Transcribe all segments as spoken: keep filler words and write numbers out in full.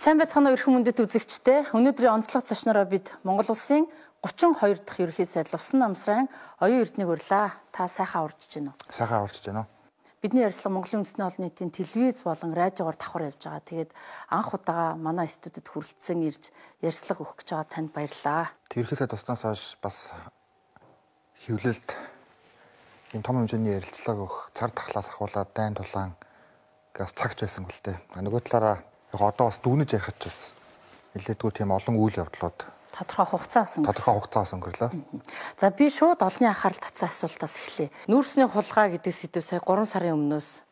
Сайн байцгаана уу эрхэм мөндөд үзэгчдээ. Өнөөдрийн онцлог зочнороо бид Монгол улсын гучин хоёр дахь ерөнхий сайд Лувсан намсрын оюун эрдэнэг урлаа. Та сайхан урдж байна уу? Сайхан урдж байна уу? Бидний ярилцлага Монголын үндэсний олон нийтийн телевиз болон радиогоор давхар явж байгаа. Тэгээд анх удаага манай студид хүрэлцэн ирж ярилцлага өгөх гэж байгаа танд баярлалаа. Ерөнхий сайд туснаас хойш бас хөвлөлд ийм том хэмжээний ярилцлага өгөх цар тахлаас ахуулаад дайн тулаан газ цагч байсан гэл тээ. Нөгөө талаараа яг одоо бас дүгнэж ярих ч бас нэлээдгүй тийм олон үйл явдлууд тодорхой хугацаа өнгөрлөө. Тодорхой хугацаас өнгөрлөө. За би шууд олонний анхаарал татсан асуултаас эхлэе. Нүүрсний хулгай гэдэг сэдв сая гурван сарын өмнөөс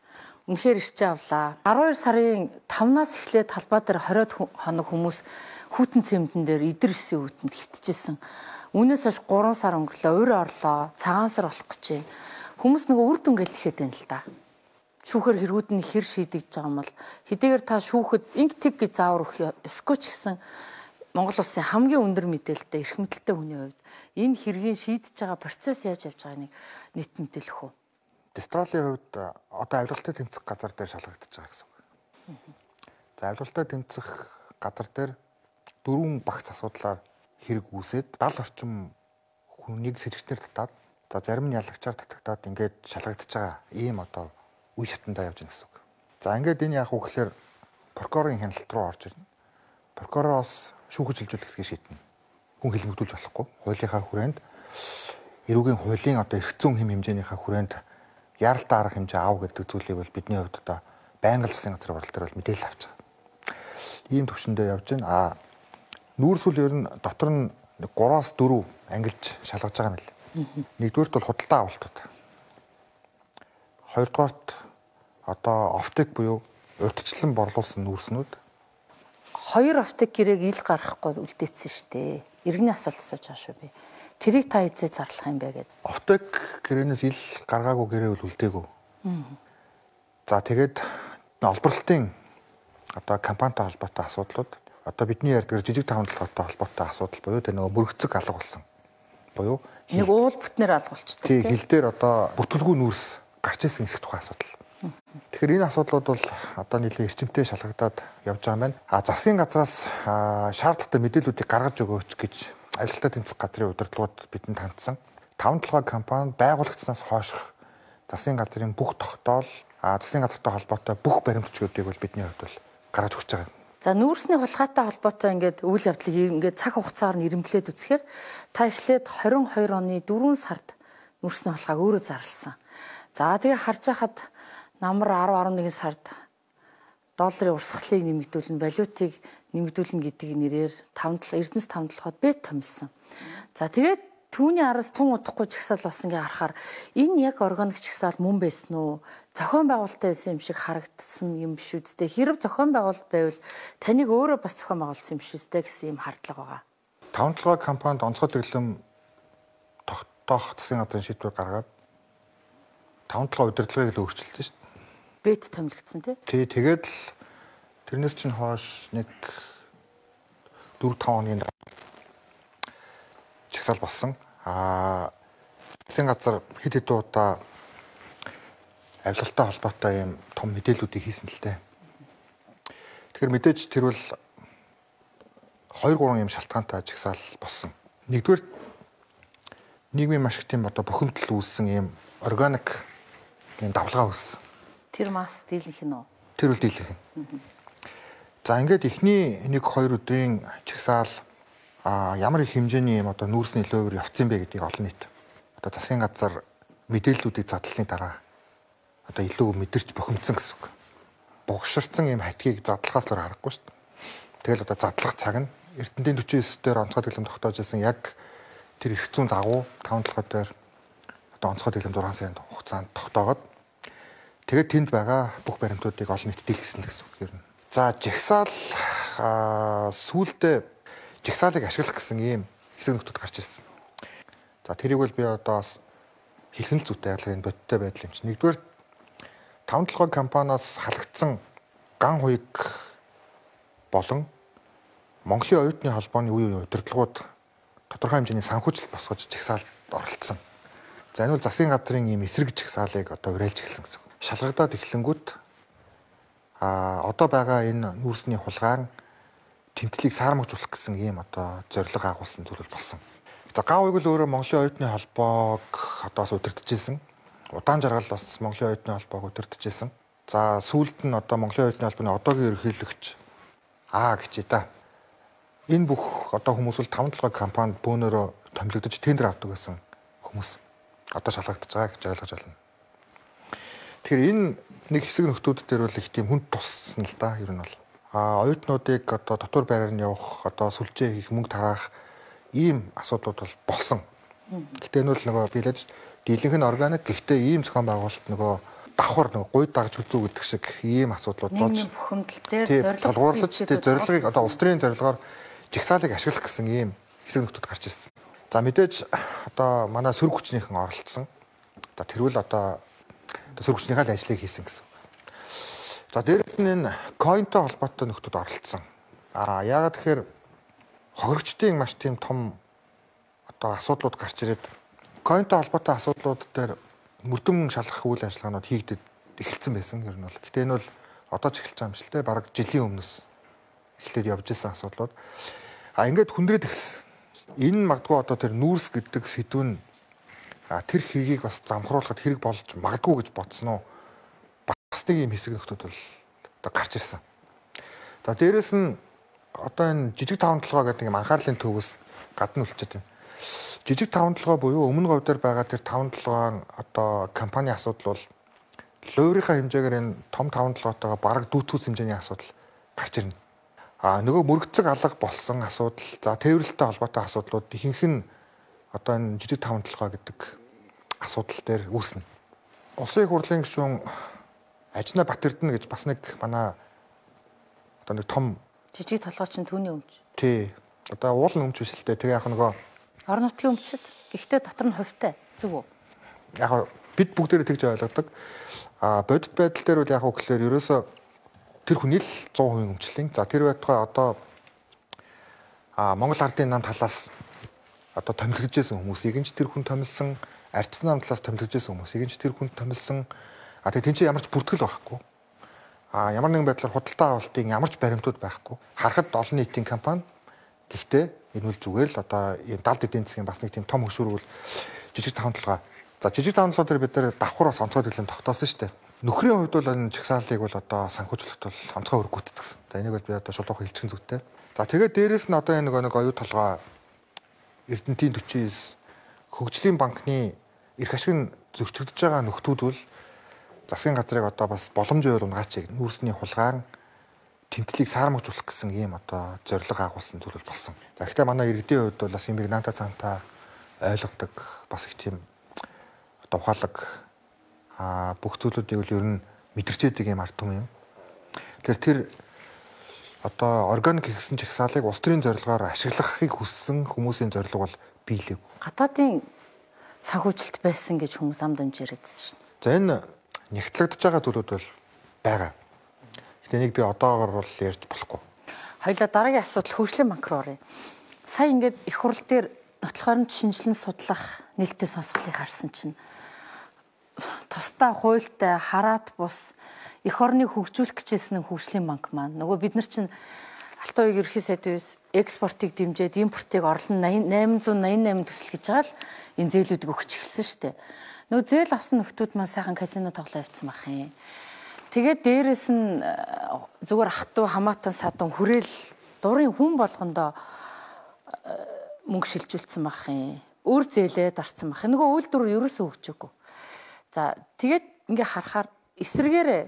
үнэхээр ирчээ авлаа. арван хоёр сарын тавнаас эхлээд талбай дээр хориод хоног хүмүүс хүүтэн цэмдэн дээр идэр өсийн үүтэнд хөвтөжсэн. Үүнээс хойш гурван сар өнгөрлөө. Өөр орлоо. Цагаан сар болох гэж. Хүмүүс нөгөө үр дүнгээл ихэд байна л да. Шүүхээр хэргүүд нь хэр шийдэгдэж байгаа юм бол хэдийгээр та шүүхэд инг тэг гэж заавар өгөх ёсгүй ч гэсэн Монгол улсын хамгийн өндөр мэдээлэлтэй эрх мэдэлтэй хүний хувьд энэ хэргийн шийдэж байгаа процесс яаж явж байгааг нийт мэдээлэх үү? Дистралийн хувьд одоо авилгалтай тэмцэх газар дээр шалгагдаж байгаа гэсэн үг. За авилгалтай тэмцэх газар дээр дөрвөн багц асуудлаар хэрэг үүсээд даал орчим хүнийг сэжигтнэр татаад за зарим нь ялагчаар татагтаад ингээд шалгагдаж байгаа ийм одоо үе шатандаа явж байна гэсэн үг. За ингээд энэ яах вэ гэхээр прокурорын хяналт руу орж ирнэ. Прокуророос шүүхэж хилжүүлэх хэсгийг шийднэ. Хүн хэлбэгдүүлж болохгүй. Хуулийнхаа хүрээнд эрүүгийн хуулийн одоо эрх зүйн хэм хэмжээнийхээ хүрээнд яралтай арга хэмжээ аав гэдэг зүйлийг бол бидний хувьд одоо байнга л засгийн газрын урал дээр бол мэдээлэл авч байгаа. Ийм төвшөндөө явж байна. Аа нүүрсүүл ер нь дотор нь гураас дөрөв ангилж шалгаж байгаа юм л. Нэгдүгээрт бол худалдаа авалтууд. Хоёрдугаарт одоо офтек буюу урьдчилан борлуулсан нүүрснүүд. Хоёр офтек гэрээг ил гаргахгүй үлдээсэн шүү дээ. Иргэний асуулт асууж байгаа шүү би. Тэрийг та эзээ зарлах юм бэ гэдэг. Офтек гэрээнээс ил гаргаагүй гэрээ бол үлдээгүй. За тэгээд олборлолтын одоо компанитай холбоотой асуудлууд одоо бидний ярьдаг жижиг тавамтлагтай холбоотой асуудал буюу тэр нөгөө мөрөгцөг алга болсон. Буюу нэг уул бүтнээр алгуулчихдаг. Тий хил дээр одоо бүтэлгүй нүүрс гарч ирсэн хэсэг тухайн асуудал. Тэгэхээр энэ асуудлууд бол одоо нэлээд эрчимтэй шалгагдаад явж байгаа юм байна. А засгийн газраас шаардлагатай мэдээллүүдийг гаргаж өгөөч гэж авилгалтай тэмцэх газрын удирдлагууд бидэнд хандсан. таван толгой компани байгуулагдсанаас хойших засгийн газрын бүх тогтоол, а засгийн газартай холбоотой бүх баримтчдуудыг бол бидний хувьд бол гаргаж өгч байгаа. За нүүрсний хулгайтай холбоотой ингээд үйл явдлыг ингээд цаг хугацаагаар нь ирэмблээд үзэхээр та эхлээд двадцать two оны дөрвөн сард нүүрсний хулгайг өөрөө зарласан. За тэгээ харж байхад намар ten eleven сард долларын урсгалыг нэмэгдүүлнэ, валютыг нэмэгдүүлнэ гэдэг нэрээр Эрдэнэс таван толгойд бет томилсон. За тэгээд түүний араас тун удахгүй чагсаал болсон гэж харахаар энэ яг органик чагсаал мөн байсан уу? Зохион байгуулалттай байсан юм шиг харагдсан юм биш үстэй. Хэрэг зохион байгуулалт байвал таныг өөрөө бас зохион байгуулсан юм биш үстэй гэсэн юм хардлага байгаа. таван толгой компанид онцгой дэглэм тогтоох засгийн газрын шийдвэр гаргаад таван толгой удирдлагыг л өөрчилсөн шүү дээ. Бет томилгдсон тий. Тий, тэгээд л тэрнээс чинь хойш нэг four five оны чагсаал болсон. Аа засгийн газар хэд хэд удаа авилгалтай холбоотой юм том мэдээллүүдийг хийсэн л дээ. Тэгэхээр мэдээж тэр бол two three юм шалтгаантай чагсаал болсон. Нэгдүгээр нийгмийн маш их тийм одоо бухимдал үүссэн юм органик юм давлгаа үүссэн. Тэр мас дийлэнх нь үү? Тэр үл дийлэнх нь. За ингээд эхний нэг хоёр өдрийн чагсаал а ямар их хэмжээний юм одоо нүүрсний лөөвөр явцсан бэ гэдгийг олон нийт одоо засгийн газар мэдээллүүдийг задлсны дараа одоо илүү мэдэрч бухимдсан гэсэн үг. Бугширцсан юм хатгийг задлахаас л харахгүй шүү дээ. Тэгэл одоо задлах цаг нь Эрдэнэтийн forty-nine дээр онцгой дэглэм тогтоож байсан яг тэр эрх зүйн дагуу таван толгой дээр одоо онцгой дэглэм six сарын хугацаанд тогтоогод тэгээд тэнд байгаа бүх баримтуудыг олон нийтэд дэлгэсэн гэсэн үг юм. За жагсаал сүүлдээ жагсаалыг ашиглах гэсэн ийм хэсэг нөхдөд гарч ирсэн. За тэрийг бол би одоо бас хэлхэн л зүйтэй ялгарын бодиттой байдал юм чинь. Нэгдүгээр таван толгой компаниас халагдсан ган хуйг болон Монголын оюутны холбооны үе үе удирдлагууд тодорхой хэмжээний санхүүжилт босгож жагсаалд оролцсон. За энэ бол засгийн газрын ийм эсрэг жагсаалыг одоо уриалж эхэлсэн гэсэн. Шалгагдаад эхлэнгүүт а одоо байгаа энэ нүүрсний хулгайн тэмтлийг саармагжуулах гэсэн ийм одоо зорилго агуулсан зүйл болсон. За гав уйг л өөрөө Монголын оюутны холбоог одоос удирдахжсэн. Удаан жаргал бас Монголын оюутны холбоог удирдахжсэн. За сүүлд нь одоо Монголын оюутны холбооны одоогийн ерөнхийлөгч аа гэчээ та. Энэ бүх одоо хүмүүс бол таван толгой компанид бөөнөрөө томилогдож тендер авдаг гэсэн хүмүүс одоо шалгагдаж байгаа гэж ойлгож байна. Тэгэхээр энэ нэг хэсэг нөхдүүд дээр бол их тийм хүнд туссан л да ер нь бол. А оюутнуудыг одоо дотор байраар нь явах одоо сүлжээ хийх мөнгө тараах ийм асуудлууд бол болсон. Гэтэ энэ бол нөгөө билээд дийлэнх нь органик гэхдээ ийм зохион байгуулалт нөгөө давхар нөгөө гуйд дагж үзүү гэдэг шиг ийм асуудлууд болж бухимдал дээр зорилгоорлож тий зорилгыг одоо улс төрийн зорилгоор жигсаалыг ашиглах гэсэн ийм хэсэг нөхдүүд гарч ирсэн. За мэдээж одоо манай сөрөг хүчнийхэн оролцсон. Одоо тэрвэл одоо сөрөг хүчнийхээ л ажлыг хийсэн гэсэн. За дээрээс нь энэ койнтой холбоотой нөхдүүд оролцсон. Аа яагаад тэгэхээр хохирогчдын маш тийм том одоо асуудлууд гарч ирээд койнтой холбоотой асуудлууд дээр мөрдөн шалгах үйл ажиллагаанууд хийгдэж эхэлсэн байсан ер нь бол. Гэтэ энэ бол одоо ч эхэлж байгаа юм шиг те бараг жилийн өмнөөс эхлээд явж исэн асуудлууд. А ингээд хүндрээд эхэлсэн. Энэ магадгүй одоо тэр нүүрс гэдэг сэдв нь тэр хэргийг бас замхруулахад хэрэг болж магадгүй гэж бодсон уу? Бас нэг юм хэсэг нөхдүүд бол одоо гарч ирсэн. За дээрэс нь одоо энэ жижиг таван толгой гэдэг юм анхаарлын төвөөс гадна үлчээд байна. Жижиг таван толгой буюу өмнө говьдор байгаа тэр таван толгойн одоо компани асуудал бол луурийнхаа хэмжээгээр энэ том таван толгойтойгоо бараг дүүтгүүс хэмжээний асуудал гарч ирнэ. А нөгөө мөрөгцөг алга болсон асуудал, за тээвэрлэлтэй холбоотой асуудлууд ихэнх нь одоо энэ жижиг таван толгой гэдэг асуудал дээр үүснэ. Улсын их хурлын гишүүн Ажна Батэрдэн гэж бас нэг манай одоо нэг том жижиг толгой чинь түүний өмч. Тий. Одоо уулын өмч биш л дээ. Тэгээ яг нөгөө орон нутгийн өмчд. Гэхдээ дотор нь хувьтай. Зүг үү? Яг бид бүгдээрээ тэгж ойлгодог. А бодит байдал дээр бол яг уу гэхээр ерөөсө тэр хүний л сто процент өмчлэн. За тэр байтугай одоо а Монгол ардын нам талаас одоо томилгож байсан хүмүүсийг нь ч тэр хүн томилсон, ардын нам талаас томилгож байсан хүмүүсийг нь ч тэр хүн томилсон. А тэгээ тэнцээ ямар ч бүртгэл байхгүй. А ямар нэгэн байдлаар худалдаа авалтын ямар ч баримтууд байхгүй. Харахад олон нийтийн компани. Гэхдээ энэ үл зүгээр л одоо ийм далд эдийн засгийн бас нэг тийм том хөшүүрэг бол жижиг таван толгой. За жижиг таван толгой дээр бид нэр давхраас онцгой төлөм тогтоосон шүү дээ. Нөхрийн хувьд бол энэ чагсаалыг бол одоо санхүүжлэлт бол онцгой хөрөг гүйцэтгсэн. За энийг бол би одоо шулуухан хэлчихэн зүйтэй. За тэгээд дээрэс нь одоо энэ нэг оюу толгой Эрдэнэтийн forty nine хөгжлийн банкны эрх ашиг зөрчигдөж байгаа нөхдүүд бол засгийн газрыг одоо бас боломжоор унгаач нүүрсний хулгайр тэмтлийг саармагжуулах гэсэн ийм одоо зорилго агуулсан зүйл болсон. За гэхдээ манай иргэдийн хувьд бол бас юм бийг наата цаантаа ойлгодог бас их тийм одоо ухаалаг а бүх зүйлүүдийг л ер нь мэдэрчээдэг юм ард түмэн юм. Тэгэхээр тэр одоо органик гэсэн чагсаалыг улс төрийн зорилгоор ашиглахыг хүссэн хүмүүсийн зорилго бол биелээгүй. Гадаадын санхүүжилт байсан гэж хүмүүс ам дамжирээдсэн шин. За энэ нягтлагдж байгаа зүйлүүд бол байгаа. Гэтэ нэг би одоогор бол ярьж болохгүй. Хоёлаа дараагийн асуудал хөгжлийн банк руу оръё. Сая ингээд их хурл дээр нотлох баримт шинжилэн судлах нээлттэй сонсголыг харсан чинь тусдаа хуультай хараат бус эх орныг хөгжүүлэх гэжсэн хөгжлийн банк маань нөгөө бид нар чинь Алтан уян ерхий сайдээс экспортыг дэмжиж импортыг орлон eight eighty eight төсөл гэж байгаа л энэ зээлүүдийг өгч эхэлсэн шүү дээ. Нөгөө зээл авсан нөхдүүд маань сайхан казино тоглоо явцсан байх юм. Тэгээд дээрэс нь зүгээр ах トゥ хамаатан садан хүрээл дурын хүн болгондоо мөнгө шилжүүлсэн байх юм. Өөр зээлээ дарцсан байх. Нөгөө үйлдвэр ерөөсөө хөгжөөгүй. За тэгээд ингээ харахаар эсэргээрээ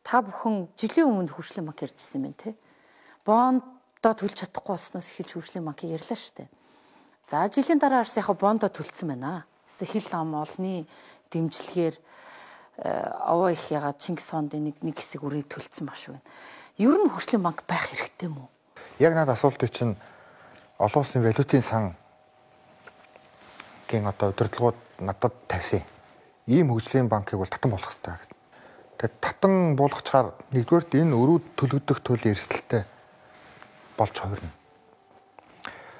та бүхэн жилийн өмнө хөгжлийн банк ярьжсэн юм те. Бондоо төлж чадахгүй болсноос эхэлж хөгжлийн банкыг ярьлаа шүү дээ. За жилийн дараа арс яг бондоо төлсөн байна. Хил ам олны дэмжлэгээр овоо их ягаад Чингис хааны нэг нэг хэсэг үрийг төлцсөн маш байна. Ер нь хөгжлийн банк байх хэрэгтэй мүү? Яг надад асуултыг чинь олон улсын валютын сан гэн одоо удирдлагууд надад тавьсан. Ийм хөгжлийн банкыг бол татан болгох хэрэгтэй гэдэг. Тэгээд татан болгочаар нэгдүгээрт энэ өрөө төлөгдөх төлөв эрсдэлтэй болж хувирна.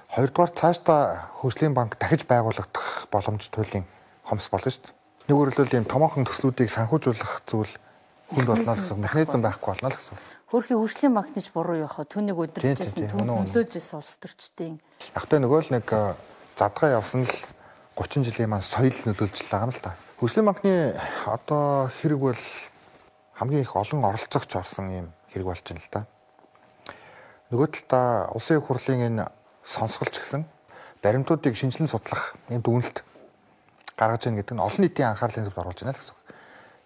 Хоёрдугаар цаашдаа хөгжлийн банк дахиж байгуулагдах боломж туйлын хомс болно шүү дээ. Нэг өөрөлдөл ийм томоохон төслүүдийг санхүүжүүлэх зүйл хүнд болно л гэсэн механизм байхгүй болно л гэсэн. Хөрхийн хөгжлийн магнич буруу явах түүнийг удирдахжсэн түүнд нөлөөлжсэн улс төрчдийн. Яг тэ нөгөө л нэг задгаа явсан л гучин жилийн маань соёл нөлөөлж байгаа юм л да. Хөгжлийн банкны одоо хэрэг бол хамгийн их олон оролцогч орсон юм хэрэг болж байна л да. Нөгөө талдаа улсын их хурлын энэ сонсголч гэсэн баримтуудыг шинжилэн судлах юм дүгнэлт гаргаж ийн гэдэг нь олон нийтийн анхаарлын төвд оруулж байна л гэсэн.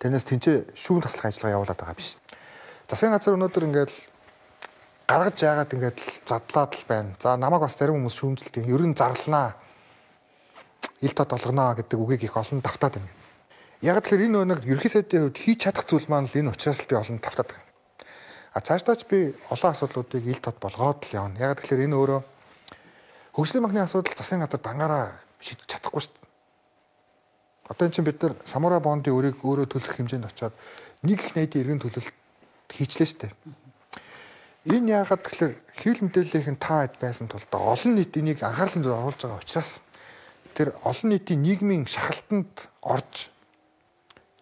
Тэрнээс тэнцээ шүүн таслах ажиллагаа явуулаад байгаа биш. Засгийн газар өнөөдөр ингээд гаргаж яагаад ингээд задлаад л байна. За намайг бас зарим хүмүүс шүүмжлэлт ер нь зарлнаа. Ил тод олгоно гэдэг үгийг их олон давтаад байна. Яг тэгэхээр энэ өнөг ерхий сайдын хувьд хийж чадах зүйл маань л энэ учраас л би олон давтаад байна. А цаашдаач би олон асуудлуудыг ил тод болгоод л явна. Яг тэгэхээр энэ өөрөө хөгжлийн банкны асуудал засгийн газар дангаараа шийдэж чадахгүй шүү дээ. Одоо энэ чинь бид нар Самура бондын өрийг өөрөө төлөх хэмжээнд очиод нэг их найдын иргэн төлөлт хийчлээ шүү дээ. Энэ яагаад тэгэхээр хэвлэл мэдээллийнхэн та хэд байсан тул олон нийт энийг анхаарлын төвд оруулж байгаа учраас тэр олон нийтийн нийгмийн шахалтанд орж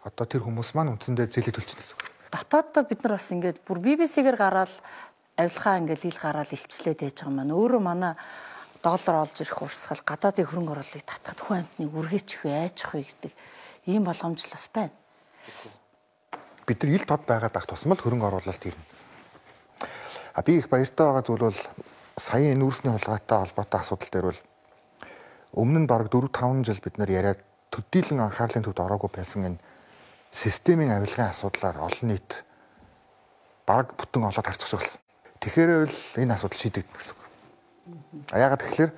одоо тэр хүмүүс маань үндсэндээ зээлээ төлж байгаа гэсэн. Дотооддоо бид нар бас ингээд бүр би би си-гээр гараад авилгаа ингээд ил гараад илчлээд байж байгаа маань өөрөө манай доллар олж ирэх урсгал гадаадын хөрөнгө оруулалтыг татахад хүн амтныг үргээч вэ айчих вэ гэдэг ийм боломж л бас байна. Бид нар ил тод байгаад ах тусмал хөрөнгө оруулалт ирнэ. А би их баяртай байгаа зүйл бол саяын нүүрсний хулгайтай холбоотой асуудал дээр бол өмнө нь бараг дөрөв таван жил бид нар яриад төдийлөн анхаарлын төвд ороогүй байсан энэ системийн авилгын асуудлаар олон нийт бараг бүтэн олоод харчих болсон. Тэгэхээр бол энэ асуудал шийдэгдэх гэсэн үг. А яагаад тэгэхээр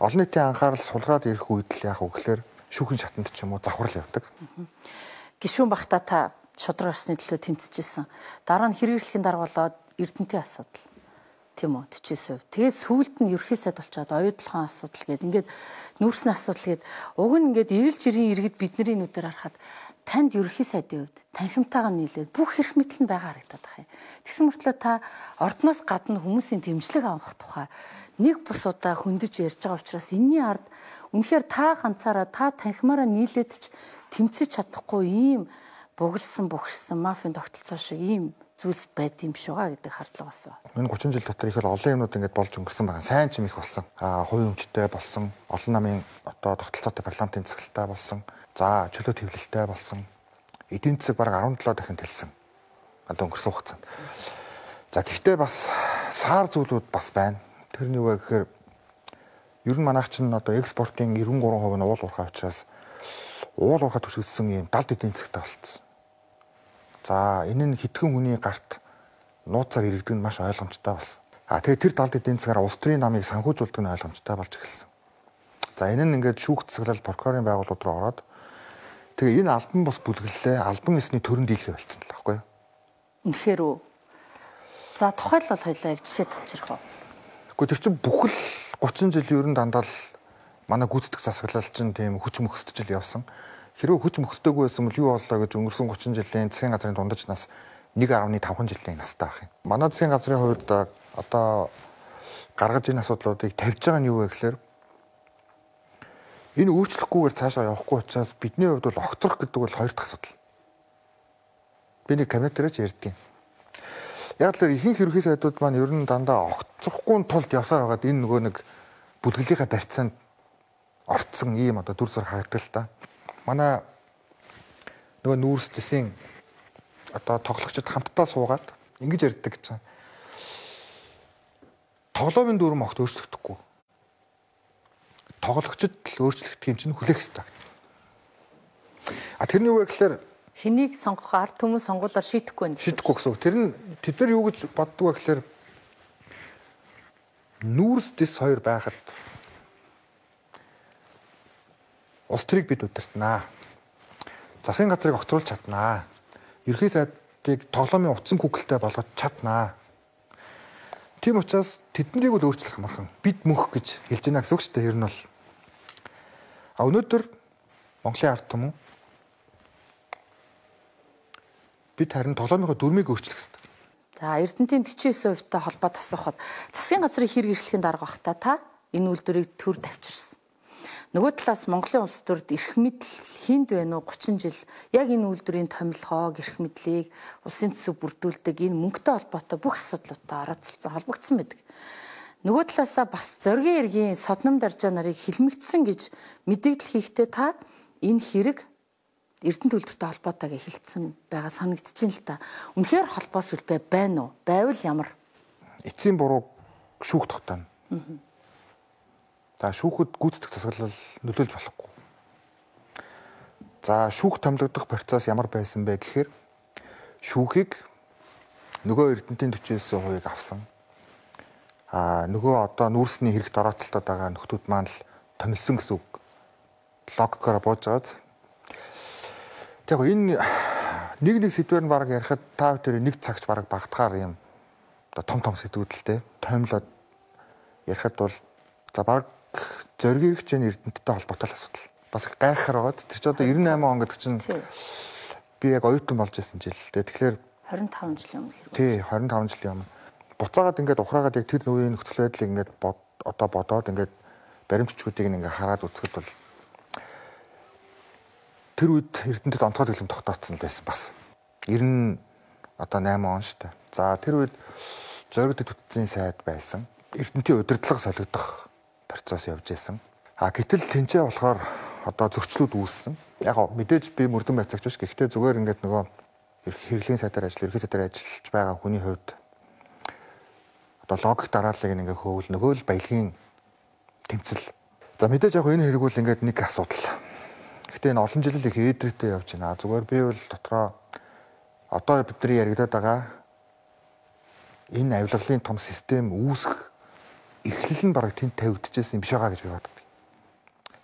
олон нийтийн анхаарал сулраад ирэх үед л яг үгээр шүүхэн шатанд ч юм уу завхрал явдаг. Гишүүн багтаа та шудраг орсны төлөө тэмцэжсэн. Дараа нь хэрэгжлэхийн дарга болоод Эрдэнэтийн асуудал. Тийм үү тэжээс. Тэгээд сүүлд нь ерхий сайд болчоод оюутлахын асуудал гээд ингээд нүүрсний асуудал гээд уг нь ингээд эргэл жирийн иргэд бидний нүдээр харахад танд ерхий сайдын хувьд танхимтайгаа нийлээд бүх эрх мэдэл нь байгаа харагдаад байна. Тэгсэн мөртлөө та ордноос гадна хүмүүсийн дэмжлэг авах тухай нэг бус удаа хөндөж ярьж байгаа учраас энэний ард үнэхээр та ганцаараа та танхимаараа нийлээд ч тэмцэж чадахгүй ийм бугалсан бухарсан мафийн тогтолцоо шиг ийм зүйлс байд юм шиг байгаа гэдэг хардлага болсон. Энэ гучин жил дотор их олон юмнууд ингээд болж өнгөрсөн байгаа. Сайн ч юм их болсон. Аа хувийн өмчтэй болсон, олон намын одоо тогтолцоотой парламентын засаглалтай болсон, за чөлөө твлэлтэй болсон. Эдийн засаг бараг арван долоо дахин тэлсэн. Одоо өнгөрсөн хугацаанд. За гэхдээ бас саар зүйлүүд бас байна. Тэрний үе гэхээр ер нь манайх чинь одоо экспортын девяносто три хувь нь уул уурхай учраас уул уурхай төсөлсөн юм далд эдийн засагтай болцсон. За энэ нь хитгэн хүний гарт нууцаар иргэдэг нь маш ойлгомжтой болсон. А тэгээ тэр далд эдийн засгаар улс төрийн намыг санхүүжүүлдэг нь ойлгомжтой болж эхэлсэн. За энэ нь ингээд шүүх засаглал прокурорын байгууллууд руу ороод тэгээ энэ албан бус бүлгэллээ албан ёсны төрөнд дийлхэ болцсон л байхгүй юу? Үнэхээр үү? За тухайлбал хоёлаа яг жишээ татчих уу? Гэхдээ тэр чинь бүхэл гучин жил ер нь дандаа л манай гүйцэтгэх засаглал чинь тийм хүч мөхсдөж явсан. Хэрвээ хүч мөхсдөггүй байсан бол юу боллоо гэж өнгөрсөн гучин жилийн засгийн газрын дундаж нас нэг гаруй таван жилийн настай байх юм. Манай засгийн газрын хувьд одоо гаргаж энэ асуудлуудыг тавьж байгаа нь юу вэ гэхээр энэ өөрчлөхгүйгээр цаашаа явахгүй учраас бидний хувьд бол огцрох гэдэг бол хоёр дахь асуудал. Би нэг кабинет дээр ч ярьдгийн. Яг л ихэнх ерөнхий сайдууд маань ер нь дандаа огцрохгүй тулд явсаар байгаад энэ нөгөө нэг бүлгэлийнхаа барьцаанд орцсон ийм одоо дүр зур харагддаг л та. Манай нөгөө нүүрс засгийн одоо тоглогчид хамтдаа суугаад ингэж ярьдаг гэж байна. Тоглоомын дүрм огт өөрчлөгдөхгүй. Тоглогчид л өөрчлөгдөх юм чинь хүлээх хэрэгтэй. А тэрний үе гэхээр хэнийг сонгох ард түмэн сонгуулаар шийдэхгүй байх. Шийдэхгүй гэсэн үг. Тэр нь тэд нар юу гэж боддог вэ гэхээр нүүрс дэс хоёр байхад улс төрийг бид удирднаа. Засгийн газрыг огцруулж чаднаа. Ерхий сайдыг тоглоомын утсан күгэлтэй болгож чаднаа. Тийм учраас тэднийг бол өөрчлөх амархан бид мөх гэж хэлж байна гэсэн үг шүү дээ. Ер нь бол а өнөөдөр Монголын ард түмэн бид харин тоглоомынхоо дүрмийг өөрчлөх хэрэгтэй. За Эрдэнэтийн тэтгэвчийн хувьтай холбоод асуухад засгийн газрын хэрэг эрхлэхийн дарга багтаа та энэ үйлдвэрийг төр тавьчирсан. Нөгөө талаас Монголын улс төрд эрх мэдэл хинд байна уу гучин жил яг энэ үйлдвэрийн томилгоог эрх мэдлийг улсын төсөв бүрдүүлдэг энэ мөнгөтэй холбоотой бүх асуудлуудтай орооцолцсон холбогдсон байдаг. Нөгөө талаасаа бас зоргийн эргийн содном даржаа нарыг хилмигдсэн гэж мэдээлэл хийхдээ та энэ хэрэг Эрдэнэт үйлдвэртэй холбоотойг эхэлсэн байгаа санагдчихээн л та. Үнэхээр холбоос үлбэ байна уу? Байвал ямар? Эцсийн буруу шүүх тогтооно. За шүүхэд гүйцэтгэх засаглал нөлөөлж болохгүй. За шүүх томилогдох процесс ямар байсан бэ гэхээр шүүхийг нөгөө Эрдэнэтийн forty nine хувийг авсан. А нөгөө одоо нүүрсний хэрэгт ороотолтод байгаа нөхдүүд маань л томилсон гэсэн үг. Логикоор бууж байгааз. Тэгэхээр энэ нэг нэг сэдвээр нь баг ярихад та бүхэн нэг цагч баг багтахаар юм одоо том том сэдвүүдэлтэй томилоод ярихад бол за баг зориг эрхчийн Эрдэнэттэй холбоотой асуудал. Бас гайхахаар байгаад тэр чинь одоо ninety eight он гэдэг чинь би яг оюутан болж байсан жил. Тэгэхээр twenty five жилийн өмнө хэрэг. Тий, twenty five жилийн өмнө. Буцаагаад ингээд ухраагаад яг тэр үеийн нөхцөл байдлыг ингээд одоо бодоод ингээд баримтчгуудыг ингээд хараад үзэхэд бол тэр үед Эрдэнэтэд онцгой төлөм тогтооцсон л байсан бас. ninety одоо eight он шүү дээ. За тэр үед зориг төтөцийн сайд байсан. Эрдэнэтийн удирдлага солигдох процесс явж байсан. А гэтэл тэнцээ болохоор одоо зөрчлүүд үүссэн. Яг мэдээж би мөрдөн байцаагч биш. Гэхдээ зүгээр ингээд нөгөө хэрэглэлийн сайдаар ажил, ерхий сайдаар ажиллаж байгаа хүний хувьд одоо логик дарааллыг ингээ хөөвл нөгөө л баялагын тэмцэл. За мэдээж яг энэ хэрэг бол ингээд нэг асуудал. Гэхдээ энэ олон жил их ээдрээтэй явж байна. Зүгээр би бол дотроо одоо бидний яригадаад байгаа энэ авилгалын том систем үүсэх эхлэл нь бараг тэнд тавигдчихсэн юм биш байгаа гэж би боддог.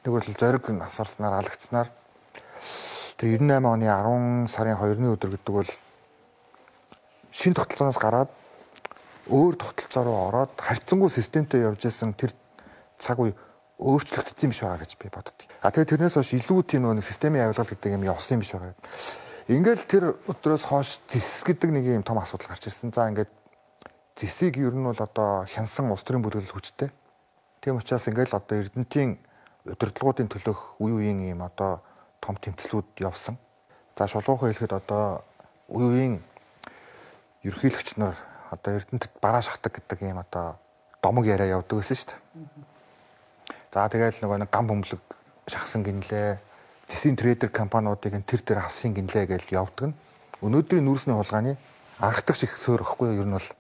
Нэг бол зориг асарснаар алагдсанаар тэр ninety eight оны ten сарын two-ны өдөр гэдэг бол шинэ тогтолцооноос гараад өөр тогтолцоо руу ороод харьцангуй системтэй явж исэн тэр цаг үе өөрчлөгдсөн юм биш байгаа гэж би боддог. А тэгээ тэрнээс хойш илүү тийм нэг системийн авилгал гэдэг юм явсан юм биш байгаа. Ингээл тэр өдрөөс хойш зис гэдэг нэг юм том асуудал гарч ирсэн. За ингээд зэсийг ер нь бол одоо хянсан улс төрийн бүрэлдэхүүн хүчтэй. Тийм учраас ингээл одоо Эрдэнэтийн удирдлагуудын төлөх үе үеийн юм одоо том тэмцлүүд явсан. За шулуухан хэлэхэд одоо үе үеийн ерөнхийлөгч нар одоо Эрдэнэтэд бараа шахдаг гэдэг юм одоо домог яриа явдаг байсан шүү дээ. За тэгэл нөгөө нэг гам бөмбөлөг шахсан гинлээ. Зэсийн трейдер компаниудыг тэр тэр авсан гинлээ гэж явдаг нь. Өнөөдрийн нүүрсний хулгайны анхдагч их суур ихгүй юу? Ер нь бол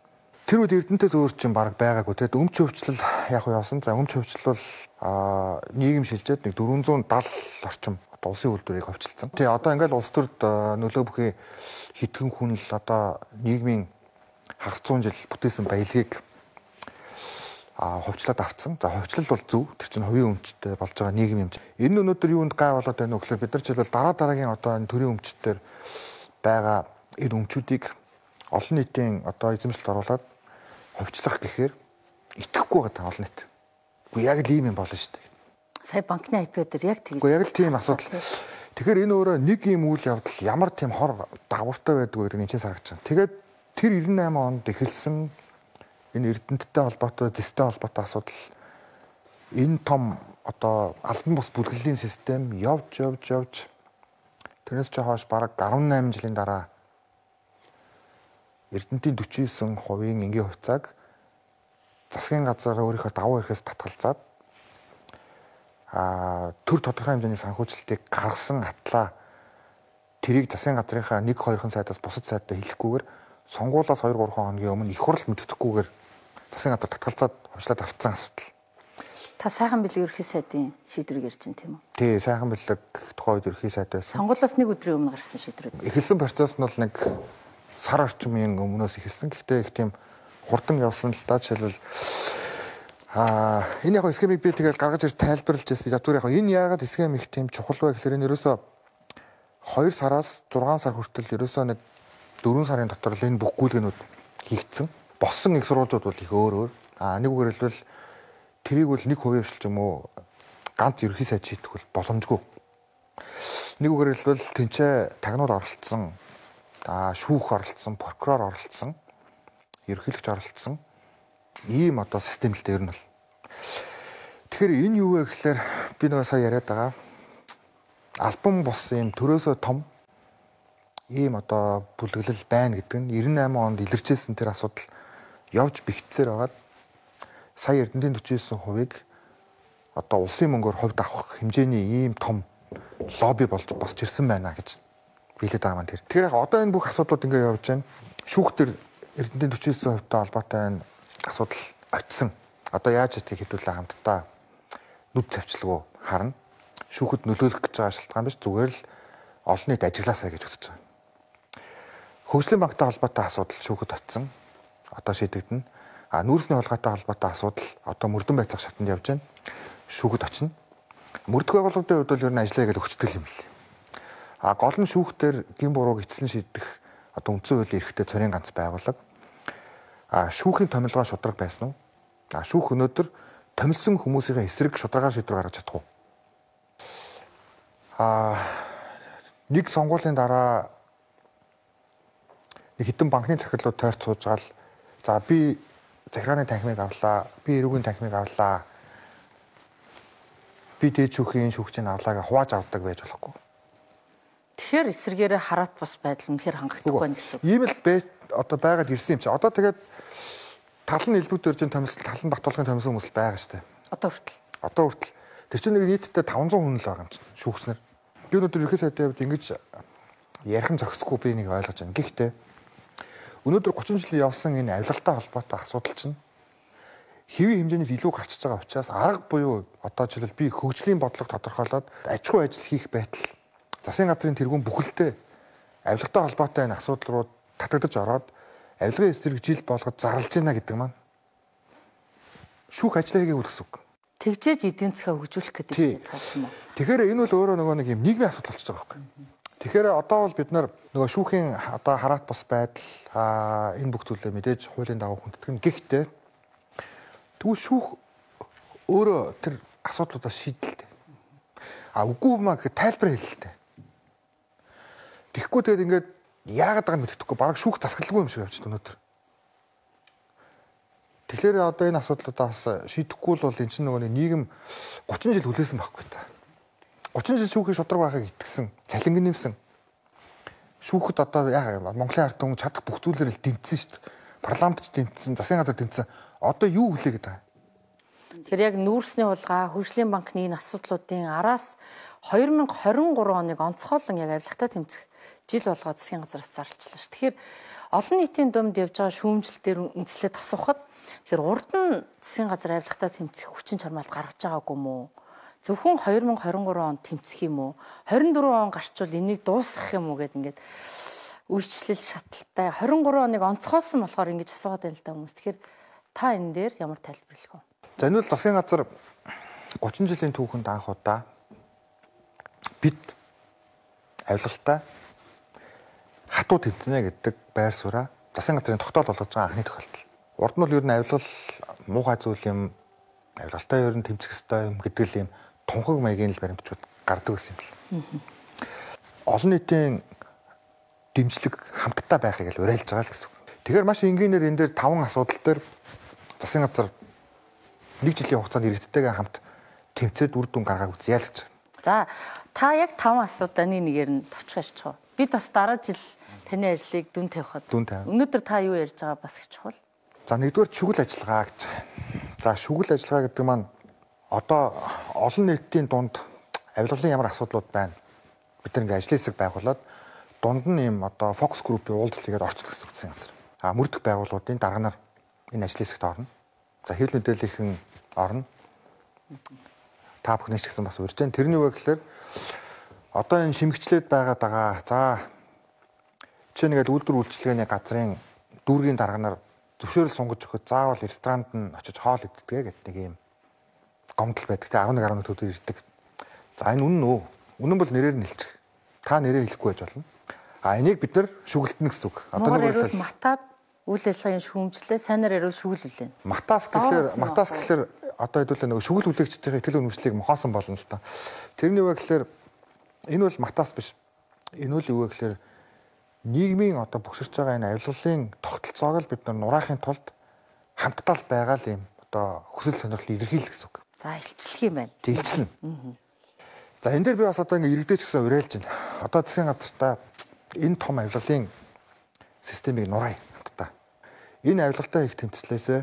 тэр үед Эрдэнэтээс өөр чинь баг байгаагүй. Тэгэд өмч хөвчлөл яг уу явсан. За өмч хөвчлөл бол нийгэм шилжээд нэг four seventy орчим одоо улсын үйлдвэрийг хөвчлөлцөн. Тий одоо ингээл улс төрд нөлөө бүхий хитгэн хүн л одоо нийгмийн хагас зуун жил бүтээсэн баялагийг а ховчлоод авцсан. За ховчлол бол зөв. Тэр чинь хувийн өмчтэй болж байгаа нийгэм юм. Энэ өнөөдөр юунд гай болоод байна вэ гэхээр бид нар жишээлбэл дараа дараагийн одоо энэ төрийн өмчтөр байгаа энэ өмчүүдийг олон нийтийн одоо эзэмшилд оруулаад ховчлох гэхээр итгэхгүй байгаа олон нийт. Уу яг л ийм юм болно шүү дээ. Сая банкны ай пи дээр яг тэгж. Уу яг л тийм асуудал. Тэгэхээр энэ өөрөө нэг юм үйл явдал ямар тийм хор давартай байдаг гэдэг нь чинь сарагч. Тэгээд тэр ninety eight онд эхэлсэн энэ Эрдэнэттэй холбоотой, зэстэй холбоотой асуудал энэ том одоо албан бус бүлэглэлийн систем явж явж явж тэрнээс ч хойш бараг eighteen жилийн дараа Эрдэнэтийн forty nine хувийн энгийн хувьцааг засгийн газараа өөрийнхөө давуу эрхээс татгалзаад а төр тодорхой хэмжээний санхүүжилтийг гаргасан атлаа тэрийг засгийн газрынхаа one two сайдаас бусад сайдад хэлэхгүйгээр сонгуулиас two three хоногийн өмнө их хурл мэддэхгүйгээр засгийн газар татгалзаад ховчлаад авцсан асуудал. Та сайхан бэлэг ерхий сайдын шийдвэрийг ярьж байна тийм үү? Тий, сайхан бэлэг тухайн үед ерхий сайд байсан. Сонгуулиас нэг өдрийн өмнө гарсан шийдвэр. Эхэлсэн процесс нь бол нэг сар орчмын өмнөөс эхэлсэн. Гэхдээ их тийм хурдан явсан л да. Жишээлбэл аа энэ яг схемийг би тэгэл гаргаж ирж тайлбарлаж байсан. Ядуур яг энэ яагаад схем их тийм чухал вэ гэхээр энэ ерөөсөө two сараас six сар хүртэл ерөөсөө нэг four сарын дотор л энэ бүх гүйлгэнүүд хийгдсэн. Боссон их сурвалжууд бол их өөр өөр. Аа нэг үгээр хэлбэл тэрийг бол нэг хувийн хвшил ч юм уу ганц ерхий сайд шийдэх бол боломжгүй. Нэг үгээр хэлбэл тэнцээ тагнууд оролцсон, аа шүүх оролцсон, прокурор оролцсон, ерөнхийлөгч оролцсон ийм одоо систем л дээр нь бол. Тэгэхээр энэ юу вэ гэхээр би нөгөө сая яриад байгаа альбом бус юм төрөөсөө том ийм одоо бүлэглэл байна гэдэг нь девяносто восемь онд илэрчээсэн тэр асуудал явж бэхжсээр байгаад сая Эрдэнэтийн forty nine хувийг одоо улсын мөнгөөр хувьд авах хэмжээний ийм том лобби болж босч ирсэн байна гэж билээд байгаа маань тэр. Тэгэхээр яг одоо энэ бүх асуудлууд ингэ явж байна. Шүүхтэр Эрдэнэтийн forty nine хувьтай холбоотой энэ асуудал очисон. Одоо яаж итгийг хэдүүлээ хамтдаа нүд цавчлгүй харна. Шүүхэд нөлөөлөх гэж байгаа шалтгаан биш, зүгээр л олон нийт ажиглаасаа гэж үзэж байгаа. Хөгжлийн банктай холбоотой асуудал шүүхэд очисон. Одоо шийдэгдэнэ. А нүүрсний хулгайтай холбоотой асуудал одоо мөрдөн байцаах шатанд явж байна. Шүүхэд очино. Мөрдөх байгууллагын хувьд бол ер нь ажиллая гэж өгчдөг юм л. А гол нь шүүхтэр гин бурууг эцлэн шийдэх одоо үндсэн хуулийн эрхтэй цорын ганц байгууллага. А шүүхийн томилгоо шудраг байсан уу? А шүүх өнөөдөр томилсон хүмүүсийн эсрэг шударгаар шийдвэр гаргаж чадах уу? А нэг сонгуулийн дараа нэг хэдэн банкны захирлууд тойрч суужгаал за би захиргааны танхимыг авлаа, би эрүүгийн танхимыг авлаа. Би дээд шүүхийн шүүгчийг авлаа гэж хувааж авдаг байж болохгүй. Тэгэхээр эсэргээрээ хараат бас байдал үнэхээр хангахдаггүй байна гэсэн. Ийм л одоо байгаад ирсэн юм чи. Одоо тэгээд тал нь элбэг дөржин томилсон, тал нь Бат болгоны томилсон хүмүүс байгаа шүү дээ. Одоо хүртэл. Одоо хүртэл. Тэр чинь нэг нийтдээ five hundred хүн л байгаа юм чинь шүүгчнэр. Би өнөөдөр ерхий сайдын хувьд ингэж ярих нь зохисгүй би нэг ойлгож байна. Гэхдээ өнөөдөр thirty жил явсан энэ авилгалтай холбоотой асуудал чинь хэвийн хэмжээнээс илүү гарчиж байгаа учраас арга буюу одоо жишээл би хөгжлийн бодлого тодорхойлоод аж ахуй ажил хийх байтал засгийн газрын тэргүүн бүхэлдээ авилгатай холбоотой энэ асуудал руу татагдаж ороод авилгын эсрэг жил болгоод зарлж байна гэдэг маань шүүх ажлаа хийгээгүй гэсэн үг. Тэгжээж эдийн засгаа хөгжүүлэх гэдэг юм уу? Тэгэхээр энэ бол өөрөө нөгөө нэг юм нийгмийн асуудал болчихж байгаа байхгүй. Тэгэхээр одоо бол бид нар нөгөө шүүхийн одоо хараат бус байдал энэ бүх зүйлээ мэдээж хуулийн дагуу хүнддэг нь. Гэхдээ тэгвэл шүүх өөрөө тэр асуудлуудаа шийдэлтэй. А үгүй маа гэх тайлбар хэлэлтэй. Тэгэхгүй тэгээд ингээд яагаад байгааг мэддэхгүй бараг шүүх засаглалгүй юм шиг явж байна өнөөдөр. Тэгэхээр одоо энэ асуудлуудаас шийдэхгүй бол энэ чинь нөгөө нийгэм thirty жил хүлээсэн байхгүй та. thirty жил шүүхийн шудраг байхыг итгэсэн, цалинг нэмсэн. Шүүхэд одоо яа Монголын ард түмэн чадах бүх зүйлээр л дэмжсэн шүү дээ. Парламентч дэмжсэн, засгийн газар дэмжсэн. Одоо юу хүлээгээд байгаа? Тэгэхээр яг нүүрсний хулгай, хөгжлийн банкны энэ асуудлуудын араас twenty twenty-three оныг онцгойлон яг авилгатай тэмцэх жил болгоод засгийн газараас зарлчлаа шүү. Тэгэхээр олон нийтийн дунд явж байгаа шүүмжлэлээр үндэслээд асуухад тэгэхээр урд нь засгийн газар авилгатай тэмцэх хүчин чармаалт гаргаж байгаагүй юм уу? Зөвхөн twenty twenty-three онд тэмцэх юм уу? twenty-four он гарчвал энийг дуусгах юм уу гэд ингээд үйлчлэл шаталтай twenty-three оныг онцгойлсон болохоор ингэж асуугаад байна л да хүмүүс. Тэгэхээр та энэ дээр ямар тайлбарлах вэ? За энэ бол засгийн газар thirty жилийн түүхэнд анх удаа бид авилгалтай хатуу тэмцэнэ гэдэг байр сууриа засгийн газрын тогтоол болгож байгаа анхны тохиолдол. Урд нь бол ер нь авилгал муухай зүйл юм, авилгалтай ер нь тэмцэх ёстой юм гэдэг л юм тунхаг маягийн л баримтчууд гардаг гэсэн юм л. Олон нийтийн дэмжлэг хамтдаа байхыг л уриалж байгаа л гэсэн. Тэгэхээр маш энгийнээр энэ дээр таван асуудал дээр засгийн газар нэг жилийн хугацаанд иргэдтэйгээ хамт тэмцээд үр дүн гаргааг үзье л гэж. За та яг таван асуудлын нэгээр нь товчхооч чуу. Бид бас дараа жил таны ажлыг дүн тавихад. Өнөөдөр та юу ярьж байгаа бас их чухал. За нэгдүгээр шүгэл ажиллагаа гэж. За шүгэл ажиллагаа гэдэг маань одоо олон нийтийн дунд авилгалын ямар асуудлууд байна. Бид нэг ажлын хэсэг байгуулад дунд нь юм одоо фокус группийн уулзалт хийгээд орчих гэсэн үгсэн юм. А мөрдөх байгууллагуудын дарганаар энэ ажлын хэсэгт орно. За хэвлэл мэдээллийнхэн орно. Та бүхнээс ч гэсэн бас урьж जैन. Тэрний үг гэхээр одоо энэ шимгчлээд байгаад байгаа. За чи нэгээл үйлдвэр үйлчилгээний газрын дүүргийн дарганаар зөвшөөрөл сунгаж өгөхөд заавал ресторанд нь очиж хоол иддэг гэдэг нэг юм гомдол байдаг. Тэ eleven eleven төгрөг ирдэг. За энэ үнэн үү? Үнэн бол нэрээр нь хэлчих. Та нэрээ хэлэхгүй байж болно. А энийг бид нар шүгэлтэнэ гэсэн үг. Одоо нэг бол матад үйл ажиллагааны шүүмжлээ сайнаар ярил шүглүүлээ. Матас гэхэлэр матас гэхэлэр одоо хэдүүлээ нөгөө шүгэл үлээгчдийн ихтгэл үнэмшлийг мохоосон болно л та. Тэрний үг гэхэлэр энэ бол матас биш. Энэ үл юу вэ гэхэлэр нийгмийн одоо бөхсөрч байгаа энэ авилгалын тогтолцоог л бид нар нураахын тулд хамтдаа л байгаа л юм одоо хүсэл сонирхлыг илэрхийлэх гэсэн үг. За илчлэх юм байна. Илчлэн. За энэ дээр би бас одоо ингээ иргэдэж гэсэн уриалж байна. Одоо засгийн газартаа энэ том авилгалын системийг нураа хамтдаа. Энэ авилгалтай их тэмцлээсээ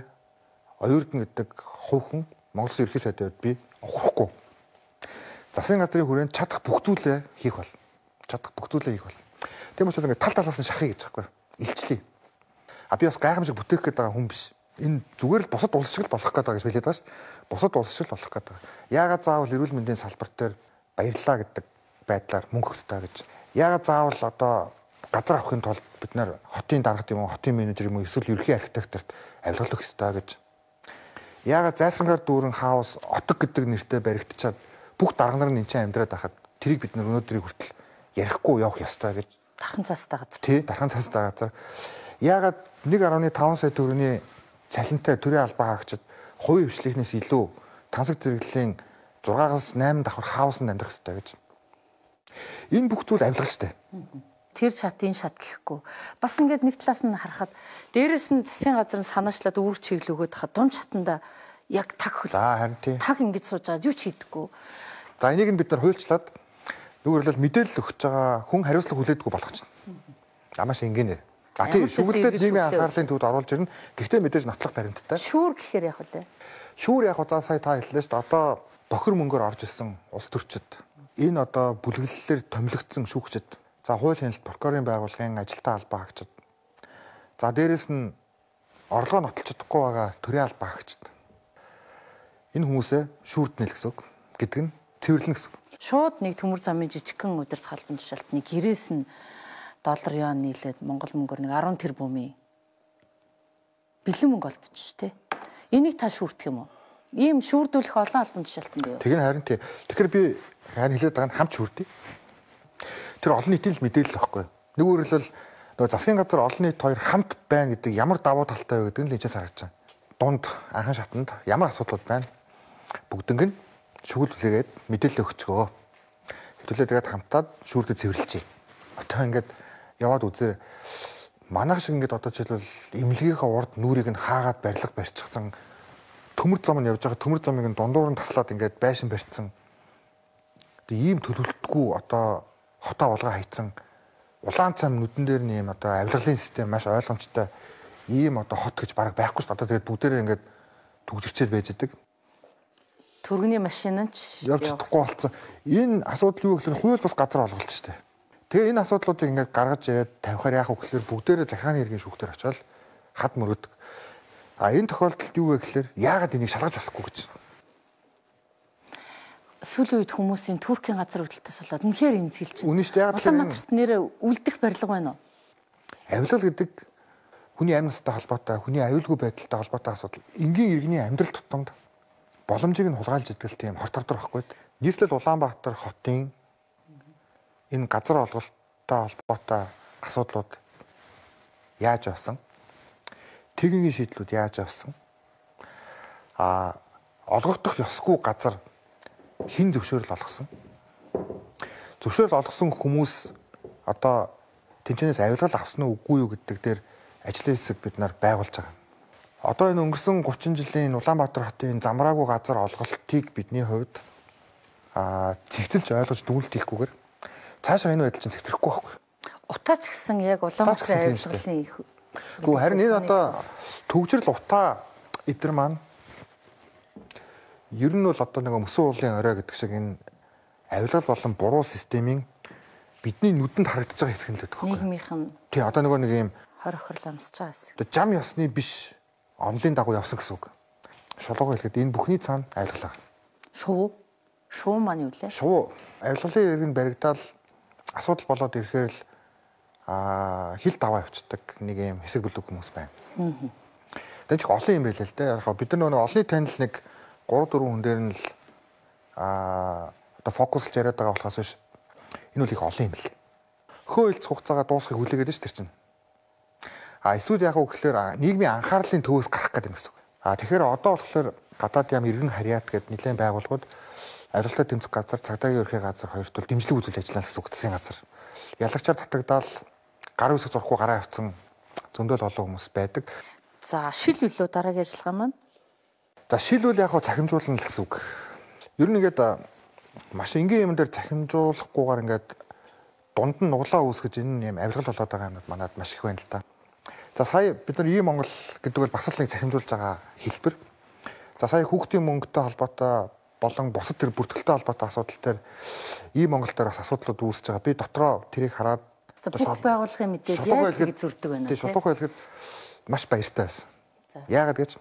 оюурдан гэдэг хувь хүн Монгол Улсын ерхий сайдын хувьд би ухрахгүй. Засгийн газрын хүрээнд чадах бүх зүйлээ хийх бол. Чадах бүх зүйлээ хийх бол. Тийм учраас ингээ тал талаас нь шахъя гэж байгаа байхгүй. Илчлэе. А би бас гайхамшиг бүтээх гээд байгаа хүн биш. Энэ зүгээр л бусад улс шиг л болох гээд байгаа гэж хэлээд байгаа шүү дээ. Бусад улс шиг л болох гээд байгаа. Яагаад заавал эрүүл мэндийн салбар дээр баярлаа гэдэг байдлаар мөнгө өгөх хэрэгтэй гэж. Яагаад заавал одоо газар авахын тулд бид нэр хотын дарга юм уу, хотын менежер юм уу, эсвэл ерхий архитекторт авилгал өгөх хэрэгтэй гэж. Яагаад зайсангаар дүүрэн хаус отог гэдэг нэртэй баригдчаад бүх дарга нар нь энэ чинь амьдраад байхад тэрийг бид нар өнөөдрийг хүртэл ярихгүй явах ёстой гэж. Дархан цаастай газар. Тий, дархан цаастай газар. Яагаад нэг гаруй таван сая төгрөгийн цалинтай төрийн албаа хаагчид хувийн хвшлийнхнээс илүү тансаг зэрэглэлийн зургаас найман давхар хаусанд амьдрах хэрэгтэй гэж. Энэ бүх зүйл авилгал штэ. Тэр шат энэ шат гэхгүй. Бас ингээд нэг талаас нь харахад дээрэс нь засгийн газар нь санаачлаад үүрэг чиглэл өгöd хахад дунд шатанда яг таг хөл. За харин тий. Таг ингэж сууж байгаа юу ч хийдэггүй. За энийг нь бид нар хуульчлаад нүгөрлөл мэдээлэл өгч байгаа хүн хариуцлага хүлээдэггүй болох чинь. Амааш ингээнэ. А тий шүглэлтэд нийгмийн анхаарлын төвд оруулж ирнэ. Гэхдээ мэдээж нотлох баримттай. Шүүр гэхээр яг үлээ. Шүүр яг за сая та хэллээ шүү дээ. Одоо бохир мөнгөөр орж ирсэн улс төрчид энэ одоо бүлэглэлээр томилогдсон шүүгчид, за хууль хяналт прокурорын байгууллагын ажилтаа албаа хаагчид, за дээрэс нь орлогоо нотолж чадахгүй байгаа төрийн албаа хаагчид. Энэ хүмүүсээ шүүрднэ л гэсэн үг гэдэг нь цэвэрлэнэ гэсэн үг. Шууд нэг төмөр замын жижигхэн удирд халбан тушаалтны гэрээс нь доллар юан нийлээд Монгол мөнгөөр нэг арван тэрбумын бэлэн мөнгө олдчих тий. Энийг та шүүрдэх юм уу? Ийм шүүрдүүлэх олон албан тушаалтан бий юу? Тэг нь харин тий. Тэгэхээр би харин хэлээд байгаа нь хамт шүүрдээ. Тэр олон нийтийн л мэдээлэл байхгүй. Нэг өөрөлдөл нөгөө засгийн газар олон нийт хоёр хамт байна гэдэг ямар давуу талтай вэ гэдэг нь л эцэс харагдаж байна. Дунд анхан шатанд ямар асуудал байна? Бүгднийг нь шүүгүүлгээд мэдээлэл өгчгөө. Хэвлээ тэгээд хамтаад шүүрдэд цэвэрлэжээ. Одоо ингээд яваад үзээ. Манайх шиг ингээд одоо жишээлбэл имлэгийнхаа урд нүрийг нь хаагаад барилга барьчихсан. Төмөр зам нь явж байгаа төмөр замыг нь дундуур нь таслаад ингээд байшин барьцсан. Тэг ийм төлөвлөлтгүй одоо хотоо болгоо хайцсан. Улаан цам нүдэн дээр нь ийм одоо авилгалын систем маш ойлгомжтой ийм одоо хот гэж бараг байхгүй шүү дээ. Одоо тэгээд бүгдээрээ ингээд түгжирчээд байж идэг. Төргөний машин нь ч явж чадахгүй болсон. Энэ асуудал юу гэхээр хууль бас газар олголт шүү дээ. Тэгээ энэ асуудлуудыг ингээд гаргаж ирээд тавихаар яах вэ гэхээр бүгдээрээ захиргааны иргэн шүүхтэр очиод хад мөрөдөг. А энэ тохиолдолд юу вэ гэхээр яагаад энийг шалгаж болохгүй гэж. Сүүлийн үед хүмүүсийн Туркийн газар хөдлөлтөөс болоод үнэхээр эмзэглэж байна. Үнэн шүү дээ. Яг Улаанбаатарт нэрээ үлдэх барилга байна уу? Авилгал гэдэг хүний амь настай холбоотой, хүний аюулгүй байдалтай холбоотой асуудал. Энгийн иргэний амьдрал тутамд боломжийг нь хулгайлж идэл тийм хор тавдар байхгүй. Нийслэл Улаанбаатар хотын энэ газар олголттой холбоотой асуудлууд яаж авсан? Техникийн шийдлүүд яаж авсан? А олгогдох ёсгүй газар хин зөвшөөрөл олгосон. Зөвшөөрөл олгосон хүмүүс одоо тэнцэнээс авилгал авсан уу үгүй юу гэдэг дээр ажлын хэсэг бид нар байгуулж байгаа. Одоо энэ өнгөрсөн гучин жилийн Улаанбаатар хотын замраагүй газар олголтыг бидний хувьд а цэгцэлж ойлгож дүгнэлт хийхгүйгээр цаашаа энэ байдал чинь цэгцэрэхгүй байхгүй. Утаач гэсэн яг Улаанбаатарын авилгалын их. Гэхдээ харин энэ одоо төгжрөл утаа эдгэр маань ер нь бол одоо нэг мөсөн уулын орой гэдэг шиг энэ авилгал болон буруу системийн бидний нүдэнд харагдаж байгаа хэсэг нь л байдаг байхгүй. Нийгмийнх нь. Тий, одоо нөгөө нэг юм хор охирол амсаж байгаа хэсэг. Одоо жам ёсны биш онлын дагуу явсан гэсэн үг. Шулуугаар хэлэхэд энэ бүхний цаана авилгал байна. Шуу. Шуу маань юу лээ? Шуу авилгалын иргэн баригдаал асуудал болоод ирэхээр л аа хил даваа явцдаг нэг юм хэсэг бүлэг хүмүүс байна. Аа. Тэгэж их олон юм байлаа л дээ. Яг бид нар нөгөө олонний танил нэг гурав дөрвөн хүн дээр нь л аа одоо фокуслж яриад байгаа болохоос биш. Энэ үл их олон юм л. Хөө хэлц хугацаагаа дуусгахыг хүлээгээд ш тэр чинь. А эсвэл яг уу гэхээр нийгмийн анхаарлын төвөөс гарах гэдэг юм гэсэн үг. А тэгэхээр одоо болохоор гадаад яам иргэн харьяат гэдэг нэлээд байгууллагууд авилгалтай тэмцэх газар, цагдаагийн ерхий газар хоёрт бол дэмжлэг үзүүлж ажиллана гэсэн үг засгийн газар. Ялагчаар татагдаал гар үсэг зурхгүй гараа авцсан зөндөл олон хүмүүс байдаг. За шил үлөө дараагийн ажиллагаа маань За шилбэл яг хаа цахимжуулна л гэсэн үг. Ер нь ингээд маш энгийн юм дээр цахимжуулахгүйгээр ингээд дунд нь нуглаа үүсгэж энэ юм авилгал болоод байгаа юмнууд манад маш их байна л да. За сая бид нар ийм Монгол гэдэг бол бас л нэг цахимжуулж байгаа хэлбэр. За сая хүүхдийн мөнгөтэй холбоотой болон бусад тэр бүртгэлтэй холбоотой асуудал дээр ийм Монгол дээр бас асуудлууд үүсэж байгаа. Би дотроо тэрийг хараад бүх байгууллагын мэдээ яаж ингэ зүрдэг байна тийм шулуух байлгаад маш баяртай байсан. Яагаад гэж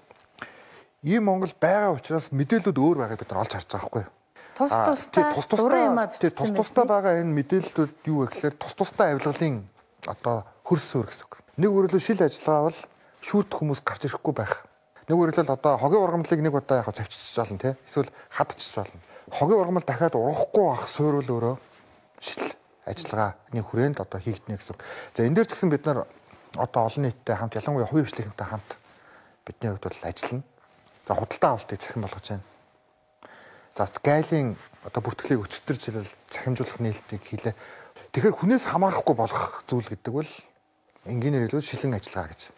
ийм Монгол байгаа учраас мэдээлэлүүд өөр байгааг бид нар олж харж байгаа байхгүй юу? Тус тустай тус тустай тус тустай байгаа энэ мэдээллүүд юу вэ гэхээр тус тустай авилгалын одоо хөрсөөр гэсэн үг. Нэг өөрөлдөө шил ажиллагаа бол шүүрдэх хүмүүс гарч ирэхгүй байх. Нэг өөрөлдөө одоо хогийн ургамлыг нэг удаа яг завчиж болно тий. Эсвэл хадчихж болно. Хогийн ургамал дахиад урахгүй байх суурил өөрөө шил ажиллагааны хүрээнд одоо хийгднэ гэсэн. За энэ дээр ч гэсэн бид нар одоо олон нийттэй хамт ялангуяа хувийн хвшлийнхэнтэй хамт бидний хувьд бол ажиллана. За худалдаа авалтыг цахим болгож байна. За гайлын одоо бүртгэлийг өчтөржил цахимжуулах нээлтийг хийлээ. Тэгэхээр хүнээс хамаарахгүй болох зүйл гэдэг бол энгийнээр хэлбэл шилэн ажиллагаа гэж.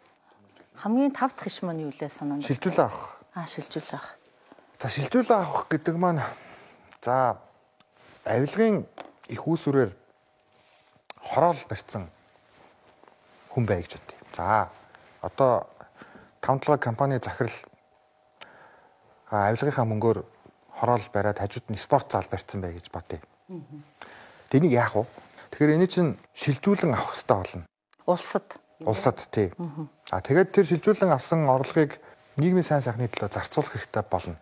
Хамгийн тав дахь иш маань юу лээ санаанд? Шилжүүлээ авах. Аа шилжүүлээ авах. За шилжүүлээ авах гэдэг маань за авилгын их үүсвэрээр хороол барьсан хүн бай гэж бодъё. За одоо таван талгаа компани захирал авилгынхаа мөнгөөр хороол бариад хажууд нь спорт зал барьсан бай гэж бодъё. Тэнийг яах вэ? Тэгэхээр энэ чинь шилжүүлэн авах хэрэгтэй болно. Улсад. Улсад тий. А тэгээд тэр шилжүүлэн авсан орлогыг нийгмийн сайн сайхны төлөө зарцуулах хэрэгтэй болно.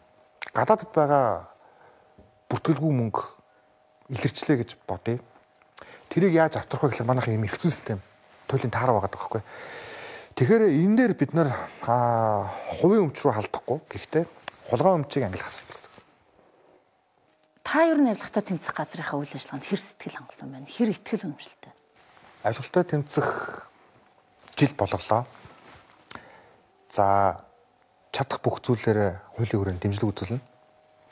Гадаадд байгаа бүртгэлгүй мөнгө илэрчлээ гэж бодъё. Тэрийг яаж авторох вэ гэхээр манайх юм эрх зүйн систем туйлын таараа байгаа байхгүй. Тэгэхээр энэ дээр бид нар хувийн өмч рүү халдахгүй. Гэхдээ хулгай өмчийг ангилах асуудал гэсэн. Та ер нь авилгатай тэмцэх газрынхаа үйл ажиллагаанд хэр сэтгэл хангалуун байна? Хэр итгэл үнэмшилтэй? Авилгатай тэмцэх жил болголоо. За чадах бүх зүйлээр хуулийн хүрээнд дэмжлэг үзүүлнэ.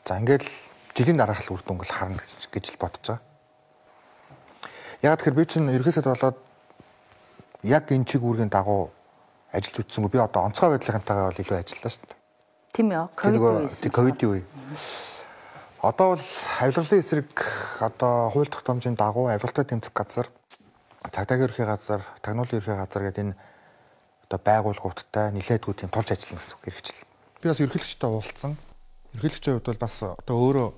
За ингээд л жилийн дараах л үр дүнгэл харна гэж л бодож байгаа. Яг тэгэхээр би чинь ерхий сайд болоод яг энэ чиг үүргийн дагуу ажиллаж үтсэнгүй. Би одоо онцгой байдлынхантайгаа бол илүү ажиллаа шүү дээ. Тийм ээ. Ковид ковидын үе. Одоо бол авилгалын эсрэг одоо хууль тогтоомжийн дагуу авилгалтай тэмцэх газар, цагдаагийн ерхий газар, тагнуулын ерхий газар гэдэг энэ одоо байгууллагуудтай нэлээдгүй тийм тулж ажиллана гэсэн үг хэрэгжил. Би бас ерхийлэгчтэй уулзсан. Ерхийлэгчийн хувьд бол бас одоо өөрөө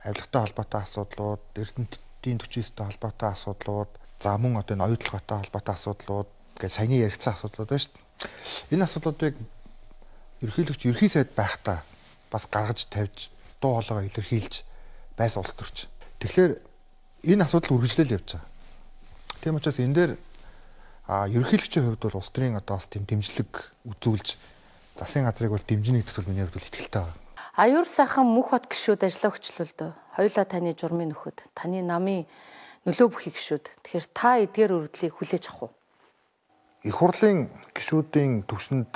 авилгатай холбоотой асуудлууд, эрдэнэтийн төчийн төстэй холбоотой асуудлууд, за мөн одоо энэ оюутлоготой холбоотой асуудлууд гэж саяны яригдсан асуудлууд байна шүү дээ. Энэ асуудлуудыг ерхийлэгч ерхий сайд байхдаа бас гаргаж тавьж дуу хоолойгоо илэрхийлж байсан улс төрч. Тэгэхээр энэ асуудал үргэлжлэл явж байгаа. Тийм учраас энэ дээр а ерөнхийлөгчийн хувьд бол улс төрийн одоо бас тийм дэмжлэг үзүүлж засгийн газрыг бол дэмжинэ гэдэгт бол миний хувьд бол итгэлтэй байна. Аюур сайхан мөнх бат гишүүд ажиллаа өчлөлдөө. Хоёулаа таны журмын нөхөд, таны намын нөлөө бүхий гишүүд. Тэгэхээр та эдгээр өргөдлийг хүлээж авах уу? Их хурлын гишүүдийн төвшөнд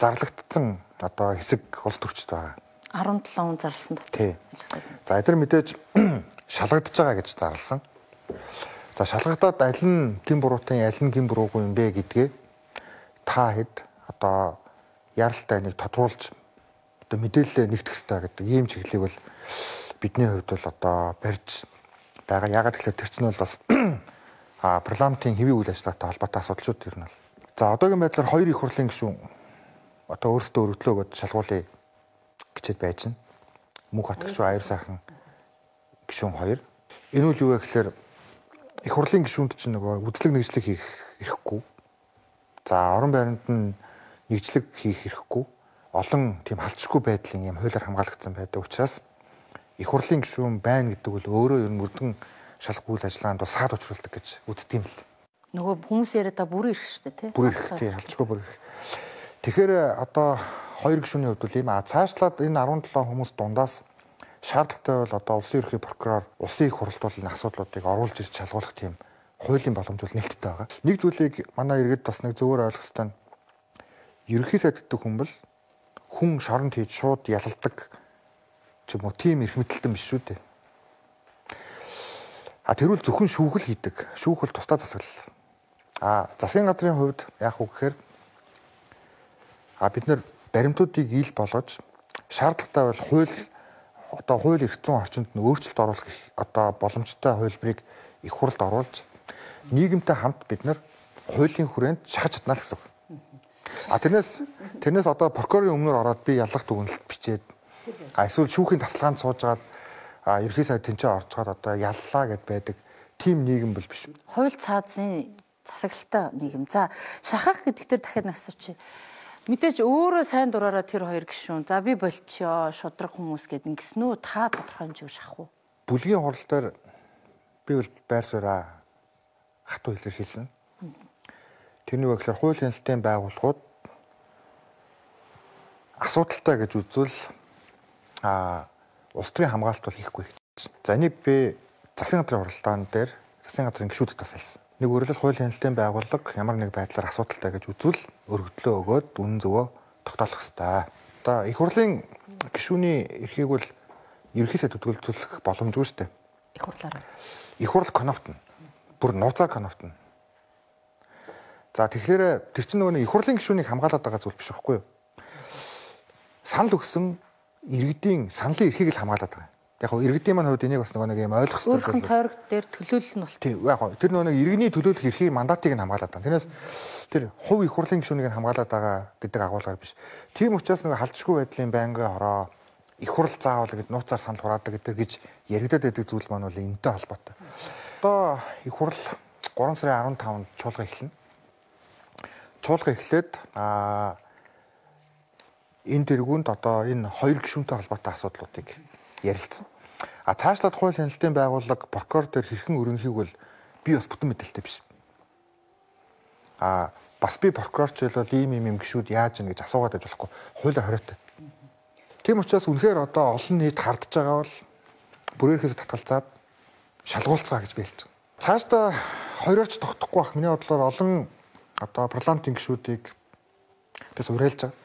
зарлагдсан одоо хэсэг улс төрчд байгаа. арван долоон он зарласан дотор. Тий. За эдгээр мэдээж шалгагдж байгаа гэж зарласан. За шалгагдаад аль нь гин буруутын аль нь гин буруугүй юм бэ гэдгээ та хэд одоо яралтай нэг тодруулж одоо мэдээлэлээ нэгтгэх хэрэгтэй гэдэг ийм чиглэлийг бол бидний хувьд бол одоо барьж байгаа. Ягаад гэвэл тэр чинь бол бас а парламентын хэвийн үйл ажиллагаатай холбоотой асуудалчууд ер нь бол. За одоогийн байдлаар хоёр их хурлын гишүүн одоо өөрсдөө өргөдлөө гэж шалгуулъя гэчээд байж байна. Мөнх бат гишүүн, аюур сайхан гишүүн хоёр. Энэ үл юу вэ гэхээр их хурлын гишүүнд чинь нөгөө үзлэг нэгжлэг хийх эрхгүй. За орон байранд нь нэгжлэг хийх эрхгүй. Олон тийм халдшгүй байдлын юм хуулиар хамгаалагдсан байдаг учраас их хурлын гишүүн байна гэдэг бол өөрөө ер нь мөрдөн шалах үйл ажиллагаанд бол саад учруулдаг гэж үздэг юм л. Нөгөө хүмүүс яриад та бүрэн ирэх штэ тий. Бүрэн ирэх тий, халдшгүй бүрэн ирэх. Тэгэхээр одоо хоёр гишүүний хувьд бол ийм а цаашлаад энэ арван долоон хүмүүс дундаас шаардлагатай бол одоо улсын ерхий прокурор улсын их хуралд бол энэ асуудлуудыг оруулж ирж шалгуулах тийм хуулийн боломж бол нээлттэй байгаа. Нэг зүйлийг манай иргэд бас нэг зөвөр ойлгох хэрэгтэй нь ерхий сайд гэдэг хүн бол хүн шоронд хийж шууд ялалдаг ч юм уу тийм эрх мэдэлтэн биш шүү дээ. А тэрүүл зөвхөн шүүхэл хийдэг. Шүүхэл тусдаа засаглал. А засгийн газрын хувьд яах вэ гэхээр а бид нэр баримтуудыг ил болгож шаардлагатай бол хууль одоо хууль эрх зүйн орчинд нь өөрчлөлт оруулах одоо боломжтой хувилбарыг их хурлд оруулж нийгэмтэй хамт бид нар хуулийн хүрээнд шахаж чадна гэсэн үг. А тэрнээс тэрнээс одоо прокурорын өмнөр ороод би ялах дүгнэлт бичээд а эсвэл шүүхийн тасалгаанд суужгаад а ерхий сайд тэнцээ орцгоод одоо яллаа гэд байдаг тийм нийгэм бол биш. Хууль цаазын засаглалтай нийгэм. За шахах гэдэг дээр дахиад асуучих. Мэдээж өөрөө сайн дураараа тэр хоёр гишүүн. За би болчихё, шудраг хүмүүс гэд ингэсэн үү? Та тодорхой хэмжээгээр шахах уу? Бүлгийн хурал дээр би бол байр сууриа хатуу илэрхийлсэн. Тэрний үг гэхээр хууль хяналтын байгууллагууд асуудалтай гэж үзвэл а улс төрийн хамгаалалт бол хийхгүй. За энийг би засгийн газрын хуралдаан дээр засгийн газрын гишүүдэд бас хэлсэн. Нэг өөрөлд хууль хяналтын байгууллага ямар нэг байдлаар асуудалтай гэж үзвэл өргөдлөө өгөөд үнэн зөвөө тогтоолох ёстой. Одоо их хурлын гишүүний эрхийг бол ерхий сайд төлөвлөх боломжгүй шүү дээ. Их хурлаараа. Их хурл конопт нь бүр нууцаар конопт нь. За тэгэхээр тэр чинь нөгөө их хурлын гишүүнийг хамгаалаад байгаа зүйл биш байхгүй юу? Санал өгсөн иргэдийн саналын эрхийг л хамгаалаад байгаа. Яг хөө иргэдийн маань хувьд энийг бас нөгөө нэг юм ойлгох хэрэгтэй. Өөрхөн тойрог дээр төлөөлөл нь бол. Тийм яг хөө тэр нөгөө нэг иргэний төлөөлөх эрхийг мандатыг нь хамгаалаад байгаа. Тэрнээс тэр хувь их хурлын гишүүнийг нь хамгаалаад байгаа гэдэг агуулгаар биш. Тийм учраас нөгөө халдшгүй байдлын байнгын хороо их хурл заавал гэд нууцаар санал хураадаг гэдэг гэж яригадад байдаг зүйл маань бол энэтэй холбоотой. Одоо их хурл гурван сарын арван тавнд чуулга эхэлнэ. Чуулга эхлээд а энэ тэргуунд одоо энэ хоёр гишүүнтэй холбоотой асуудлуудыг ярилцсан. А цаашлаад хууль хяналтын байгууллага прокурор дээр хэрхэн өрнөхийг бол би бас бүтэн мэдээлэлтэй биш. А бас би прокурорч бол ийм ийм юм гишүүд яаж ийн гэж асуугаад байж болохгүй. Хуулиар хориотой. Тийм учраас үнэхээр одоо олон нийт хардж байгаа бол бүрээрхээс татгалзаад шалгуулцгаа гэж би хэлж байгаа. Цаашдаа хоёрооч тогтохгүй бах. Миний бодлоор олон одоо парламентын гишүүдийг бис уриалж байгаа.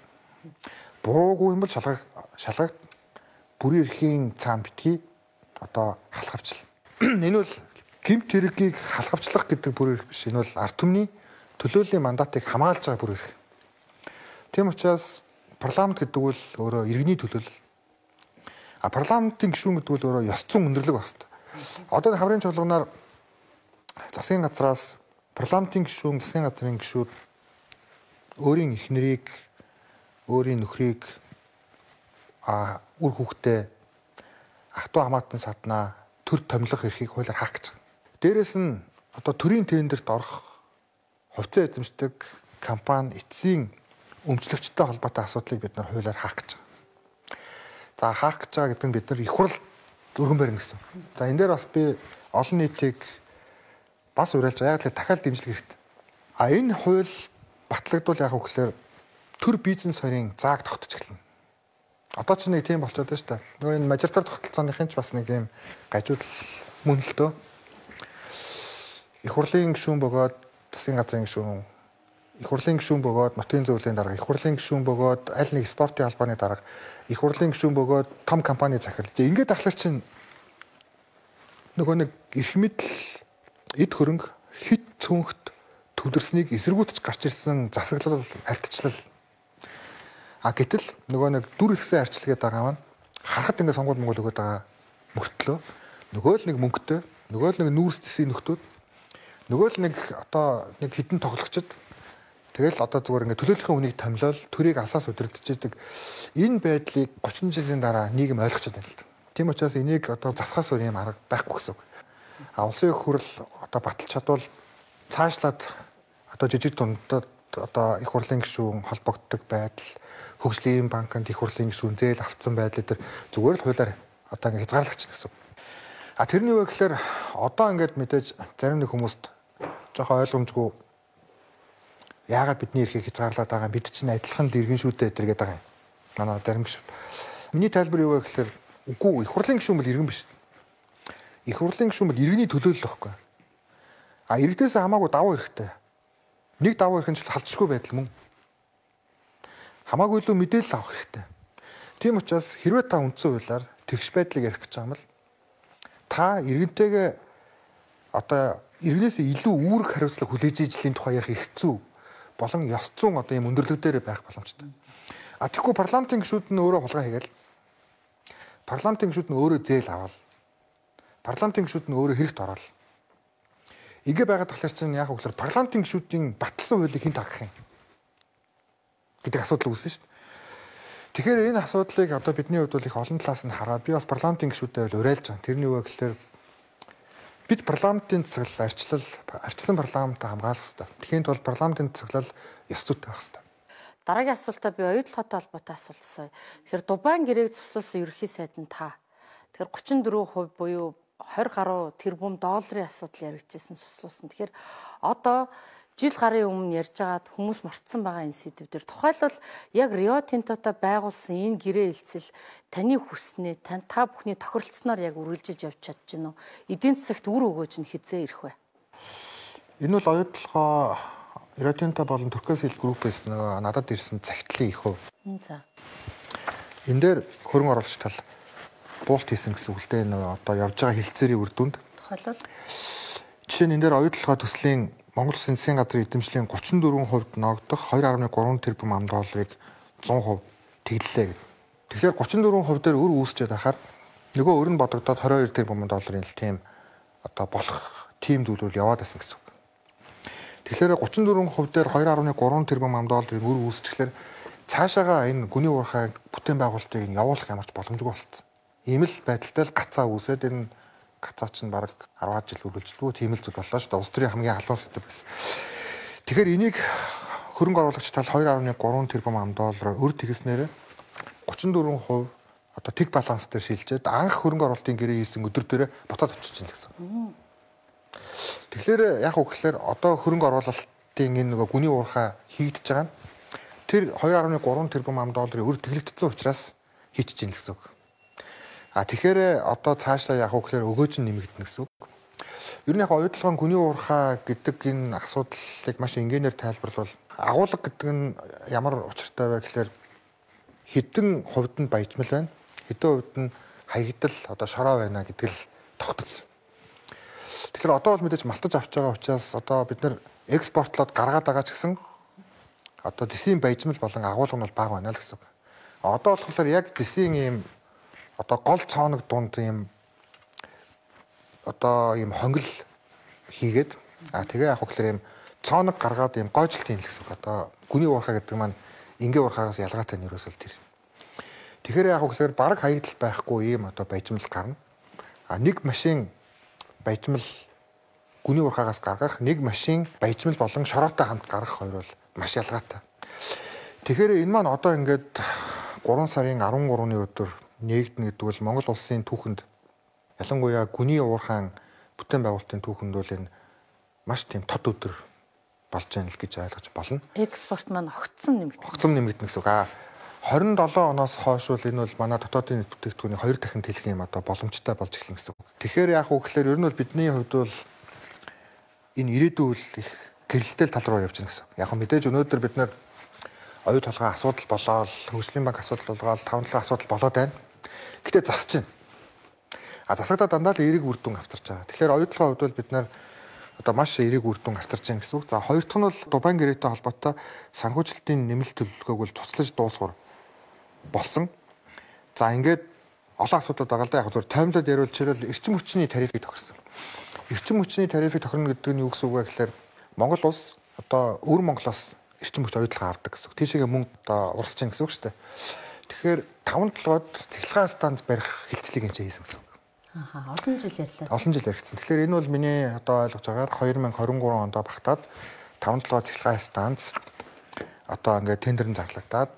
Буруугүй юм бол шалгах шалгах бүрийн эрхийн цаан битгий одоо халахвчлал. Энэ бол гэмт хэргийг халахвчлах гэдэг бүр эрх биш. Энэ бол ард түмний төлөөллийн мандатыг хамгаалж байгаа бүр эрх. Тийм учраас парламент гэдэг бол өөрөө иргэний төлөөлөл. А парламентын гишүүн гэдэг бол өөрөө ёс зүйн өндөрлөг байх хэрэгтэй. Одоо хаврын чуулганаар засгийн газраас парламентын гишүүн, засгийн газрын гишүүд өөрийн эхнэрийг, өөрийн нөхрийг а үр хүүхдээ ах トゥ хамаатан саднаа төр томилох эрхийг хуулиар хаах гэж байгаа. Дээрээс нь одоо төрийн тендерт орох хувьцаа эзэмшдэг компани эцсийн өмчлөгчтэй холбоотой асуудлыг бид нар хуулиар хаах гэж байгаа. За хаах гэж байгаа гэдэг нь бид нар их хурл өргөн барина гэсэн. За энэ дээр бас би олон нийтийг бас уриалж байгаа. Яг л дахиад дэмжлэг хэрэгтэй. А энэ хууль батлагдвал яг үгээр төр бизнес хоёрын зааг тогтож эхэлнэ. Одоо ч нэг тийм болчиход байна шүү дээ. Нөгөө энэ мажоритар тогтолцооныхын ч бас нэг юм гажууд мөн л дөө. Их хурлын гишүүн бөгөөд засгийн газрын гишүүн, их хурлын гишүүн бөгөөд нутгийн зөвлөлийн дарга, их хурлын гишүүн бөгөөд аль нэг спортын албаны дарга, их хурлын гишүүн бөгөөд том компани захирал. Ингээд ахлаар чинь нөгөө нэг эрх мэдэл, эд хөрөнгө хит цөөнхт төвлөрснийг эсэргүүтж гарч ирсэн засаглал, ардчлал. А гэтэл нөгөө нэг дүр хэсгийн арчилгээд байгаа маань харахад ингээд сонгуул монгол өгöd байгаа мөртлөө нөгөө л нэг мөнгөтэй, нөгөө л нэг нүүрс зэсийн нөхдүүд, нөгөө л нэг одоо нэг хідэн тоглогчд тэгэл одоо зүгээр ингээд төлөөллийн үнийг томилол төрийг алсаас удирдах. Энэ байдлыг гучин жилийн дараа нийгэм ойлгочод байна л да. Тийм учраас энийг одоо засахаас өөр юм арга байхгүй гэсэн үг. А улсын их хурл одоо баталж чадвал цаашлаад одоо жижиг дундад одоо их хурлын гишүүн холбогддог байдал, хөгжлийн банкнд их хурлын гишүүн зээл авцсан байдал дээр зүгээр л хуулиар одоо ингэ хязгаарлагч гэсэн. А тэрний үг гэхээр одоо ингээд мэдээж зарим нэг хүмүүст жоохон ойлгомжгүй яагаад бидний эрхийг хязгаарлаад байгаа бид чинь адилхан л иргэн шүүдээ гэдэргээд байгаа юм. Манай зарим гишүүд. Миний тайлбар юу вэ гэхээр үгүй их хурлын гишүүн бол иргэн биш. Их хурлын гишүүн бол иргэний төлөөлөл байхгүй. А иргэдээс хамаагүй давуу эрхтэй. Нэг давуу эрх нь ч халдшгүй байдал мөн. Хамаагүй илүү мэдээлэл авах хэрэгтэй. Тийм учраас хэрвээ та үндсэн хуулиар тэгш байдлыг ярих гэж байгаа юм л та иргэнтэйгээ одоо иргэнээс илүү үүрэг хариуцлага хүлээж ижлийн тухай ярих эрх зүй болон ёс зүйн одоо юм өндөрлөг дээр байх боломжтой. А тэгэхгүй парламентын гишүүд нь өөрөө хулгай хийгээл. Парламентын гишүүд нь өөрөө зээл аваад. Парламентын гишүүд нь өөрөө хэрэгт ороод. Ингээ байгаад тахлаар чинь яг үгээр парламентын гишүүдийн батлсан хуулийг хэн тагах юм гэдэг асуудал үүснэ шүү дээ. Тэгэхээр энэ асуудлыг одоо бидний хувьд бол их олон талаас нь хараад би бас парламентын гишүүдэд бол уриалж байгаа. Тэрний үг гэхээр бид парламентын засаглал арчлал арчлан парламентаа хамгаалах хэрэгтэй. Тэгэхин тулд парламентын засаглал ёс зүйтэй байх хэрэгтэй. Дараагийн асуултаа би оюутлоготой холбоотой асуулт асууя. Тэгэхээр Дубайн гэрээг зөксүүлсэн ерөнхий сайд нь та. Тэгэхээр гучин дөрвөн хувь буюу двадцать гаруй тэрбум долларын асуудал яригдчихсэн суслуулсан. Тэгэхээр одоо жил гарын өмнө ярьж байгаад хүмүүс мартсан байгаа энэ сэдвээр тухайлбал яг Рио Тинтотой байгуулсан энэ гэрээ хэлцэл таны хүснээ тань та бүхний тохиролцсноор яг үргэлжилж явж чадж гинөө. Эдийн засагт үр өгөөж нь хизээ ирэх вэ? Энэ бол оюутлогоо Рио Тинто болон Туркос хил группээс надад ирсэн цагтлын их хувь. За. Энэ дээр хөрөнгө оруулагч тал буулт хийсэн гэсэн үг л дээ. Одоо явж байгаа хилцээрийн үр дүнд. Тухайлбал жишээ нь энэ дээр оюутлогоо төслийн Монгол Улсын засгийн газрын эзэмшлийн гучин дөрвөн хувьд ногдох two point three тэрбум ам долларыг one hundred percent тэглэлээ гэдэг. Тэгэхээр гучин дөрвөн хувь дээр өр үүсчээд ахаар нөгөө өр нь бодогдоод twenty-two тэрбум долларын л тийм одоо болох тийм зүйлүүд яваад байсан гэсэн үг. Тэгэхээр гучин дөрвөн хувь дээр two point three тэрбум ам долларын өр үүсчихлээр цаашаага энэ гүний уурхай бүтээн байгуулалтыг явуулах ямарч боломжгүй болцсон. Ийм л байдалтай л гацаа үүсээд энэ гацаа чинь бараг ten жил үргэлжлэв. Тийм л зүйл боллоо шүү дээ. Улс төрийн хамгийн халуун сэдв байсан. Тэгэхээр энийг хөрөнгө оруулагч тал two point three тэрбум ам доллараар өр тэгснээр thirty-four percent одоо тэг баланс дээр шилжээд анх хөрөнгө оруулалтын гэрээ хийсэн өдөр дээрээ буцаад очиж чинь гэсэн. Тэгэхээр яг үгээр одоо хөрөнгө оруулалтын энэ нөгөө гүний уурхай хийгдэж байгаа нь тэр two point three тэрбум ам долларын өр тэглэгдсэн учраас хийчихэж чинь гэсэн үг. А тэгэхээр одоо цаашдаа яг үгээр өгөөж нь нэмэгдэнэ гэсэн үг. Ер нь яг оюутлогын гүний уурхай гэдэг энэ асуудлыг маш энгийнээр тайлбарлавал агуулга гэдэг нь ямар учиртай вэ гэхээр хэдэн хувьд нь баяжмал байна, хэдэн хувьд нь хаягдал одоо шороо байна гэдэг л тогтцсон. Тэгэхээр одоо бол мэдээж малтаж авч байгаа учраас одоо бид нар экспортлоод гаргаад байгаа ч гэсэн одоо дэсийн баяжмал болон агуулга нь бол бага байна л гэсэн үг. Одоо болохоор яг дэсийн ийм одоо гол цооног дунд ийм одоо ийм хонгил хийгээд а тэгээ яг хөглөр ийм цооног гаргаад ийм гойжлт юм л гэсэн үг. Одоо гүний уурхай гэдэг маань ингийн уурхайгаас ялгаатай нь ерөөсөл тэр. Тэгэхээр яг хөглөр бараг хаягдал байхгүй ийм одоо баяжмал гарна. А нэг машин баяжмал гүний уурхайгаас гаргах, нэг машин баяжмал болон шороотой хамт гаргах хоёр бол маш ялгаатай. Тэгэхээр энэ маань одоо ингээд three сарын thirteen-ны өдөр нэгдэнэ гэдэг бол Монгол улсын түүхэнд ялангуяа гүний уурхайн бүтээн байгуулалтын түүхэнд бол энэ маш тийм тод өдөр болж байна л гэж ойлгож болно. Экспорт маань огцом нэмэгдэнэ. Огцом нэмэгдэнэ гэсэн үг. А twenty-seven оноос хойш бол энэ бол манай дотоодын бүтээгдэхүүний хоёр дахин тэлэх юм одоо боломжтой болж эхэлнэ гэсэн үг. Тэгэхээр яг уу гэхээр ер нь бол бидний хувьд бол энэ ирээдүйн үйл их гэрэлтэй тал руу явж байна гэсэн. Яг нь мэдээж өнөөдөр бид нар оюу толгой асуудал болоод, хөгжлийн банк асуудал болоод, таван талын асуудал болоод байна. Гэтэ засаж байна. А засагдаа дандаа л эерэг үр дүн авчирч байгаа. Тэгэхээр оюутлогын хувьд бол бид нар одоо маш эерэг үр дүн авчирч байгаа гэсэн үг. За хоёр дахь нь бол Дубайн гэрээтэй холбоотой санхүүжилтийн нэмэлт төлөвлөгөөг бол туслаж дуусгар болсон. За ингээд олон асуудал байгаа л да. Яг зөв таймлаад яриулж ирэл эрчим хүчний тарифыг тохирсон. Эрчим хүчний тарифыг тохирно гэдэг нь юу гэсэн үг вэ гэхээр Монгол улс одоо өвөр Монголоос эрчим хүч оюутлага авдаг гэсэн үг. Тийшээгээ мөнгө одоо урсаж чинь гэсэн үг шүү дээ. Тэгэхээр таван толгойд цэглэгээ станц барих хилцлийг энэ хийсэн гэсэн үг. Ааха, олон жил ярьлаа. Олон жил яригдсан. Тэгэхээр энэ бол миний одоо ойлгож байгаагаар twenty twenty-three онд багтаад таван толгой цэглэгээ станц одоо ингээд тендерн зарлагдаад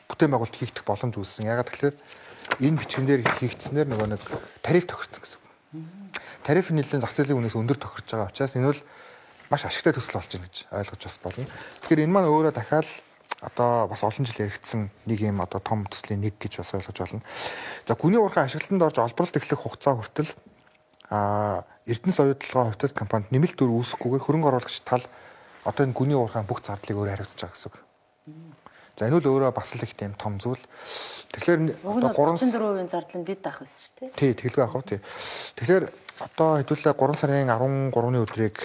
бүтээн байгуулалт хийгдэх боломж үүссэн. Ягаад гэхээр энэ бичгэн дээр хийгдснээр нөгөө нэг тариф тохирсон гэсэн үг. Тариф нь нэлээд зах зээлийн үнээс өндөр тохирч байгаа учраас энэ бол маш ашигтай төсөл болж байна гэж ойлгож бас болно. Тэгэхээр энэ маань өөрөө дахиад одоо бас олон жил яригдсан нэг юм одоо том төслийн нэг гэж бас ойлгож байна. За гүний уурхай ашиглалтанд орж олборлолт эхлэх хугацаа хүртэл а Эрдэнэс оюутлогын хувьцат компанид нэмэлт төр үүсэхгүйгээр хөрөнгө оруулагч тал одоо энэ гүний уурхайн бүх зардлыг өөрөө хариуцж байгаа гэсэн үг. За энэ бол өөрөө бас л их тийм том зүйл. Тэгэхээр одоо thirty-four percent зардал нь бид авах байсан шүү дээ. Тий, тэглэгээ авах тий. Тэгэхээр одоо хэдүүлээ three сарын thirteen-ны өдрийг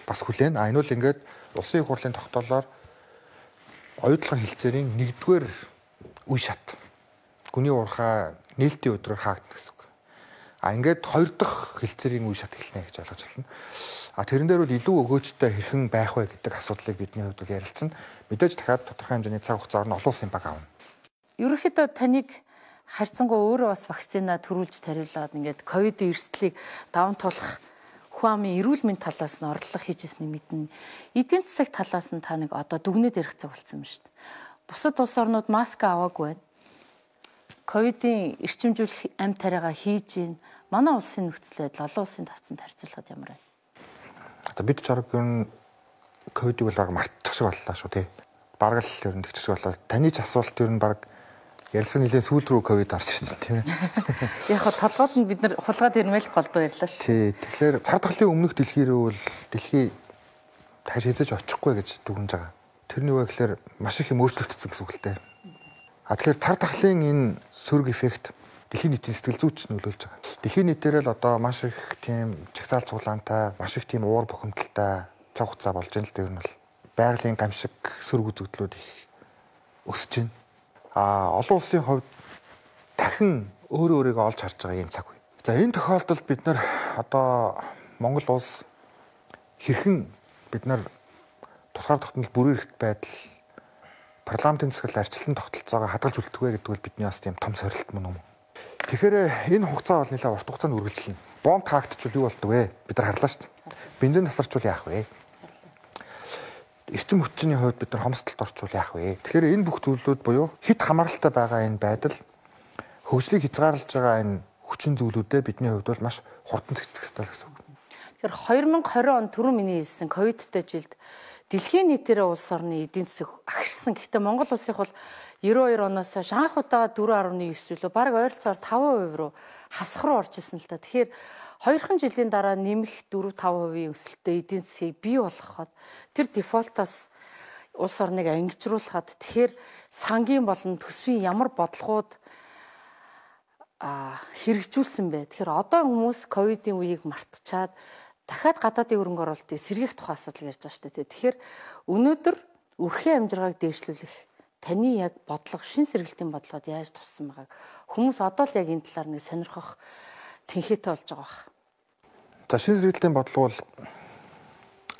бас хүлээн. А энэ бол ингээд улсын их хурлын тогтоолоор оюутлогын хилцээрийн нэгдүгээр үе шат. Гүний уурхай нээлтийн өдрөөр хаагдана гэсэн үг. А ингээд хоёр дахь хилцээрийн үе шат эхэлнэ гэж ойлгож байна. А тэрэн дээр бол илүү өгөөжтэй хэрхэн байх вэ гэдэг асуудлыг бидний хувьд ярилцсан. Мэдээж дахиад тодорхой хэмжээний цаг хугацаар нь олон улсын баг аавна. Ерөнхийдөө таныг харьцангуй өөрөө бас вакцина төрүүлж тариулаад ингээд ковидын эрсдлийг даван туулах хүн амын эрүүл мэндийн талаас нь орлого хийжсэнийг мэднэ. Эдийн засаг талаас нь та нэг одоо дүгнээд ярих цаг болсон юм шүү дээ. Бусад улс орнууд маск аваагүй байна. Ковидын эрчимжүүлэх амь тариагаа хийж гин. Манай улсын нөхцөл байдал олон улсын тавцанд харьцуулахад ямар вэ? Одоо бид ч арга ер нь ковидыг бол мартчих шиг боллоо шүү тий. Бараг л ер нь тэгчих шиг боллоо. Таны ч асуулт ер нь баг ярилцсан нэлээд сүүл рүү ковид орж ирж байна тийм ээ. Яг хаа толгойд нь бид нар хулгайд ирмэл голдуу ярьлаа шүү. Тий. Тэгэхээр цар тахлын өмнөх дэлхий рүү бол дэлхий дахиж хязгаарч очихгүй гэж дүгнэж байгаа. Тэрний үе гэхээр маш их юм өөрчлөгдсөн гэсэн үг л дээ. А тэгэхээр цар тахлын энэ сөрөг эффект дэлхийн нийтийн сэтгэл зүйч нөлөөлж байгаа. Дэлхийн нийтээр л одоо маш их тийм чагсаал цуглаантай, маш их тийм уур бухимдалтай цаг хугацаа болж байна л дээ. Ер нь бол байгалийн гамшиг сөрөг үзэгдлүүд их өсөж байна. А олон улсын хувьд дахин өөрөө өөрийгөө олж харж байгаа юм цаг үе. За энэ тохиолдолд бид нар одоо Монгол улс хэрхэн бид нар тусгаар тогтнол бүрэн эрхт байдал парламентын засаглал арчилсан тогтолцоогоо хадгалж үлдэх вэ гэдэг бол бидний бас тийм том сорилт мөн юм. Тэгэхээр энэ хугацаа бол нэлээд урт хугацаанд үргэлжилнэ. Бомб хаагдчихвал юу болдог вэ? Бид нар харлаа шүү дээ. Бензин тасарчвал яах вэ? Эрчим хүчний хувьд бид нар хомсдолд орчвол яах вэ? Тэгэхээр энэ бүх зүйлүүд буюу хэд хамааралтай байгаа энэ байдал хөгжлийг хязгаарлаж байгаа энэ хүчин зүйлүүдэд бидний хувьд бол маш хурдан цэгцэх ёстой гэсэн үг. Тэгэхээр хоёр мянга хорин он түрүү миний хэлсэн ковидтай жилд дэлхийн нийтээр улс орны эдийн засаг агшсан. Гэхдээ Монгол улсынх бол девяносто хоёр оноос хойш анх удаа четыре дасмал девять илүү бараг ойролцоогоор таван хувь руу хасах руу орж ирсэн л та. Тэгэхээр хоёрхан жилийн дараа нэмэх четыре таван хувийн өсөлттэй эдийн засгийг бий болгоход тэр дефолтоос улс орныг ангижруулахад тэгэхээр сангийн болон төсвийн ямар бодлогууд а хэрэгжүүлсэн бэ? Тэгэхээр одоо хүмүүс ковидын үеийг мартчихад дахиад гадаадын хөрөнгө оруулалтыг сэргийлэх тухай асуудал ярьж байгаа шүү дээ. Тэгэхээр өнөөдөр үрхийн амжиргааг дээшлүүлэх таны яг бодлого, шин сэргэлтийн бодлогод яаж туссан байгааг хүмүүс одоо л яг энэ талаар нэг сонирхох тэнхээтэй болж байгаа байна. За шин сэргэлтийн бодлого бол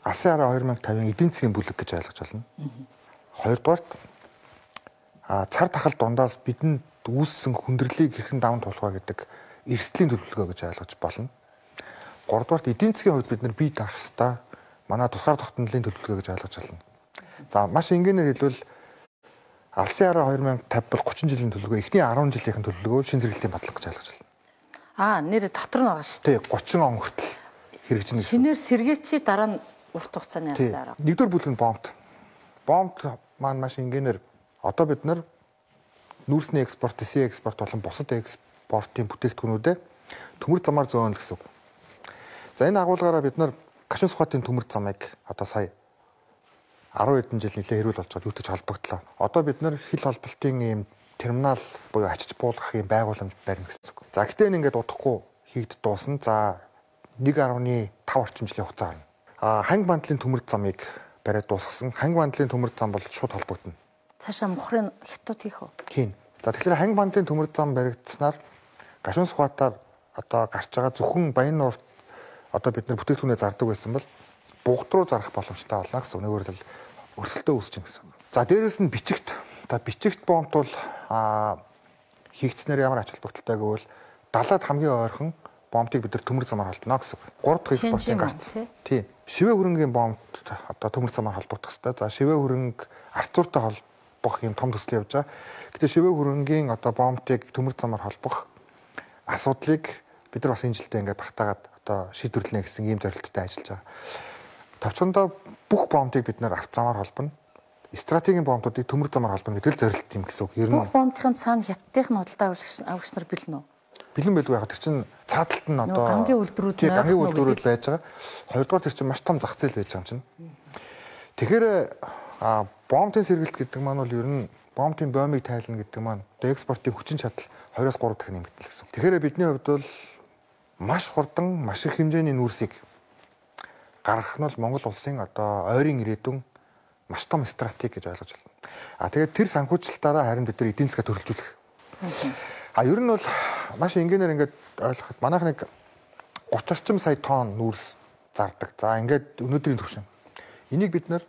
Алсын хараа две тысячи пять эдийн засгийн бүлэг гэж ойлгож байна. Хоёрдугаарт а цар тахал дундаас бидэнд үүссэн хүндрэлийг хэрхэн даван туулах вэ гэдэг эрсдлийн төлөвлөгөө гэж ойлгож болно. Гуравдугаарт эдийн засгийн хувьд бид нар бие даах хэвээр манай тусгаар тогтнолын төлөвлөгөө гэж ойлгож байна. За маш энгийнээр хэлбэл Алсын хараа две тысячи пятьдесят бол тридцать жилийн төлөвлөгөө, эхний десять жилийн төлөвлөгөө шин сэргэлтийн бодлого гэж ойлгож байна. Аа, нэр дотор нь байгаа шүү дээ. Тий, тридцать он хүртэл хэрэгжинэ гэсэн. Шинээр сэргээчи дараа нь урт хугацааны Алсын хараа. Нэгдүгээр бүлэг нь бомб. Бомб маань маш энгийнээр одоо бид нар нүүрсний экспорт, эсийн экспорт болон бусад экспортын бүтээгдэхүүнүүдэд төмөр замаар зөөнө гэсэн үг. За энэ агуулгаараа бид нар гашуун сухатын төмөр замыг одоо сая десять хэдэн жил нэлээ хэрүүл болж байгаа юутаж холбогдлоо. Одоо бид нар хил холболтын ийм терминал буюу ачиж буулгах ийм байгууламж барина гэсэн үг. За гэтээ энэ ингээд удахгүй хийгд дуусна. За нэг дасмал пять орчим жилийн хугацаа орно. А ханги бандлын төмөр замыг бариад дуусгасан. Ханги бандлын төмөр зам бол шууд холбогдно. Цаашаа мухрын хятад хийх үү? Тийм. За тэгэхээр ханги бандлын төмөр зам баригдсанаар гашуун сухатаар одоо гарч байгаа зөвхөн баян нуурт одоо бид нар бүтээгдэхүүнээ зардаг байсан бол бугад руу зарах боломжтой болно гэсэн. Өнөөр л өрсөлдөө үүсэж байна гэсэн. За дээрэс нь бичигт одоо бичигт бомбт бол а хийгдснээр ямар ач холбогдолтой гэвэл далаад хамгийн ойрхон бомбтыг бид нар төмөр замаар холбоно гэсэн. гурав дахь экспортын гарц. Тийм. Шивээ хөрөнгийн бомбт одоо төмөр замаар холбогдох хэрэгтэй. За шивээ хөрөнг арцууртай холбох юм том төсөл явж байгаа. Гэтэ шивээ хөрөнгийн одоо бомбтыг төмөр замаар холбох асуудлыг бид нар бас энэ жилдээ ингээд багтаагаад одоо шийдвэрлэнэ гэсэн ийм зорилттой ажиллаж байгаа. Товчхондоо бүх бомбыг бид нар авт замаар холбоно. Стратегийн бомбуудыг төмөр замаар холбоно гэдэг л зорилт юм гэсэн үг. Ер нь бүх бомбын цаана хятадын худалдаа авагч нар бэлэн үү? Бэлэн байлгүй яг тэр чинь цааталт нь одоо гангийн үйлдвэрүүд нь гангийн үйлдвэрүүд байж байгаа. Хоёрдугаар тэр чинь маш том зах зээл байж байгаа юм чинь. Тэгэхээр а бомбын сэргэлт гэдэг маань бол ер нь бомбын бомбыг тайлна гэдэг маань одоо экспортын хүчин чадал двоёроос гурав дахин нэмэгдэл гэсэн. Тэгэхээр бидний хувьд бол маш хурдан маш их хэмжээний нүүрсийг гаргах нь бол Монгол улсын одоо ойрын ирээдүйн маш том стратеги гэж ойлгож байна. А тэгээд тэр санхүүжилтаараа харин бид нар эдийн засгаа төрөлжүүлэх. А ер нь бол маш энгийнээр ингээд ойлгоход манайх нэг гурван орчим сая тонн нүүрс зардаг. За ингээд өнөөдрийн түвшин. Энийг бид нар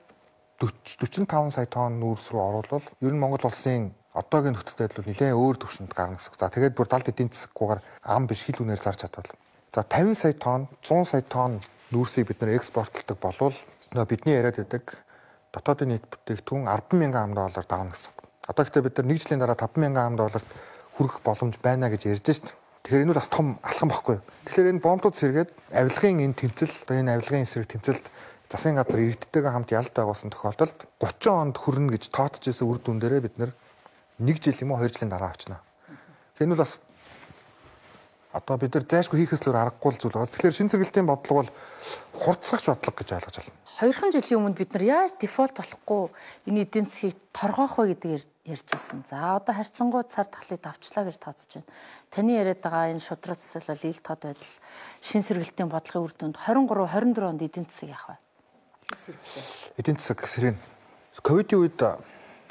forty forty-five сая тонн нүүрс рүү оруулбал ер нь Монгол улсын одоогийн нөхцөл байдал бол нэлээд өөр түвшинд гарна гэсэн. За тэгээд бүр далд эдийн засгүйгээр ам биш хил үнээр зарж чадвал. За fifty сая тонн, one hundred сая тонн нүүрсийг бид нар экспортлдог болвол нөө бидний яриад байдаг дотоодын нийт бүтээгдэхүүн ten thousand ам доллар давна гэсэн. Одоо гэхдээ бид нар нэг жилийн дараа five thousand ам долларт хүрэх боломж байна гэж ярьж шít. Тэгэхээр энэ бол бас том алхам баггүй юу. Тэгэхээр энэ бомбууд сэргээд авилгын энэ тэмцэл, одоо энэ авилгын эсрэг тэмцэлд засгийн газар иргэдтэйгээ хамт ялд байгуулсан тохиолдолд thirty онд хүрнэ гэж тоотож ирсэн үр дүн дээрээ бид нар нэг жил юм уу two жилийн дараа авчнаа. Тэгэхээр энэ бол бас одоо бид нар зайшгүй хийхээс л аргагүй зүйл байгаа. Тэгэхээр шин сэргэлтийн бодлого бол хурцгахч бодлого гэж ойлгож байна. Хоёрхан жилийн өмнө бид нар яаж дефолт болохгүй энэ эдийн засгийг торгоох вэ гэдэг ярьж ирсэн. За одоо харьцангуй цар тахлыг давчлаа гэж тооцож байна. Таны яриад байгаа энэ шудраг засаглал, ил тод байдал, шин сэргэлтийн бодлогын үр дүнд twenty-three twenty-four онд эдийн засаг яах вэ? Эдийн засаг сэргэн. Ковидын үед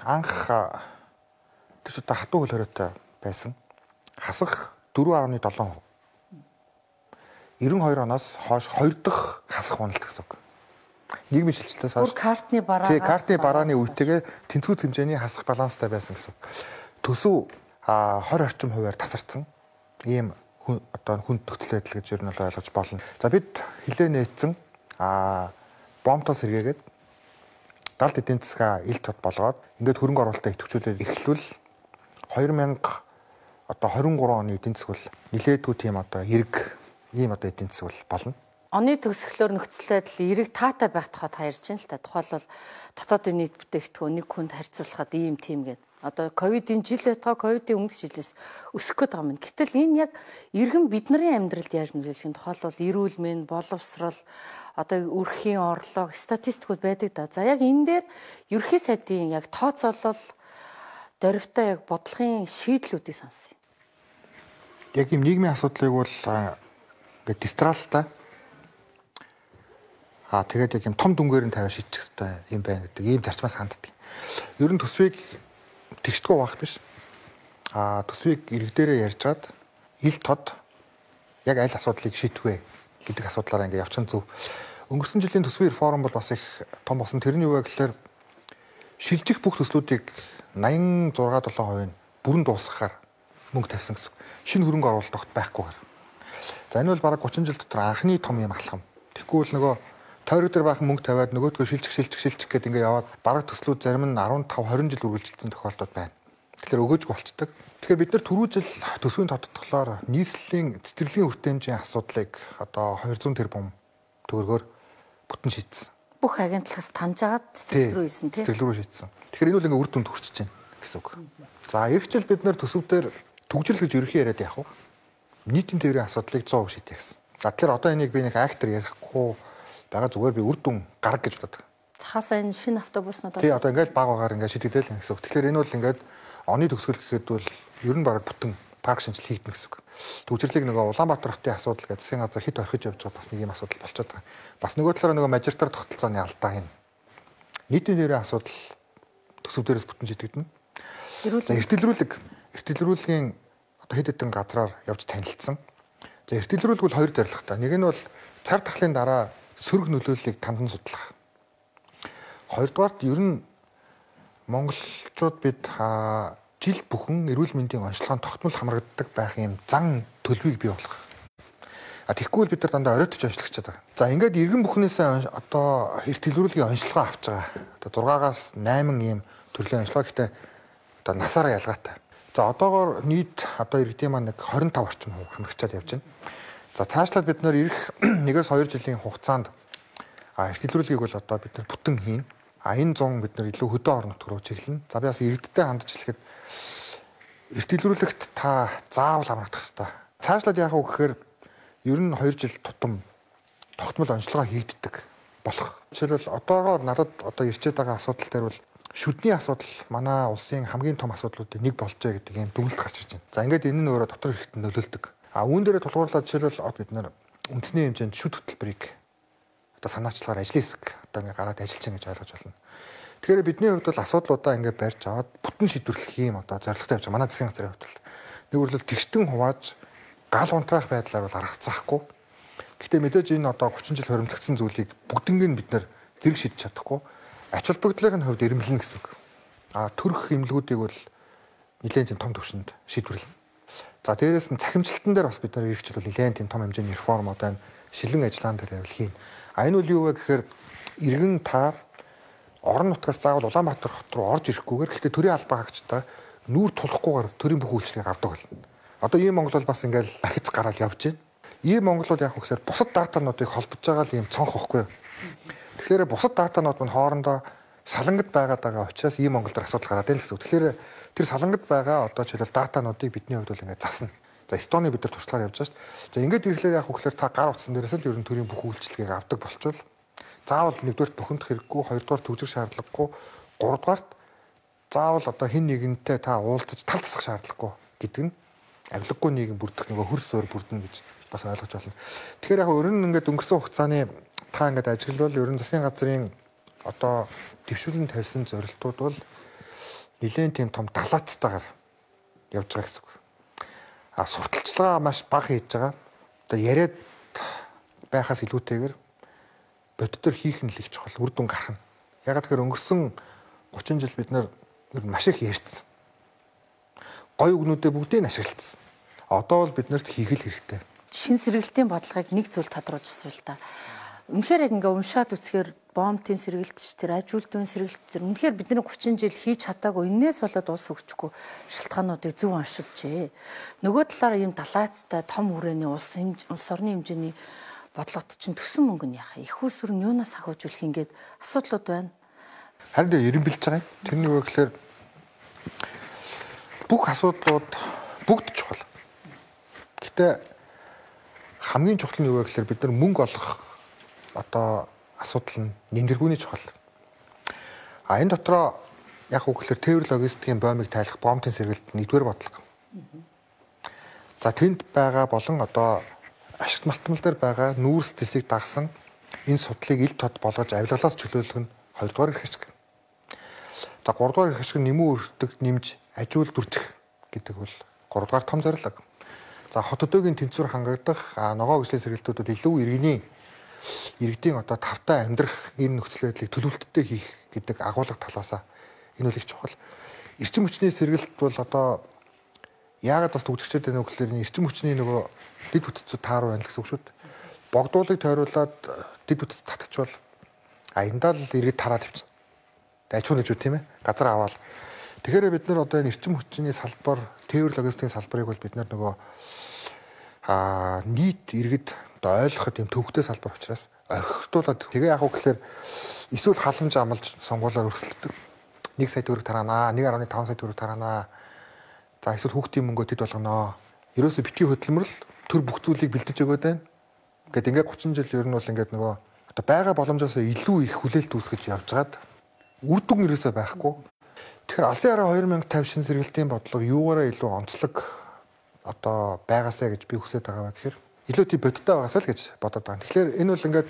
анх тэр ч одоо хатуу хөл хоройтой байсан. Хасах four point seven percent. ninety-two оноос хойш хоёр дахь хасах уналт гэсэн үг. Нийгмийн шилжилтээс хойш картны бараа тий картны барааны үетэйгээ тэнцвэр хэмжээний хасах баланстай байсан гэсэн үг. Төсөв twenty орчим хувиар тасарсан. Ийм одоо хүн төгсөл байдал гэж ер нь ойлгож болно. За бид хилээ нээсэн а бомбтой сэргээгээд далд эдийн засгаа ил тод болгоод ингээд хөрөнгө оруулалтаа идэвхжүүлээд эхлвэл two thousand одоо twenty-three оны эдийн засаг бол нилээдгүй тийм одоо эрг ийм одоо эдийн засаг бол болно. Оны төгсгөлөөр нөхцөл байдал эрэг таатай байх тухай та ярьж байна л та. Тухайлбал дотоодын нийт бүтээгдэхүүн нэг хүнд харьцуулахад ийм тийм гэдэг. Одоо ковидын жил байтугай ковидын өмнөх жилээс өсөх гээд байгаа юм. Гэтэл энэ яг иргэн бидний амьдралд яаж нөлөөлөх юм? Тухайлбал эрүүл мэнд, боловсрал, одоо өрхийн орлого, статистикуд байдаг да. За яг энэ дээр ерөнхий сайдын яг тооцоолол дөрвтэй яг бодлогын шийдлүүдийг сонсъё. Яг юм нийгмийн асуудлыг бол ингээд дистралтай аа тэгээд яг юм том дүнгээр нь тавиа шийдчих хэвээр юм байна гэдэг ийм зарчмаас ханддаг. Ер нь төсвийг тэгшдэггүй байх биш. Аа төсвийг иргэдээрээ ярьжгаад ил тод яг аль асуудлыг шийдэх вэ гэдэг асуудлаараа ингээд явчихсан зөв. Өнгөрсөн жилийн төсвийн реформ бол бас их том болсон. Тэрний юу вэ гэхээр шилжих бүх төслүүдийг ninety-six seven percent бүрэн дуусгахаар мөнгө тавьсан гэсэн. Шинэ хөрөнгө оруулалт огт байхгүйгээр. За энэ бол бараг thirty жил дотор анхны том юм алхам. Тэгэхгүй бол нөгөө тойрог дээр баахан мөнгө тавиад нөгөөдгөө шилжих шилжих шилжих гэдэг ингээд яваад бараг төслүүд зарим нь fifteen twenty жил үргэлжилсэн тохиолдол байна. Тэгэхээр өгөөжгүй болчдөг. Тэгэхээр бид нар түрүү жил төсвийн тодтоглоор нийслэлийн цэцэрлэгийн хүртээмжийн асуудлыг одоо two hundred тэрбум төгрөгөөр бүтэн шийдсэн. Бүх агентлагаас таньжгаад цэцэрлэг рүү ийсэн тийм. Цэцэрлэг рүү шийдсэн. Тэгэхээр энэ бол ингээд үр дүнд хүрчиж байна гэсэн үг. За эх жил бид нар төсөвдөр төгжрөл гэж ерөнхий яриад явах уу? Нийтийн тээврийн асуудлыг one hundred percent шийдэх гэсэн. За тэгэхээр одоо энийг би нэг актер ярихгүй байгаа зүгээр би үр дүн гарга гэж боддог. Цахаасаа энэ шинэ автобуснууд тий одоо ингээд баг багаар ингээд шийдэгдэл гэсэн үг. Тэгэхээр энэ бол ингээд оны төгсгөл гэхэд бол ер нь баг бүтэн парк шинжил хийгдэн гэсэн үг. Төгжрлийг нөгөө Улаанбаатар хотын асуудал гэж засгийн газар хэд орхиж явж байгаа бас нэг юм асуудал болчиход байгаа. Бас нөгөө талаараа нөгөө мажоритар тогтолцооны алдаа юм. Нийтийн тээврийн асуудал төсөв дээрээс бүтэн шийдэгдэнэ. Эртэлрүүлэг эртэлрүүлгийн одоо хэд хэдэн газраар явж танилцсан. За эртэлрүүлэг бол хоёр зорилготой. Нэг нь бол цар тахлын дараа сөрөг нөлөөллийг тандан судлах. Хоёрдугаарт ер нь монголчууд бид жил бүхэн эрүүл мэндийн онцлогонд тогтмол хамрагддаг байх юм зан төлөвийг бий болгох. А тэгэхгүй бид нар дандаа оройтож онцлогчод байгаа. За ингээд иргэн бүхнээсээ одоо эртэлрүүлгийн онцлогоо авч байгаа. Одоо six-аас eight ийм төрлийн онцлого гэхдээ одоо насаараа ялгаатай. За одоогоор нийт одоо иргэдийн маань нэг twenty-five орчим хувь хамрагчаад явж байна. За цаашлаад бид нар ирэх one-ээс two жилийн хугацаанд а эртэлрүүлгийг бол одоо бид нар бүтэн хийн. А энэ зун бид нар илүү хөдөө орон нутг руу чиглэнэ. За би бас иргэдтэй хандж хэлэхэд эртэлрүүлэгт та заавал хамрагдах хэрэгтэй. Цаашлаад яах вэ гэхээр ер нь two жил тутам тогтмол онцлогоо хийгддэг болох. Жишээлбэл одоогоор надад одоо ирчээд байгаа асуудал дээр бол шүдний асуудал манай улсын хамгийн том асуудлуудын нэг болжээ гэдэг юм дүгнэлт гарч ирж байна. За ингээд энэ нь өөрөө дотор хэрэгт нөлөөлдөг. А үүн дээрээ тулгуурлаад жишээлбэл бид нар үндэсний хэмжээнд шүд хөтөлбөрийг одоо санаачлагаар ажлын хэсэг одоо ингээд гараад ажиллаж байгаа гэж ойлгож байна. Тэгэхээр бидний хувьд бол асуудлуудаа ингээд барьж аваад бүтэн шийдвэрлэх юм одоо зорилготой явж байгаа. Манай засгийн газрын хувьд бол нэг үрлэл тэгштэн хувааж гал унтраах байдлаар бол аргацаахгүй. Гэхдээ мэдээж энэ одоо гучин жил хоримтлагдсан зүйлийг бүгднийг бид нэр зэрэг шийдэж чадахгүй. Ач холбогдлын хувьд ирэмлэн гэсэн үг. А төрөх эмнэлгүүдийг бол нэлээд тийм том төвшөнд шийдвэрлэнэ. За дээрээс нь цахимжлалтан дээр бас бид нар эргэжил бол нэлээд тийм том хэмжээний реформ одоо шилэн ажиллагаан дээр явал хийн. А энэ үл юу вэ гэхээр иргэн та орон нутгаас заавал Улаанбаатар хот руу орж ирэхгүйгээр гэхдээ төрийн албаа хаагчдаа нүүр тулахгүйгээр төрийн бүх үйлчлэгийг авдаг болно. Одоо ийм Монгол бол бас ингээл ахиц гараад явж байна. Ийм Монгол бол яг хөөхлөөр бусад датануудыг холбож байгаа л ийм цонх ихгүй. Тэгэхээр бусад датанууд мань хоорондоо салангад байгаад байгаа учраас ийм Монгол дээр асуудал гараад байна гэсэн үг. Тэгэхээр тэр салангад байгаа одоо жишээлбэл датануудыг бидний хувьд бол ингээд засна. За Эстоны бид нар туршлагаар явж байгаа шүү дээ. За ингээд ирэхлээр яг хөөхлөөр та гар утсан дээрээс л ер нь төрийн бүх үйлчлэгийг авдаг болчвол заавал нэгдүгээр бухимдах хэрэггүй, хоёрдугаар төвжих шаардлагагүй, гуравдугаарт заавал одоо хэн нэгэнтэй та уулзаж тал засах шаардлагагүй гэдэг нь авилгагүй нийгэм бүрдэх нөгөө хөрс зөөр бүрдэнэ гэж бас ойлгож байна. Тэгэхээр яг ер нь ингээд өнгөрсөн хугацааны та ингээд ажиглал ер нь засгийн газрын одоо дэвшүүлэн тавьсан зорилтууд бол нэлээд тийм том далаацтайгаар явж байгаа гэсэн үг. А сурталчилгаа маш бага хийж байгаа. Одоо яриад байхаас илүүтэйгээр боддоор хийх нь л их чухал, үр дүн гарах нь. Ягаад гэхээр өнгөрсөн гучин жил бид нар маш их ярьсан. Гой үгнүүдээ бүгдийг нь ашигласан. Одоо бол бид нарт хийх л хэрэгтэй. Шин сэргэлтийн бодлогыг нэг зүйл тодруулж асуул та. Үнэхээр яг ингээ уншаад үзэхээр бомбын сэргэлт ш тэр ажилтны сэргэлт тэр үнэхээр бидний гучин жил хийж чадаагүй энээс болоод улс хөгжихгүй шалтгаануудыг зөв оншилжээ. Нөгөө талаар ийм далаацтай том хүрээний улс улс орны хэмжээний бодлогот чинь төсөн мөнгө нь яхаа их усүр нь юунаас ахиужүүлэх ингээд асуудлууд байна. Харин дээр ирэмбэлж байгаа юм. Тэрний үг гэхээр бүх асуудлууд бүгд чухал. Гэтэ хамгийн чухал нь юу вэ гэхээр бид нар мөнгө олох одоо асуудал нь нэмэргүүний чухал. А энэ дотроо яг үг гэхээр тээвэр логистикийн боомыг тайлах бомбын сэргэлт нэгдүгээр бодлого. За тэнд байгаа болон одоо ашигт малтмал дээр байгаа нүүрс төсийг дагсан энэ судлыг ил тод болгож авилгалаас чөлөөлөх нь хоёрдугаар эрх ашиг. За гуравдугаар эрх ашиг нэмүү өртөг нэмж ажиул дүржих гэдэг бол гуравдугаар том зорилго. За хот өдөөгийн тэнцвэр хангагдах ногоо гүслийн сэргэлтүүдэд илүү иргэний иргэдийн одоо тавтай амьдрах энэ нөхцөл байдлыг төлөвлөлттэй хийх гэдэг агуулга талаасаа энэ үл их чухал. Эрчим хүчний сэргэлт бол одоо яагаад бас төгжигчтэй байна вэ гэхээр эрчим хүчний нөгөө дэд бүтцүүд тааруу байна гэсэн үг шүү дээ. Богдуулыг тойруулаад дэд бүтц татчихвал а эндаа л иргэд тараад явчихна. Дайчгүй гэж үү тийм ээ. Газар аваад. Тэгэхээр бид нар одоо энэ эрчим хүчний салбар, тээвэр логистикийн салбарыг бол бид нар нөгөө а нийт иргэд одоо ойлгоход юм төвхтэй салбар учраас орхигдуулаад тэгээ яг уу гэхээр эсвэл халамж амлаж сонгуулаар өрсөлддөг. нэг сая төгрөг тараанаа, нэг гаруй таван сая төгрөг тараанаа. За эсвэл хүүхдийн мөнгөө тэд болгоно. Ерөөсө битгий хөдөлмөрл төр бүх зүйлийг бэлдэж өгöd байна. Гэт ингээд гучин жил ер нь бол ингээд нөгөө одоо байгаа боломжоос илүү их хүлээлт үүсгэж явжгаад үр дүн ерөөсөө байхгүй. Тэгэхээр алсын хараа хоёр мянга тавь шин сэргэлтийн бодлого юугаараа илүү онцлог одоо байгаасаа гэж би хүсэж байгаа гэхээр илүү тийм бодиттой байгаасаа л гэж бодоод байгаа. Тэгэхээр энэ бол ингээд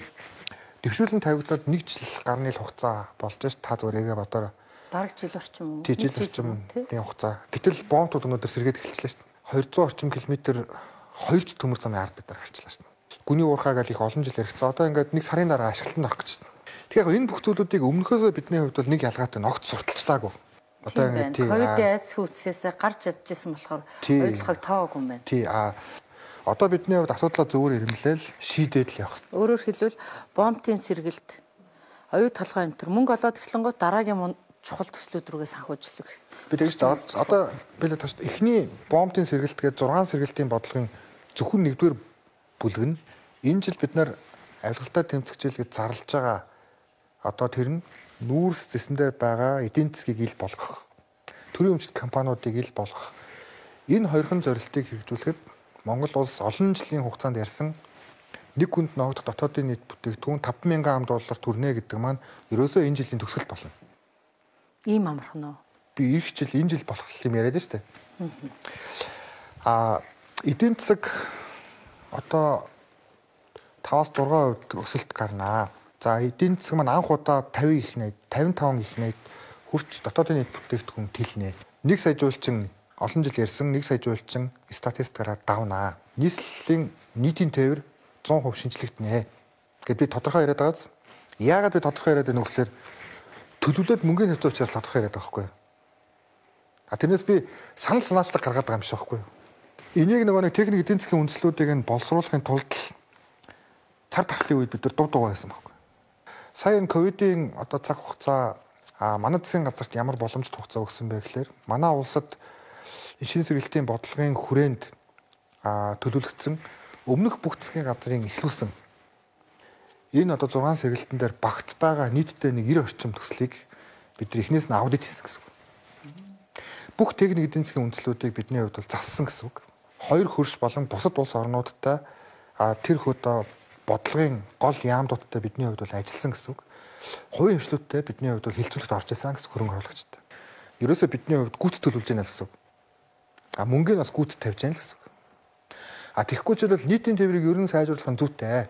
дэвшүүлэн тавигдаад нэг жил гарны л хугацаа болж ш та зүгээр яга бодороо. Бараг жил орчим уу? Тий жил орчим тийм хугацаа. Гэтэл бомбууд өнөөдөр сэргээд эхэлчихлээ ш. хоёрдугаар орчим километр хоёр ч төмөр замын ард бид нар гарчлаа ш. Гүний уурхааг л их олон жил яригцсан. Одоо ингээд нэг сарын дараа ашиглалтанд орох гэж байна. Тэгэхээр энэ бүх зүйлүүдийг өмнөхөөсөө бидний хувьд бол нэг ялгаатай ногц сурталчлаагүй. Одоо ингээд тийм ковидын айдас хүйсээс гарч чадчихсан болохоор ойлгохыг тооггүй юм байна. Тий а одоо бидний хувьд асуудлаа зөвөр ирэмлээл шийдээд л явах. Өөрөөр хэлбэл бомбын сэргэлт оюу толгой энэ төр мөнгө олоод эхлэнгүүт дараагийн чухал төслүүд рүүгээ санхүүжлэх хэрэгтэй. Би тэгж одоо би л таш эхний бомбын сэргэлт гээд зургаан сэргэлтийн бодлогын зөвхөн нэгдүгээр бүлэг нь энэ жил бид нар авилгалтай тэмцэгчээлгээд зарлж байгаа одоо тэр нь нүүрс зэсэндээр байгаа эдийн засгийг ил болгох, төрийн өмчт компаниудыг ил болгох. Энэ хоёрхан зорилтыг хэрэгжүүлэхэд Монгол улс олон жилийн хугацаанд ярьсан нэг хүнд ногдох дотоодын нийт бүтээгдэхүүн таван мянган ам доллар төрнө гэдэг маань ерөөсөө энэ жилийн төгсгөл болно. Ийм амархан уу? Би ирэх жил энэ жил болох юм яриад штэ. Аа эдийн засаг одоо таваас зургаан хувьд өсөлт гарнаа. За эдийн засаг маань анх удаа тавин их найд, тавин таван их найд хүрч дотоодын нийт бүтээгдэхүүн тэлнэ. Нэг сая жуулчин олон жил ярьсан нэг сая жуулчин статистикаараа давнаа. Нийслэлийн нийтийн тээвэр зуун хувь шинжлэгдэнэ. Гэт би тодорхой яриад байгааз. Яагаад би тодорхой яриад байна вэ гэхээр төлөвлөлт мөнгөний хэвцээ учраас тодорхой яриад байгаа байхгүй юу? А тэрнээс би санал санаачлаг гаргаад байгаа юм шиг байхгүй юу? Энийг нөгөө нэг техник эдийн засгийн үндслүүдийг нь боловсруулахын тулд цар тахлын үед бид нар дув дугаа байсан байхгүй юу? Сая энэ ковидын одоо цаг хугацаа а манай засгийн газарт ямар боломжит хугацаа өгсөн бэ гэхээр манай улсад шинэ сэргэлтийн бодлогын хүрээнд а төлөвлөгдсөн өмнөх бүх засгийн газрын эхлүүлсэн энэ одоо зургаан сэргэлтэн дээр багц байгаа нийтдээ нэг девяносто орчим төслийг бид нар эхнээс нь аудит хийсэн гэсэн үг. Бүх техник эдийн засгийн үндслүүдийг бидний хувьд бол зассан гэсэн үг. Хоёр хөрш болон бусад улс орнуудтай а тэр хөдөө бодлогын гол яамдуудтай бидний хувьд бол ажилласан гэсэн үг. Хувийн хвшлүүдтэй бидний хувьд бол хилцүүлэгт орж исэн гэсэн хөрөнгө оруулагчтай. Ерөөсөө бидний хувьд гүйц төлөвлөж яана гэсэн үг. А мөнгөний бас гүйц тавьж яана гэсэн үг. А тэгэхгүй ч бол нийтийн тээврийг ер нь сайжруулах нь зүйтэй.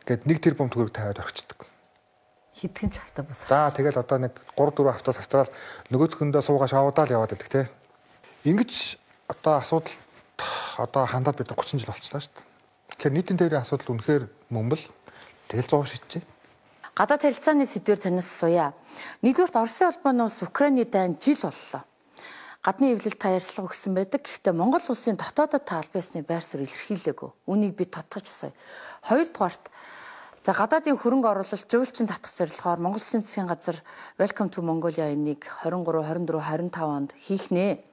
Гэт нэг тэрбум төгрөг тавиад орчдөг. Хитгэн ч автаа босоо. За тэгэл одоо нэг гурав дөрөв автоос авчраад нөгөөдхөндөө суугаа шавуудаал яваад байдаг те. Ингиж одоо асуудал одоо хандаад бид гучин жил болчихлоо шүү дээ. Тэгэхээр нийтийн тээврийн асуудал үнэхээр мөн бэл тэгэл зов шийдчихэ. Гадаад харилцааны сэдвээр танаас асууя. Нэгдүгürt Оросын холбооноос Украины дайн жил боллоо. Гадны эвлэлд та ярьцлага өгсөн байдаг. Гэхдээ Монгол улсын дотоодод та аль биесны байр суурь илэрхийлээгүй. Үнийг би тодтогч асууя. Хоёрдугаарт за гадаадын хөрөнгө оруулалт жуулчин татах зорилгоор Монгол Улсын засгийн газар Welcome to Mongolia энийг двадцать три, двадцать четыре, двадцать пять онд хийх нэ.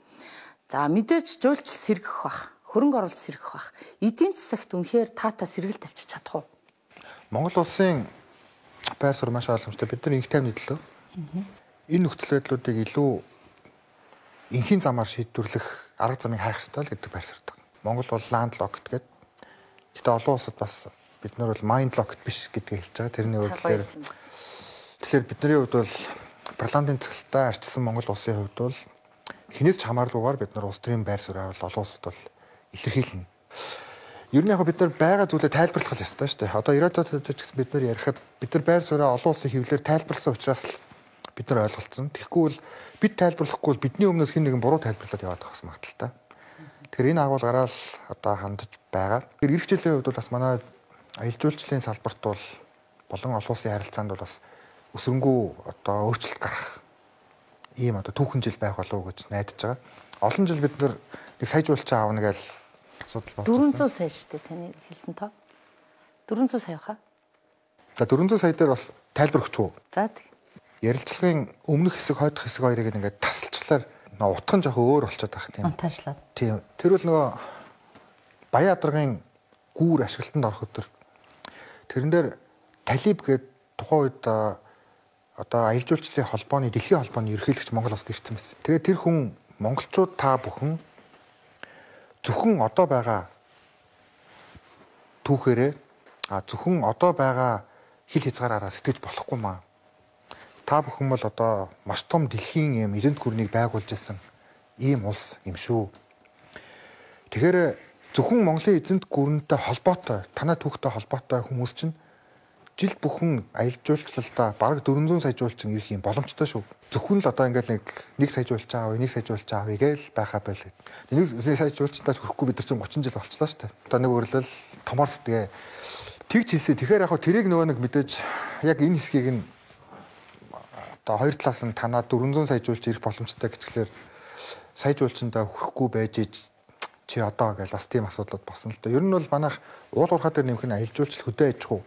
За мэдээж жуулчил сэргэх бах. Хөрөнгө оруулалт сэргэх бах. Эдийн засагт үнэхээр таата сэргэл тавьчих чадах уу? Монгол улсын байр суурь маш ойлгомжтой. Бид нар инх тайвны төлөө энэ нөхцөл байдлуудыг илүү инхийн замаар шийдвэрлэх арга замыг хайх ёстой л гэдэг байр суурьтай. Монгол бол land locked гэдэг. Гэхдээ олон улсад бас бид нар бол mind locked биш гэдгийг хэлж байгаа. Тэрний хувьд тэгэхээр тэгэхээр бидний хувьд бол парламентын цэцгэлтэй арчилсан Монгол улсын хувьд бол хинээс ч хамааралгүйгээр бид нар улс төрийн байр суурь бол олон улсад бол илэрхийлнэ. Ер нь яг бид нар байгаа зүйлээ тайлбарлах ёстой шүү дээ. Одоо ирээдүйд ч гэсэн бид нар ярихад бид нар байр сууриа олон улсын хэвлэлээр тайлбарласан учраас л бид нар ойлголцсон. Тэгэхгүй бол бид тайлбарлахгүй бол бидний өмнөөс хэн нэгэн буруу тайлбарлаад яваад байгаа юм магадaltaй. Тэгэхээр энэ агуулгаараа л одоо хандаж байгаа. Тэр ирэх жилийн хувьд бол бас манай аялал жуулчлалын салбарт бол болон олон улсын харилцаанд бол бас өсрөнгөө одоо өөрчлөлт гарах ийм одоо түүхэн жил байх болов уу гэж найдаж байгаа. Олон жил бид нар нэг сая жуулчин аавна гэж асуудал болсон. дөрвөн зуун сая шүү дээ таны хэлсэн тоо. дөрвөн зуун сая хаа? За дөрвөн зуун сая дээр бас тайлбар өгч үү? За тэг. Ярилцлагын өмнөх хэсэг, хойдох хэсэг хоёрыг ингээд тасалчлаар нөө утхан жоох өөр болчиход байгаа тийм. Монтажлаад. Тийм. Тэр бол нөгөө Баян-Адаргын гүүр ашиглалтанд орох өдөр. Тэрэн дээр Талиб гээд тухайн үед одоо аялал жуулчлалын холбооны дэлхийн холбооны ерөнхийлөгч Монгол улсад ирсэн байсан. Тэгээд тэр хүн монголчууд та бүхэн зөвхөн одоо байгаа түүхээрээ а зөвхөн одоо байгаа хил хязгаараараа сэтгэж болохгүй маа. Та бүхэн бол одоо маш том дэлхийн юм эзэнт гүрнийг байгуулж ирсэн ийм улс юм шүү. Тэгэхээр зөвхөн Монголын эзэнт гүрэнтэй холбоотой, танай түүхтэй холбоотой хүмүүс чинь жил бүхэн аялал жуулчлалдаа бараг дөрвөн зуун сая жуулчин ирэх юм боломжтой шүү. Зөвхөн л одоо ингээд нэг нэг сая жуулчин аав, нэг сая жуулчин аавь гээл байхаа байл. Нэг сая жуулчтай хүрэхгүй бид нар чинь гучин жил болчихлоо шүү дээ. Одоо нэг өрлөл томор сэтгээ тэгж хэлсэн. Тэгэхээр яг хөө тэрийг нөгөө нэг мэдээж яг энэ хэсгийг нь одоо хоёр талаас нь танаа дөрвөн зуун сая жуулч ирэх боломжтой гэхлээр сая жуулчиндаа хүрэхгүй байж чи одоо гэж бас тийм асуудлууд босно л доо. Ер нь бол манайх уул уурхаа дээр нэмэх нь аялал жуулчлал хөдөө аж ахуй.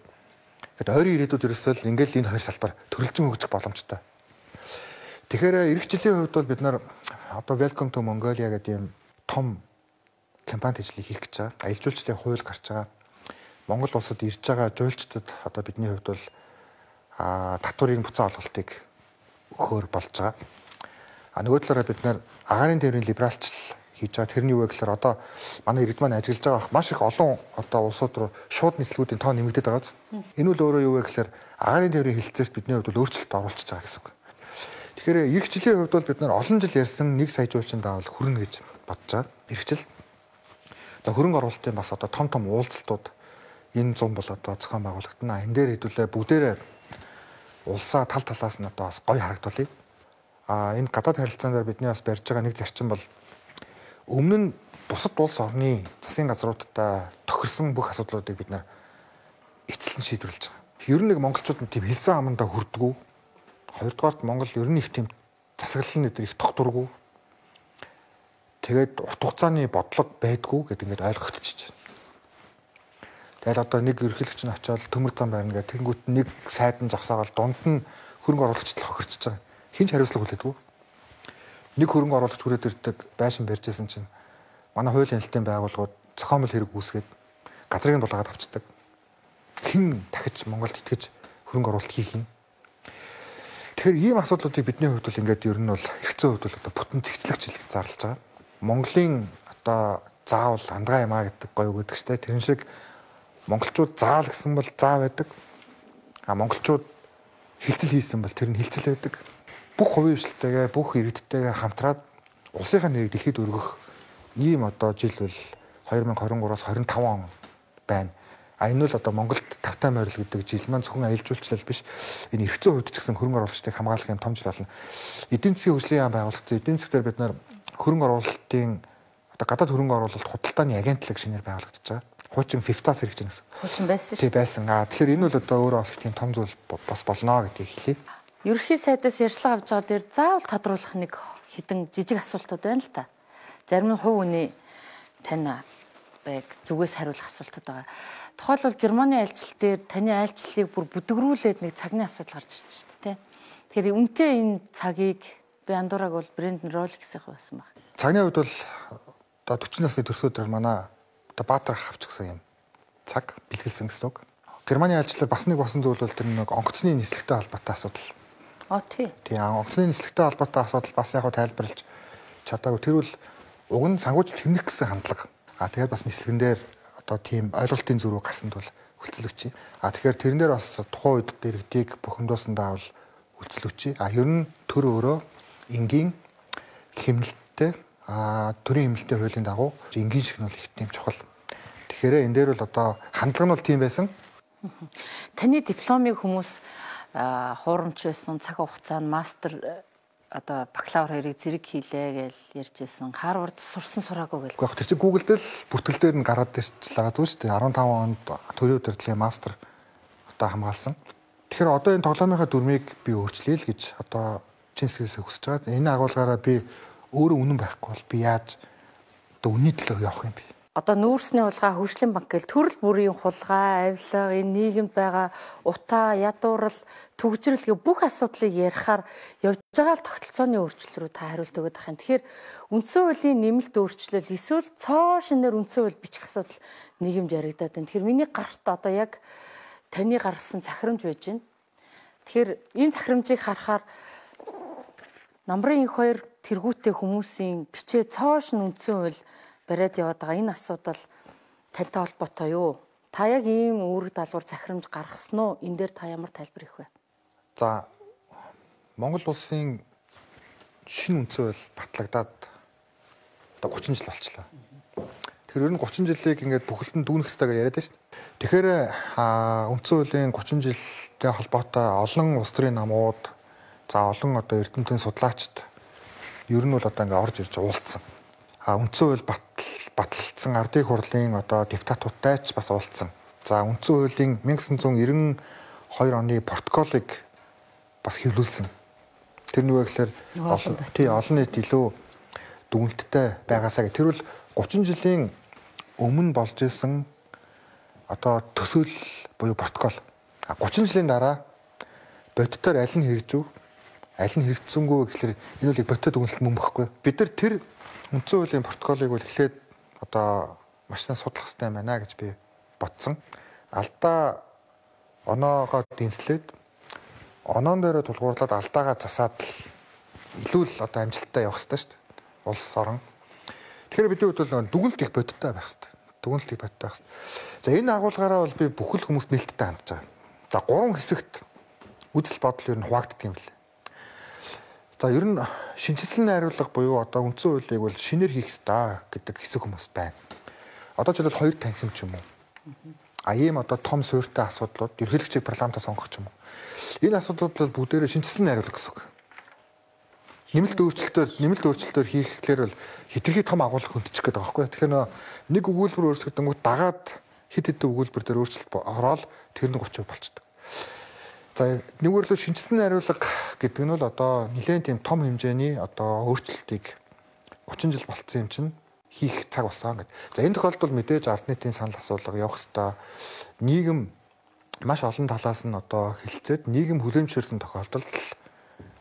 Тэгэд ойрын ирээдүйд ерөөсөө ингээл энэ хоёр салбар төрөлжин хөгжих боломжтой. Тэгэхээр эх жилийн хувьд бол бид нар одоо Welcome to Mongolia гэдэг юм том кампани ажлыг хийх гэж байгаа. Аялал жуулчлалын хууль гарч байгаа. Монгол улсад ирж байгаа жуулчдад одоо бидний хувьд бол а татврын буцаа олголтыг өгөхөөр болж байгаа. А нөгөө талаараа бид нар агаарын тээврийн либералчлал хийж байгаа. Тэрний юу вэ гэхээр одоо манай иргэд маань ажиллаж байгаа маш их олон одоо улсууд руу шууд нислэгүүдийн тоо нэмэгдээд байгаа. Энэ үл өөрөө юу вэ гэхээр агаарын тээврийн хэлэлцээрт бидний хувьд бол өөрчлөлт оруулчихж байгаа гэсэн үг. Тэгэхээр эх жилийн хувьд бол бид нар олон жил ярьсан нэг сая жуулчин даавал хүрнэ гэж бодож байгаа. Эх жил. Одоо хөрөнгө оруулалтын бас одоо том том уулзалтууд энэ зам бол одоо зохион байгуулагдана. Энэ дээр хэдүүлээ бүгдээрээ улсаа тал талаас нь одоо бас гоё харагдуулъя. А энэ гадаад харилцаан дээр бидний бас барьж байгаа нэг зарчим бол өмнө нь бусад улс орны засгийн газруудтай тохирсон бүх асуудлуудыг бид нар эцэлэн шийдвэрлэж байгаа. Ер нь нэг монголчууд нь тийм хэлсэн амандаа хүрдэггүй. Хоёрдугаарт Монгол ер нь их тийм засаглалын өдөр их тогтургүй. Тэгээд урт хугацааны бодлого байдгүй гэдэг ингээд ойлгогдчихж байна. Тэгэл одоо нэг ерөнхийлөгч нь очиод төмөр зам барина гэх тэнгуут нэг сайд нь зогсоогоол дунд нь хөрөнгө оруулагчд хохирчж байгаа. Хинч хариуцлага хүлээдэггүй. Нэг хөрөнгө оруулагч хүрээд ирдэг байшин барьжсэн чинь манай хуулийн хэлтийн байгууллагууд зохиомжтой хэрэг үүсгээд газрыг нь дулаагаад авчдаг. Хэн дахиж Монголд итгэж хөрөнгө оруулалт хийх юм? Тэгэхээр ийм асуудлуудыг бидний хувьд бол ингээд ер нь бол хэрэгцээ хувьд бол одоо бүтэн цэгцлэгч зарлаж байгаа. Монголын одоо заавал андгаа юм а гэдэг гоё үг гэдэг чтэй. Тэрэн шиг монголчууд заал гэсэн бол заа байдаг. А монголчууд хилцэл хийсэн бол тэр нь хилцэл байдаг. Бүх хувийн хвшилтэйгээ, бүх иргэдтэйгээ хамтраад улсынхаа нэрийг дэлхийд өргөх ийм одоо жил бол хоёр мянга хорин гураас хорин таван он байна. А энэ бол одоо Монголд тавтай морил гэдэг жил маань зөвхөн аялал жуулчлал биш. Энэ эрхцэн хувьд ч гэсэн хөрөнгө оруулагчдыг хамгаалах юм том жил болно. Эдийн засгийн хөгжлийн яам байгуулагдсан. Эдийн засгаар бид нар хөрөнгө оруулалтын одоо гадаад хөрөнгө оруулалт худалдааны агентлаг шинээр байгуулагдаж байгаа. Хуучин фифтаас хэрэгжинэ гэсэн. Хуучин байсан шүү. Тий байсан. Аа тэгэхээр энэ бол одоо өөрөө бас их тийм том зүйл бас болно гэдгийг хэлье. Ерөнхий сайдаас ярьцлага авч байгаа дээр заавал тодруулах нэг хідэн жижиг асуултууд байна л та. Зарим нь хувь хүний тань яг зүгээс хариулах асуултууд байгаа. Тухайлбал Германы айлчлал дээр таны айлчлалыг бүр бүдгрүүлээд нэг цагны асуудал гарч ирсэн шүү дээ. Тэгэхээр үнэтэй энэ цагийг би андуураг бол Брэндон Роликсийн байсан баг. Цагны хувьд бол одоо forty насны төрсөдөр манай одоо Баатар авч гсэн юм цаг бэлгэлсэн гэсэн үг. Германы айлчлал бас нэг босон зүйл бол тэр нэг онгоцны нислэгтэй холбоотой асуудал. А тий. Тий онгоцны нислэгтэй холбоотой асуудал бас яг тайлбарлаж чадаагүй. Тэр бол уг нь сангууч тэмнэх гэсэн хандлага. А тэгээд бас нислэгэн дээр одоо тийм ойлголтын зөрүү гарсанд бол хүлцэлвчээ. А тэгэхээр тэрэн дээр бас тухайн үед дэрэгдийг бухимдуулсандаа бол хүлцэлвчээ. А ер нь төр өөрөө энгийн хэмнэлттэй а төрийн хэмнэлттэй хуулийн дагуу энгийн шиг нь бол их тийм чухал. Тэгэхээр энэ дээр бол одоо хандлага нь бол тийм байсан. Таны дипломыг хүмүүс хуурамч байсан цаг хугацаанд мастер одоо бакалавр хоёрыг зэрэг хийлээ гэж ярьжсэн. Харвард сурсан сураагүй гэл. Гэхдээ тэр чинь Google дээр л бүртгэл дээр нь гараад ирчихлээ зү шүү дээ.15 онд төрийн удирдлагын мастер одоо хамгаалсан. Тэгэхээр одоо энэ тоглоомынхаа дүрмийг би өөрчлөе л гэж одоо чин сэтгэлээсээ хүсэж байгаа. Энэ агуулгаараа би өөрөө үнэн байхгүй бол би яаж одоо үнний төлөө явах юм бэ? Одоо нүүрсний хулгай, хөгжлийн банк гэл төрөл бүрийн хулгай, авилга, энэ нийгэмд байгаа утаа, ядуурл, түгжрэл гэх бүх асуудлыг ярихаар явж байгаа л тогтолцооны өөрчлөл рүү та хариулт өгöd байх юм. Тэгэхээр үндсэн хуулийн нэмэлт өөрчлөл эсвэл цоо шинээр үндсэн хууль бичих асуудал нийгэмд яригадаад байна. Тэгэхээр миний гарт одоо яг таны гаргасан захирамж байж байна. Тэгэхээр энэ захирамжийг харахаар намрын их хоёр тэргүүтээ хүмүүсийн бичээ цоо шин үндсэн хууль бариад яваад байгаа энэ асуудал тантай холбоотой юу? Та яг ийм үүрэг даалгавар захирамж гаргасан уу? Энэ дээр та ямар тайлбар өгөх вэ? За Монгол улсын шинэ үндсэн хууль батлагдаад одоо thirty жил болчихлоо. Тэгэхээр ер нь thirty жилийг ингээд бүхэлдэн дүүнэх хэрэгтэй гэж яриад байна шүү дээ. Тэгэхээр үндсэн хуулийн thirty жилтэй холбоотой олон улс төрийн намууд за олон одоо эрдэмтэн судлаачид ер нь бол одоо ингээд орж ирж уулзсан. А үндсэн хууль батлагдсан ардын хурлын одоо депутатуудтай ч бас уулзсан. За үндсэн хуулийн nineteen ninety-two оны протоколыг бас хэвлүүлсэн. Тэр нь юу гэхээр тий олон нийт илүү дүгнэлттэй байгаасаа гэх. Тэр бол thirty жилийн өмнө болж исэн одоо төсөөл буюу протокол. А thirty жилийн дараа бодитоор аль нь хэрэгжив, аль нь хэрэгжсэнгүй гэхээр энэ бол бодиттой дүгнэлт мөн баггүй. Бид нар тэр үндсэн хуулийн протоколыг бол эхлээд одоо маш сайн судлах хэрэгтэй байна гэж би бодсон. Алдаа оноогоо дэнслээд оноон дээрээ тулгуурлаад алдаагаа засаад илүү л одоо амжилттай явах хэрэгтэй шүү дээ. Улс орон. Тэгэхээр бидний хувьд бол дүгнэлт их бодиттой байх хэрэгтэй. Дүгнэлт их бодиттой байх хэрэгтэй. За энэ агуулгаараа бол би бүхэл хүмүүст нээлттэй хандж байгаа. За гурван хэсэгт үзэл бодол ер нь хуваагддаг юм лээ. За ер нь шинжилсэн найруулга буюу одоо үндсэн хуулийг бол шинээр хийх ёстой гэдэг хэсэг хүмүүс байна. Одоо ч бол хоёр танхим ч юм уу. А ийм одоо том суурьтай асуудлууд ерөнхийлөгчийг парламентаа сонгох ч юм уу. Энэ асуудлууд бол бүгдээрээ шинжилсэн найруулга гэсэн үг. Нэмэлт өөрчлөлтөөр нэмэлт өөрчлөлтөөр хийхлээр бол хитрхи том агуулга хөндөчих гээд байгаа байхгүй. Тэгэхээр нэг өгүүлбэр өөрчлөгдөнгүүт дагаад хэд хэдэн өгүүлбэр дээр өөрчлөлт ороод тэр нь гурван процент болчихдог. За нэгвэрлэл шинжилсэн найруулга гэдэг нь бол одоо нэлээд тийм том хэмжээний одоо өөрчлөлтийг гучин жил болцсон юм чинь хийх цаг болсон гэдэг. За энэ тохиолдолд мэдээж ард нийтийн санал асуулга явах хэвээр нийгэм маш олон талаас нь одоо хилцээд нийгэм хүлэмжшэрсэн тохиолдолд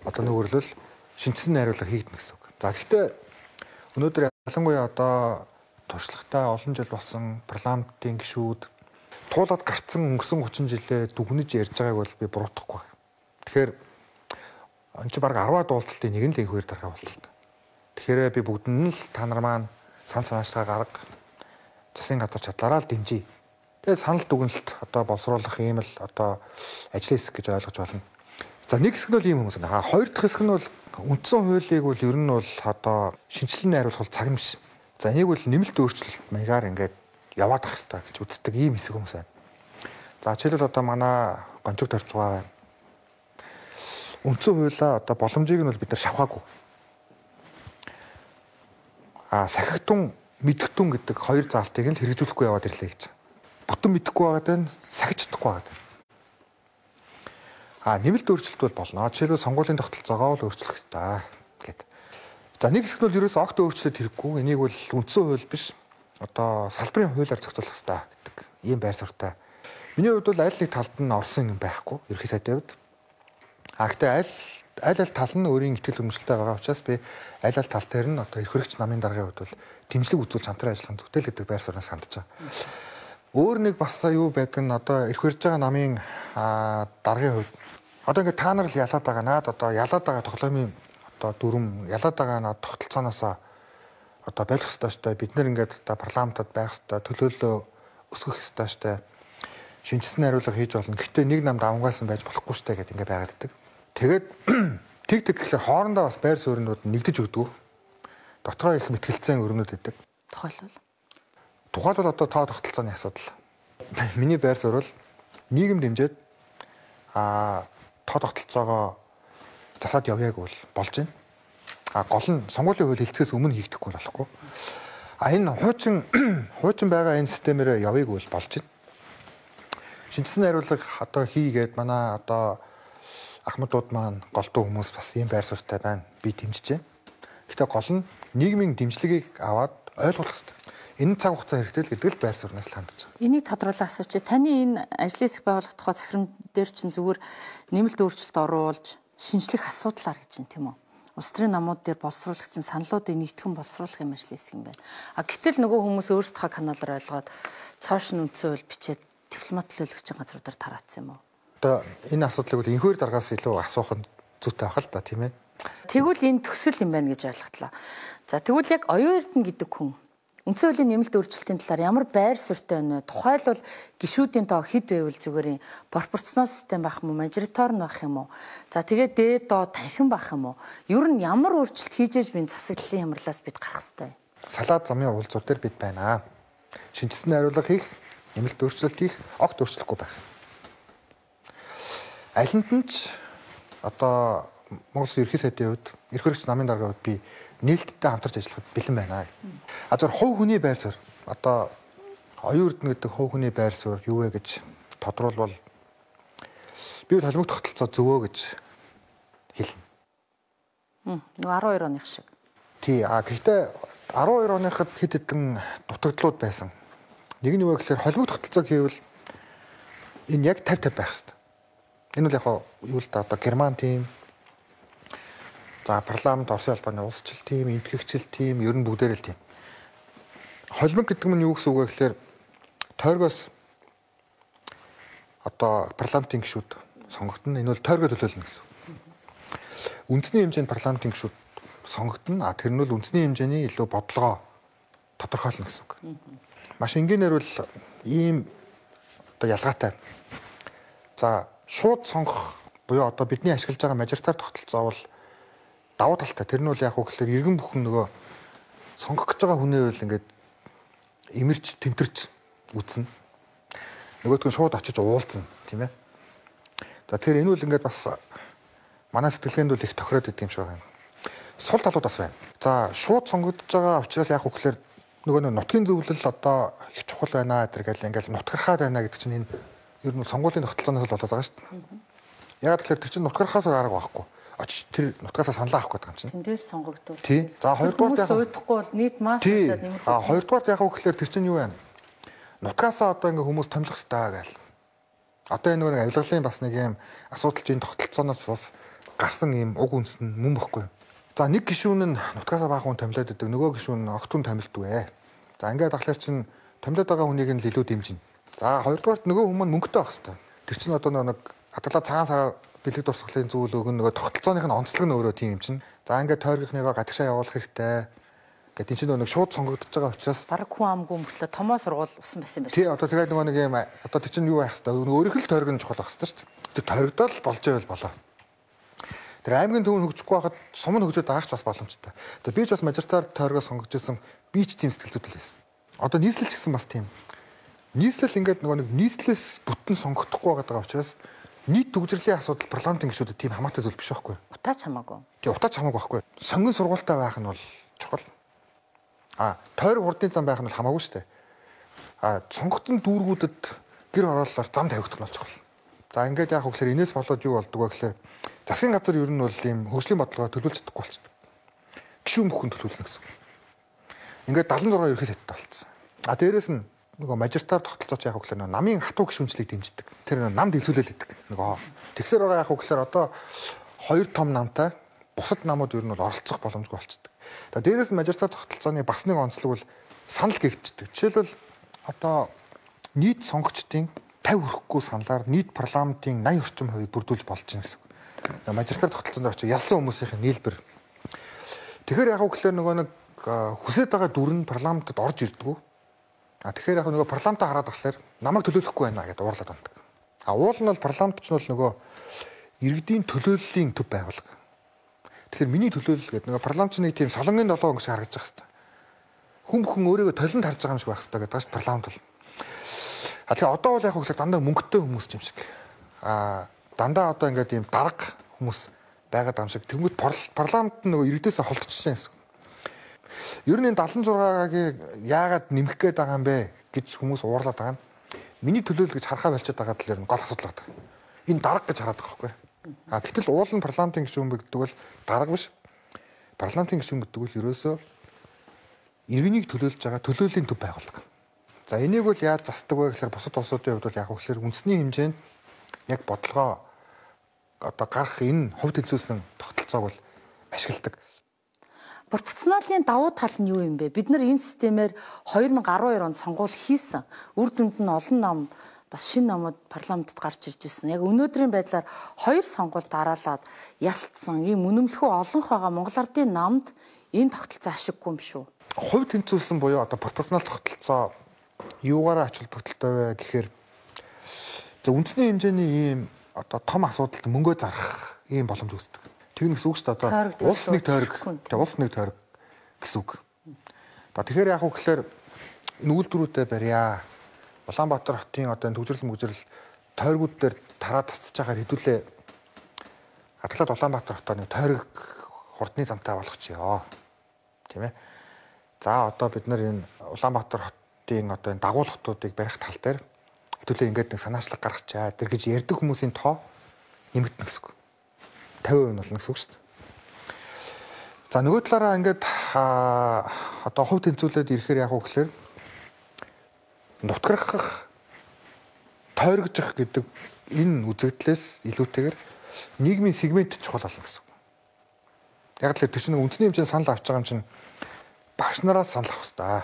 одоо нэгвэрлэл шинжилсэн найруулга хийгдэнэ гэсэн үг. За гэхдээ өнөөдөр ялангуяа одоо туршлагатай олон жил болсон парламентын гишүүд туулаад гарцсан өнгөрсөн гучин жилээ дүгнэж ярьж байгааг бол би буруутгахгүй. Тэгэхээр энэ чи бараг арваад уулзалтын нэг нь л энэхээр дарга уулзалт. Тэгэхээр би бүгдэнд нь л та нар маань санал санаачлага гарга засгийн газар чадлаараа л дэмжиж. Тэгээд санал дүгнэлт одоо боловсруулах ийм л одоо ажлын хэсэг гэж ойлгож байна. За нэг хэсэг нь бол ийм хүмүүс байна. Хоёр дахь хэсэг нь бол үндсэн хуулийг бол ер нь бол одоо шинжилэн найруулах цаг юм шиг. За энийг бол нэмэлт өөрчлөлт маягаар ингээд яваад ах хэрэгтэй гэж үздэг ийм хэсэг хүмүүс байна. За жишээлбэл одоо манай гончог төрж байгаа байна. Үндсэн хуулиа одоо боломжийг нь бол бид нар шавхаагүй. А сахигтун мэдгтун гэдэг хоёр заалтыг нь хэрэгжүүлэхгүй яваад ирлээ гэж. Бүтэн мэдэхгүй байгаад байна, сахиж чадахгүй байгаад байна. А нэмэлт өөрчлөлт бол болно. Жишээлбэл сонгуулийн тогтолцоогоо л өөрчлөх хэрэгтэй гэдэг. За нэг хэсэг нь бол ерөөсөө огт өөрчлөлт хэрэггүй. Энийг бол үндсэн хууль биш. Одоо салбарын хуулиар зохицуулах хэрэгтэй гэдэг ийм байр суурьтай. Миний хувьд бол аль нэг талд нь орсон юм байхгүй. Ерхий сайдын хувьд. А гэхдээ аль аль аль тал нь өөрийн ихтгэл өмчлөлтэй байгаа учраас би аль аль тал дээр нь одоо эрх хэрэгч намын даргын хувьд бол дэмжлэг үзүүлж хамтран ажиллах зүгтэл гэдэг байр сууриас хандж байгаа. Өөр нэг бас юу байдаг нь одоо эрх хэрэгж байгаа намын даргын хувьд одоо ингээд та нар л ялаад байгаа наад одоо ялаад байгаа тоглоомын одоо дүрм ялаад байгаа наад тогтолцооноос одоо байх ёстой штэ бид нэр ингээд одоо парламентод байх ёстой төлөөлөө өсгөх ёстой штэ шинжилсэн найруулга хийж болно. Гэхдээ нэг намд авангаасан байж болохгүй штэ гэдэг ингээд байгаад байдаг. Тэгээд тэг тэг гэхэлэр хоорондоо бас байр сууринууд нэгдэж өгдөг. Дотроо их мэтгэлцэн өрнөд байдаг. Тухайлбал Тухайлбал одоо тоо тогтолцооны асуудал. Миний байр суурь бол нийгэм дэмжиж а тоо тогтолцоогоо засаад явъяг бол болж байна. А гол нь сонгуулийн хууль хэлцгээс өмнө хийгдэхгүй болохгүй. А энэ хуучин хуучин байгаа энэ системээр явъяг бол болж байна. Шинжилсэн найруулга одоо хийгээд манай одоо ахмадууд маань голдуу хүмүүс бас ийм байр суурьтай байна. Би дэмжиж байна. Гэхдээ гол нь нийгмийн дэмжлэгийг аваад ойлгох хэрэгтэй. Энэ цаг хугацаа хэрэгтэй л гэдэг л байр сууриас л хандж байгаа. Энийг тодруулах асууч. Таны энэ ажлын хэсэг байгуулах тухай захирам дээр чинь зүгээр нэмэлт өөрчлөлт оруулж шинжлэх асуудлаар гэж юм тийм үү? Улс төрийн намууд дээр боловсруулагдсан саналуудыг нэгтгэн боловсруулах юм ажлын хэсэг юм байна. А гэтэл нөгөө хүмүүс өөрсдөө каналаар ойлгоод цоошин үндсэн хууль бичээд дипломат төлөөлөгчийн газруудаар тараацсан юм уу? Одоо энэ асуудлыг бол энхээр даргаас илүү асуух нь зүйтэй байх л да тийм ээ. Тэгвэл энэ төсөл юм байна гэж ойлголоо. За тэгвэл яг оюун эрдэнэ гэдэг хүн үндсэн хуулийн нэмэлт өөрчлөлтийн талаар ямар байр суурьтай байна вэ? Тухайлбал гишүүдийн тоо хэд байвал зүгээр пропорционал систем байх юм уу, мажоритар нь байх юм уу? За тэгээд дээд доо танхим байх юм уу? Ер нь ямар өөрчлөлт хийж ээж би засаглалын хямралаас бид гарах ёстой вэ? Салаад замын уулзууд дээр бид байна. Шинжилсэн найруулга хийх, нэмэлт өөрчлөлт хийх, огт өөрчлөхгүй байх. Алинд нь ч одоо Монгол ерхий сайдын хувьд, эрх хэрэгч намын даргын хувьд би нээлттэй хамтарч ажиллахад бэлэн байна. А зөв хувь хүний байр суурь одоо оюун эрдэнэ гэдэг хувь хүний байр суурь юу вэ гэж тодруулбал би бол холимог тогтолцоо зөвөө гэж хэлнэ. Хм, арван хоёр оных шиг. Тий, а гэхдээ арван хоёр оныхад хэд хэдэн дутагдлууд байсан. Нэг нь юу вэ гэхээр холимог тогтолцоог хийвэл энэ яг тавь тавь байх хэрэгтэй. Энэ бол яг юу л да одоо Герман тим за парламент Оросын албаны улсчил тим, энтгэгчил тим, ер нь бүгдээр л тим. Холимог гэдэг нь юу гэсэн үг вэ гэхээр тойргоос одоо парламентын гишүүд сонгогдно. Энэ бол тойргоо төлөөлнө гэсэн. Үндэсний хэмжээнд парламентын гишүүд сонгогдно. А тэр нь бол үндэсний хэмжээний илүү бодлогоо тодорхойлно гэсэн үг. Маш энгийнээр бол ийм одоо ялгаатай. За шууд сонгох буюу одоо бидний ашиглаж байгаа мажоритар тогтолцоо бол давуу талтай. Тэр нь бол яг уу гэхээр иргэн бүхэн нөгөө сонгох гэж байгаа хүнээ бол ингээд имэрч тэмтэрч үзнэ. нөгөөдгөө шууд очиж уулзна тийм ээ. За тэр энэ үл ингээд бас манай сэтгэлгээнд бол их тохироод идэв юм шиг байна. Сул талууд бас байна. За шууд сонгогдож байгаа учраас яг үгээр нөгөө нутгийн зөвлөл одоо их чухал байна гэдэг л ингээд нутгархаад байна гэдэг чинь энэ ер нь сонгуулийн тогтолцооноос л болоод байгаа шүү дээ. Яг тэгэхээр тэр чинь нутгархаас арга байхгүй. Очиж тэр нутгасаа саналаа авах гэдэг юм чинь. Тэндээс сонгогдвол. Тий. За хоёрдугаар яг уйдахгүй бол нийт масс гэдэг нэмэрхүү. А хоёрдугаар яг үгээр тэр чинь юу вэ? Нутгасаа одоо ингээ хүмүүс томилох хэрэгтэй гэл. Одоо энэ нэг авилгалын бас нэг юм асуудал чинь тогтолцооноос бас гарсан юм уг үндэс нь мөн бохгүй. За нэг гишүүн нь нутгасаа баахан томилоод идэг, нөгөө гишүүн нь огт хүн томилдгүй ээ. За ингээд ахлаар чинь томилоод байгаа хүнийг нь илүү дэмжинэ. За хоёрдугаарт нөгөө хүмүүс мөнгөтэй байх хэрэгтэй. Тэр чинь одоо нэг хадгалаа цагаан сараар бэлэг дурсгалын зүйл өгөн нөгөө тогтолцооных нь онцлог нь өөрөө тийм юм чинь. За ингээд тойргийнхныгоо гадагшаа явуулах хэрэгтэй. Гэт энэ чинь нэг шууд сонгогдож байгаа учраас бараг хүн амгүй мөртлөө томоо сургуул усан байсан байх. Тий одоо тэгээд нөгөө нэг юм одоо тэр чинь юу байх хэвээр өөрийнх л тойрог нь чухал байх хэвээр шүү дээ. Тэр тойрогдол болж байвал болоо. Тэр аймгийн төв нь хөгжихгүй байхад сум нь хөгжөөд байгаач бас боломжтой. Тэгээд би ч бас мажоритар тойрогоо сонгож ирсэн би ч тийм сэтгэл зүйтэй байсан. Одоо нийслэл ч гэсэн бас тийм. Нийслэл ингээд нөгөө нэг нийслэлээс бүтэн сонгогдохгүй байгаа учраас нийт төгжрлийн асуудал парламентын гишүүдэд тийм хамаатай зүйл биш байхгүй. Утаач хамаагүй. Тий утаач хамаагүй байхгүй. Сонгон сургуультай байх нь бол чухал. А тойрог хурдын зам байх нь бол хамаагүй шүү дээ. А сонгогдсон дүүргүүдэд гэр хорооллоор зам тавигдах нь бол чухал. За ингээд яг хөглөр энэс болоод юу болдог вэ гэхээр засгийн газар ер нь бол ийм хөгжлийн бодлогоо төлөвлөж чадахгүй болчихдог. Гишүүн бүхэн төлөвлөнө гэсэн. Ингээд дадлан зургаа ерөөс хэттэй болцсон. А дээрэс нь нөгөө мажоритар тогтолцооч яг хөглөр намын хатуу гишүүнчлийг дэмждэг. Тэр намд илсүүлэл гэдэг. Нөгөө тэгсэр байгаа яг хөглөр одоо хоёр том намтай бусад намууд ер нь бол оролцох боломжгүй болчихдог. За дээрээс нь мажоритар тогтолцооны бас нэг онцлог бол санал гэгддэг. Жишээлбэл одоо нийт сонгогчдын пятьдесят хүрэхгүй саналаар нийт парламентын восемьдесят орчим хувийг бүрдүүлж болж байна гэсэн. Мажоритар тогтолцоонд очиж ялсан хүмүүсийн нийлбэр. Тэгэхээр яг үгээр нөгөө нэг хүсэж байгаа дүр нь парламентод орж ирдгүү. А тэгэхээр яг нөгөө парламентаа хараад ахлаар намайг төлөөлөхгүй байна гэдээ уурлаад байна. А уул нь бол парламент ч бол нөгөө иргэдийн төлөөллийн төв байгууллага. Тэгэхээр миний төлөөлөл гэдэг нөгөө парламентны тийм солонгийн долоо өнгөш харагдаж байгаа хэвээр. Хүн бүхэн өөрийгөө толинд харж байгаа юм шиг байх хэвээр гэдэг чинь парламент бол. А тэгэхээр одоо бол яг хөглөө дандаа мөнгөтэй хүмүүс юм шиг. А дандаа одоо ингээд ийм дарга хүмүүс байгаад байгаа юм шиг. Тэнгүүд парламент нөгөө иргэдээс холдчихсан юм. Ер нь дадлан зургаагийн яагаад нэмэх гээд байгаа юм бэ гэж хүмүүс уурлаад байгаа нь миний төлөөлөл гэж харахаа болчиход байгаа тал ер нь гол асуудал байна. Энэ дарга гэж хараад байгаа байхгүй. А гэтэл уул нь парламентын гишүүн гэдэг бол дарга биш. Парламентын гишүүн гэдэг бол ерөөсөө иргэнийг төлөөлж байгаа төлөөллийн төв байгууллага. За энийг бол яаж засдаг вэ гэхээр бусад улсуудын хувьд бол яг хөглөр үндэсний хэмжээнд яг бодлогоо одоо гарах энэ хувь тэнцвэрсэн тогтолцоог бол ашигладаг. Пропорционалын давуу тал нь юу юм бэ? Бид нар энэ системээр две тысячи twelve онд сонгуул хийсэн. Үр дүнд нь олон нам бас шинэ намууд парламентод гарч ирж ирсэн. Яг өнөөдрийн байдлаар хоёр сонгуул дараалаад ялцсан ийм үнэмлэхүү олонх байгаа Монгол Ардын намд энэ тогтолцоо ашиггүй юм шүү. Хувь тэнцвэрсэн буюу одоо пропорционал тогтолцоо юугаараа ач холбогдолтой вэ гэхээр за үндэсний хэмжээний ийм одоо том асуудалд мөнгөө зарах ийм боломж үүсдэг. Тэгнэс үг шүү дээ одоо улс нэг тойрог тэгээ улс нэг тойрог гэсэн үг. За тэгэхээр яг үгээр нүүлдвэрүүдэд барья. Улаанбаатар хотын одоо төвжирэл мөгжрэл тойргууд дээр тараад цацж байгаа хэдүүлээ хадгалаад Улаанбаатар хотоо нэг тойрог хурдны замтай болгочихё. Тийм ээ. За одоо бид нар энэ Улаанбаатар хотын одоо энэ дагуул хотуудыг барих тал дээр хэдүүлээ ингээд нэг санаачлаг гаргачаа тэр гэж ярьдаг хүмүүсийн тоо нэмэгдэнэ гэсэн үг. fifty percent болно гэсэн үг шүү дээ. За нөгөө талаараа ингээд одоо хувь тэнцвүүлээд ирэхээр яг үгээр нутгарах тойрогжих гэдэг энэ үзэгдлээс илүүтэйгээр нийгмийн сегмент чухал болно гэсэн үг. Яг л тэр чинь үндэсний хэмжээнд санал авч байгаа юм чинь багш нараас санал авах хэрэгтэй.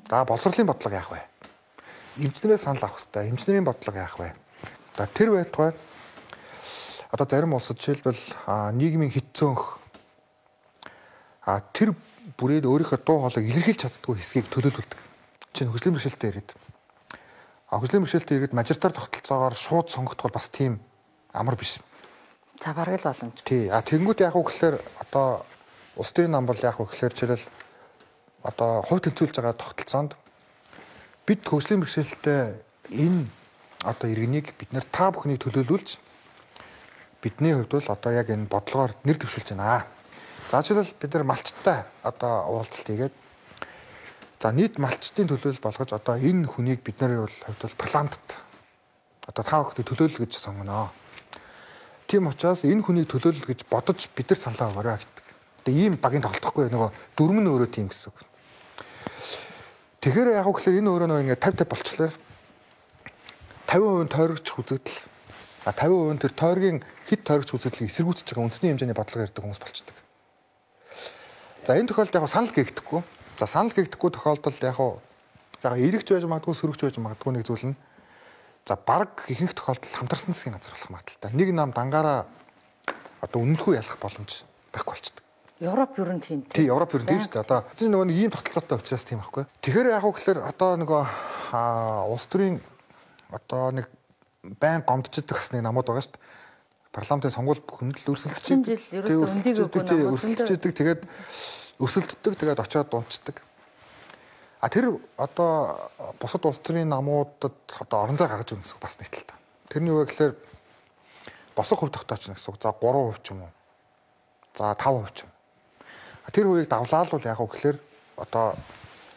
За боловсролын бодлого яах вэ? Эмчнэрээс санал авах хэрэгтэй. Эмчнэрийн бодлого яах вэ? За тэр байтугай одоо зарим улсад жишээлбэл нийгмийн хэт цөөнх а тэр бүрээд өөрийнхөө дуу хоолойг илэрхийлж чаддгүй хэсгийг төлөөлүүлдэг. Чинь хөгжлийн бэрхшээлтэй ирээд. А хөгжлийн бэрхшээлтэй ирээд мажоритар тогтолцоогоор шууд сонгогдох бол бас тийм амар биш. За бараг л боломж. Тий. А тэнгууд яг уу гэхээр одоо улс төрийн нам бол яг уу гэхээр жишээл одоо хувь тэнцвүүлж байгаа тогтолцоонд бид хөгжлийн бэрхшээлтэй энэ одоо иргэнийг бид нэр та бүхнийг төлөөлүүлж бидний хувьд бол одоо яг энэ бодлогоор нэр дэвшүүлж байна. За жишээлбэл бид нар малчтай одоо уулзалт хийгээд за нийт малчтын төлөөлөл болгож одоо энэ хүнийг бид нарын хувьд бол парламентд одоо та бүхний төлөөлөл гэж сонгоно. Тийм учраас энэ хүнийг төлөөлөл гэж бодож бид нар саналаа өгөөрэй гэдэг. Тэгээ ийм багийн тоглохгүй нөгөө дөрмөн өөрөө тийм гэсэн үг. Тэгэхээр яг гэхээр энэ өөрөө нөгөө ингээд тавь тавь болчихлоо. тавин хувь тойрогч үзэгдэл а тавин хувь тэр тойргийн хэд тойрогч үзэгдлийг эсэргүүцэж байгаа үндэсний хэмжээний бодлого ярьдаг хүмүүс болчихдог. За энэ тохиолдолд яг санал гээгдэхгүй. За санал гээгдэхгүй тохиолдолд яг за эргэж байж магадгүй сөрөгч байж магадгүй нэг зүйл нь за баг ихэнх тохиолдолд хамтарсан засгийн газар болох магадaltaй. Нэг нам дангаараа одоо үнэлэхгүй ялах боломж байхгүй болчихдог. Европ ер нь тийм. Тий, Европ ер нь тийм шүү дээ. Одоо чинь нөгөө нэг ийм тогтолцоотой учраас тийм байхгүй. Тэгэхээр яг гэхээр одоо нөгөө улс төрийн одоо нэг байн гомдчихдаг бас нэг намууд байгаа шүү дээ. Парламентын сонгуульд хүндэл өрсөлдөж өрсөлдөж тэгээд өрсөлддөг тэгээд очиод дунцдаг. А тэр одоо бусад улс төрийн намуудад одоо орон зай гаргаж өгнө гэсэн бас нийтлэлтэй. Тэрний юу гэхээр босго хувь тогтооч гэсэн үг. За гурван хувь ч юм уу. За таван хувь ч юм. Тэр хувийг давлаа л бол яг гэхээр одоо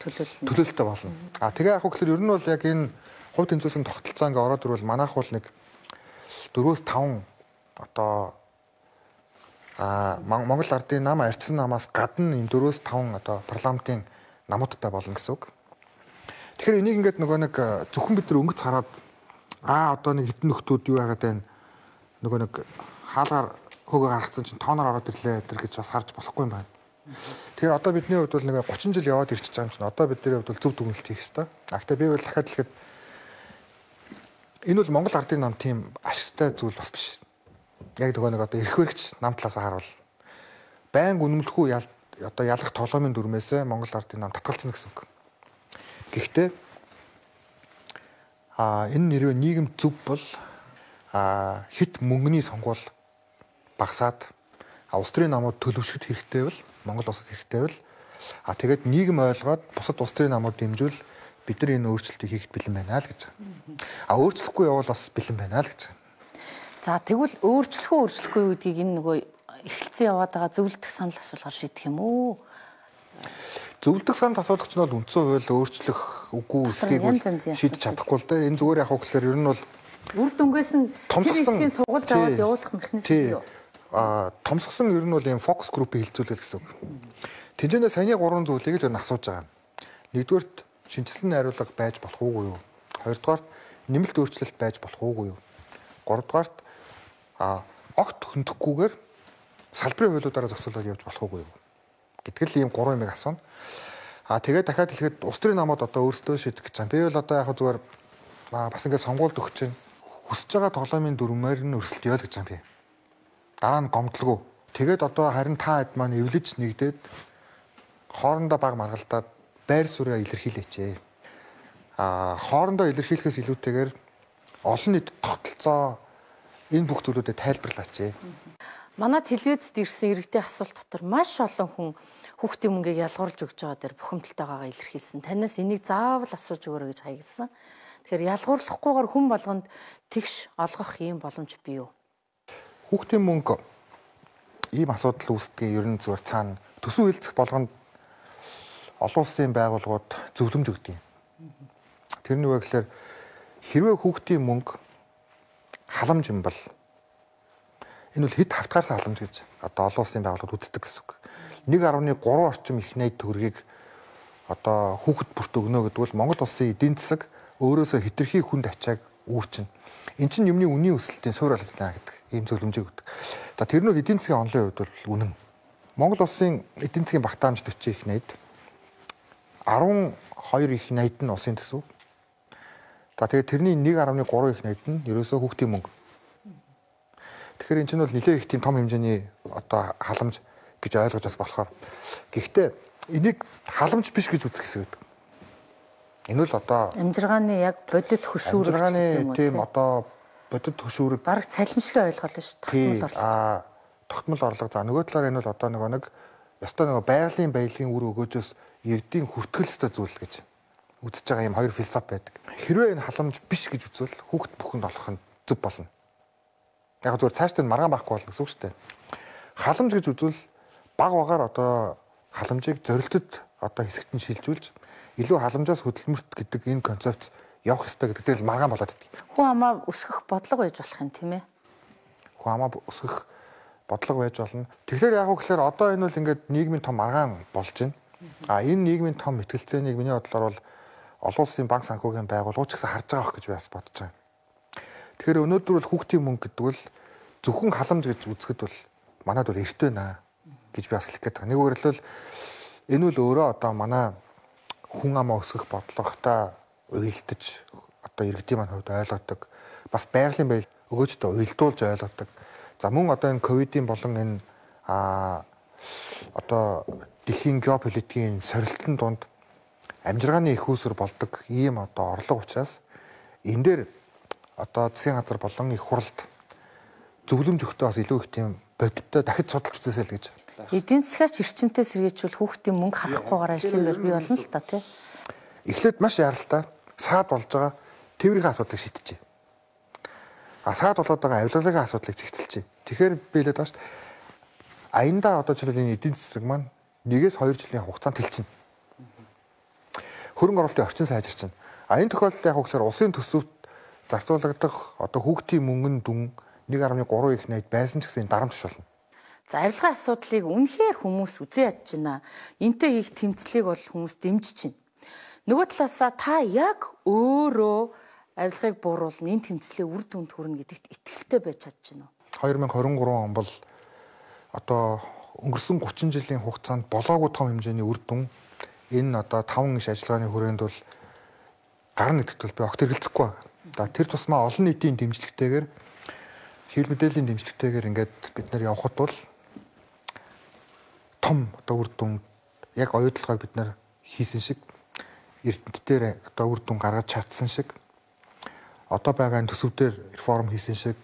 төлөөлөл төлөөлөлтэй болно. А тэгээ яг гэхээр ер нь бол яг энэ хувь тэмцээсэн тогтолцоо ингээ ороод ирвэл манайх бол нэг дөрвөөс таван одоо а Монгол ардын нам арчсан намаас гадна энэ дөрвөөс таван одоо парламентын намуудтай болно гэсэн үг. Тэгэхээр энийг ингээд нөгөө нэг зөвхөн бид нар өнгөц хараад аа одоо нэг хитэн нөхдүүд юу яагаад байна нөгөө нэг хаалгаар хөөгөө гаргацсан чинь тооноор ороод ирлээ тэр гэж бас харж болохгүй юм байна. Тэгэхээр одоо бидний хувьд бол нэг гучин жил яваад ирчихэж байгаа юм чинь одоо бидний хувьд бол зөв дүгнэлт хийх хэрэгтэй. А гэхдээ би бол дахиад хэлэхэд энэ бол Монгол ардын нам тийм ашигтай зүйл бас биш. Яг нөгөө нэг одоо эрх баригч нам талаас харуул байнга үнэмлэхгүй ял одоо ялах тоглоомын дүрмээс Монгол ардын нам татгалцсан гэсэн үг. Гэхдээ а энэ нэрвээ нийгэм зөв бол а хит мөнгөний сонгуул багасаад улс төрийн намууд төлөвшөхөд хэрэгтэй бол Монгол улсад хэрэгтэй бол а тэгээд нийгэм ойлгоод бусад улс төрийн намууд дэмжүүл бид нар энэ өөрчлөлтийг хийхэд бэлэн байна л гэж. А өөрчлөхгүй явал бас бэлэн байна л гэж. За тэгвэл өөрчлөх үү өөрчлөхгүй гэдгийг энэ нөгөө эхэлсэн яваад байгаа зөвлөлтөх санал асуулгаар шийдэх юм уу? Зөвлөлтөх санал асуулагч нь бол үндсэн хууль өөрчлөх үгүй эсхийг шийдэж чадахгүй л дээ. Энэ зүгээр яг гэхээр ер нь бол үр дүнгээс нь тэр хэсгийн сургуульд аваад явуулах механизм юу? А томсгсон ер нь бол ийм фокус группийг хилцүүлэх гэсэн үг. Тэнцэнэ саяны гурван зүйлийг л ер нь асууж байгаа. Нэгдүгээрт шинжилсэн найруулга байж болох уугүй юу? Хоёрдугаарт нэмэлт өөрчлөлт байж болох уугүй юу? Гуравдугаарт а огт хөндөхгүйгээр салбарын хуулиудаараа зохицуулаад явж болох уугүй юу? Гэтэл ийм гурван юмыг асууна. А тэгээд дахиад хэлэхэд улс төрийн намууд одоо өөрсдөө шийдэх гэж байна. Би бол одоо яг зүгээр бас ингээд сонгуульд өгч чинь хүсэж байгаа тоглоомын дүрмээр нь өрсөлдөё л гэж байна би. Дараа нь гомдлого. Тэгээд одоо харин та хэд маань эвлэж нэгдээд хоорондоо баг маргалдаад байр суурьаа илэрхийлээч. А хоорондоо илэрхийлэхээс илүүтэйгээр олон нийт тогтолцоо энэ бүх зүйлүүдэд тайлбарлаач. Манай телевизэд ирсэн иргэдийн асуулт дотор маш олон хүн хүүхдийн мөнгийг ялгуулж өгч байгаа дээр бухимдалтайгаа илэрхийлсэн. Танаас энийг заавал асууж өгөөрэй гэж хаягдсан. Тэгэхээр ялгуурлахгүйгээр хүн болгонд тэгш олгох ийм боломж бий юу? Хүүхдийн мөнгө ийм асуудал үүсдэг ер нь зүгээр цаана төсөв хэлцэх болгонд олон улсын байгууллагууд зөвлөмж өгдөг юм. Тэрний үг гэхээр хэрвээ хүүхдийн мөнгө халамж юм бол энэ бол хэд хавтгаарсан халамж гэж одоо олон улсын байгууллагууд үздэг гэсэн үг. нэг гаруй гурван орчим их найд төгрөгийг одоо хүүхэд бүрт өгнө гэдэг бол Монгол улсын эдийн засаг өөрөөсөө хэтэрхий хүнд ачааг үүрчин. Эн чинь юмны үнийн өсөлтийн суурь болгоно гэдэг ийм зөвлөмжийг өгдөг. За тэр нь эдийн засгийн онлын хувьд бол үнэн. Монгол улсын эдийн засгийн багтаамж төрчин их найд арван хоёр их найд нь улсын төсөв. За тэгээд тэрний нэг гаруй гурван их найд нь ерөөсөө хүүхдийн мөнгө. Тэгэхээр эн чинь бол нэлээд их тийм том хэмжээний одоо халамж гэж ойлгож бас болохоор. Гэхдээ энийг халамж биш гэж үзэх хэсэг гэдэг. Энэ бол одоо амжиргааны яг бодит хөшүүрэг амжиргааны тийм одоо бодит хөшүүрэг бараг цалин шиг ойлгоод байна шүү дээ. Тогтмол орлого. Аа тогтмол орлого. За нөгөө талаар энэ бол одоо нөгөө нэг ёстой нөгөө байгалийн баялагын үр өгөөжөөс ердийн хүртгэл ёстой зүйл гэж үзэж байгаа юм хоёр философи байдаг. Хэрвээ энэ халамж биш гэж үзвэл хүүхэд бүхэнд олох нь зөв болно. Яг зөвхөн цаашдаа маргаан байхгүй болно гэсэн үг шүү дээ. Халамж гэж үзвэл баг багаар одоо халамжийг зорилтод одоо хэсэгт нь шилжүүлж илүү халамжаас хөдөлмөрт гэдэг энэ концепц явах ёстой гэдэг дээр маргаан болоод идэг. Хүн амаа өсгөх бодлого байж болох юм тийм ээ. Хүн амаа өсгөх бодлого байж болно. Тэгэхээр яг үгээр одоо энэ бол ингээд нийгмийн том маргаан болж байна. А энэ нийгмийн том мэтгэлцээнийг миний бодлоор бол олон улсын банк санхүүгийн байгууллагууд ч гэсэн харж байгаа байх гэж би бас бодож байна. Тэгэхээр өнөөдөр бол хүүхдийн мөнгө гэдэг бол зөвхөн халамж гэж үзэхэд бол манайд бол эрт байна гэж би бас хэлэх гээд байгаа. Нэг үгээр хэлбэл энэ бол өөрөө одоо манай хүн амаа өсгөх бодлоготой уялдаж одоо иргэдийн маань хувьд ойлгодог. Бас байгалийн байл өгөөжтэй уялдуулж ойлгодог. За мөн одоо энэ ковидын болон энэ а одоо дэлхийн геополитикийн сорилтын дунд амжиргааны их үүсвэр болдог ийм одоо орлого учраас энэ дээр одоо засгийн газар болон их хуралд зөвлөмж өгтөө бас илүү их тийм бодиттой дахиж судалж үзээсэй л гэж. Эдийн засгаач эрчимтэй сэргээжүүл хүүхдийн мөнгө харахгүйгээр ажлын байр бий болно л та тий. Эхлээд маш яралтай саад болж байгаа тээврийн асуудлыг шийдэжээ. А саад болоод байгаа авилгалын асуудлыг зэгцэлжээ. Тэгэхээр би хэлээд байгаа шүү дээ. Аяндаа одоо жишээлбэл энэ эдийн засаг маань нэгээс хоёр жилийн хугацаанд тэлчихнэ. Хөрөнгө оруулалтын орчин сайжирч байна. А энэ тохиолдолд яг үгээр улсын төсөвт зарцуулагдах одоо хүүхдийн мөнгөнд дүн нэг гаруй гурван их найд байсан ч гэсэн дарамт биш болно. За авилгын асуудлыг үнэхээр хүмүүс үзэн ядж байна. Энтэй их тэмцлийг бол хүмүүс дэмжиж байна. Нөгөө талаасаа та яг өөрөө авилгыг бууруулна, энэ тэмцлийн үр дүнд хүрнэ гэдэгт итгэлтэй байж чадж байна уу? хоёр мянга хорин гурван он бол одоо өнгөрсөн гучин жилийн хугацаанд болоогүй том хэмжээний үр дүн энэ одоо таван иш ажиллагааны хүрээнд бол гарна гэдэгт бол би огт эргэлзэхгүй байна. За тэр тусмаа олон нийтийн дэмжлэгтэйгээр хэвлэл мэдээллийн дэмжлэгтэйгээр ингээд бид нар явхад бол том одоо үр дүн яг оюутлагыг бид нар хийсэн шиг эрдэнтээр одоо үр дүн гаргаж чадсан шиг одоо байгаа төсөвдөр реформ хийсэн шиг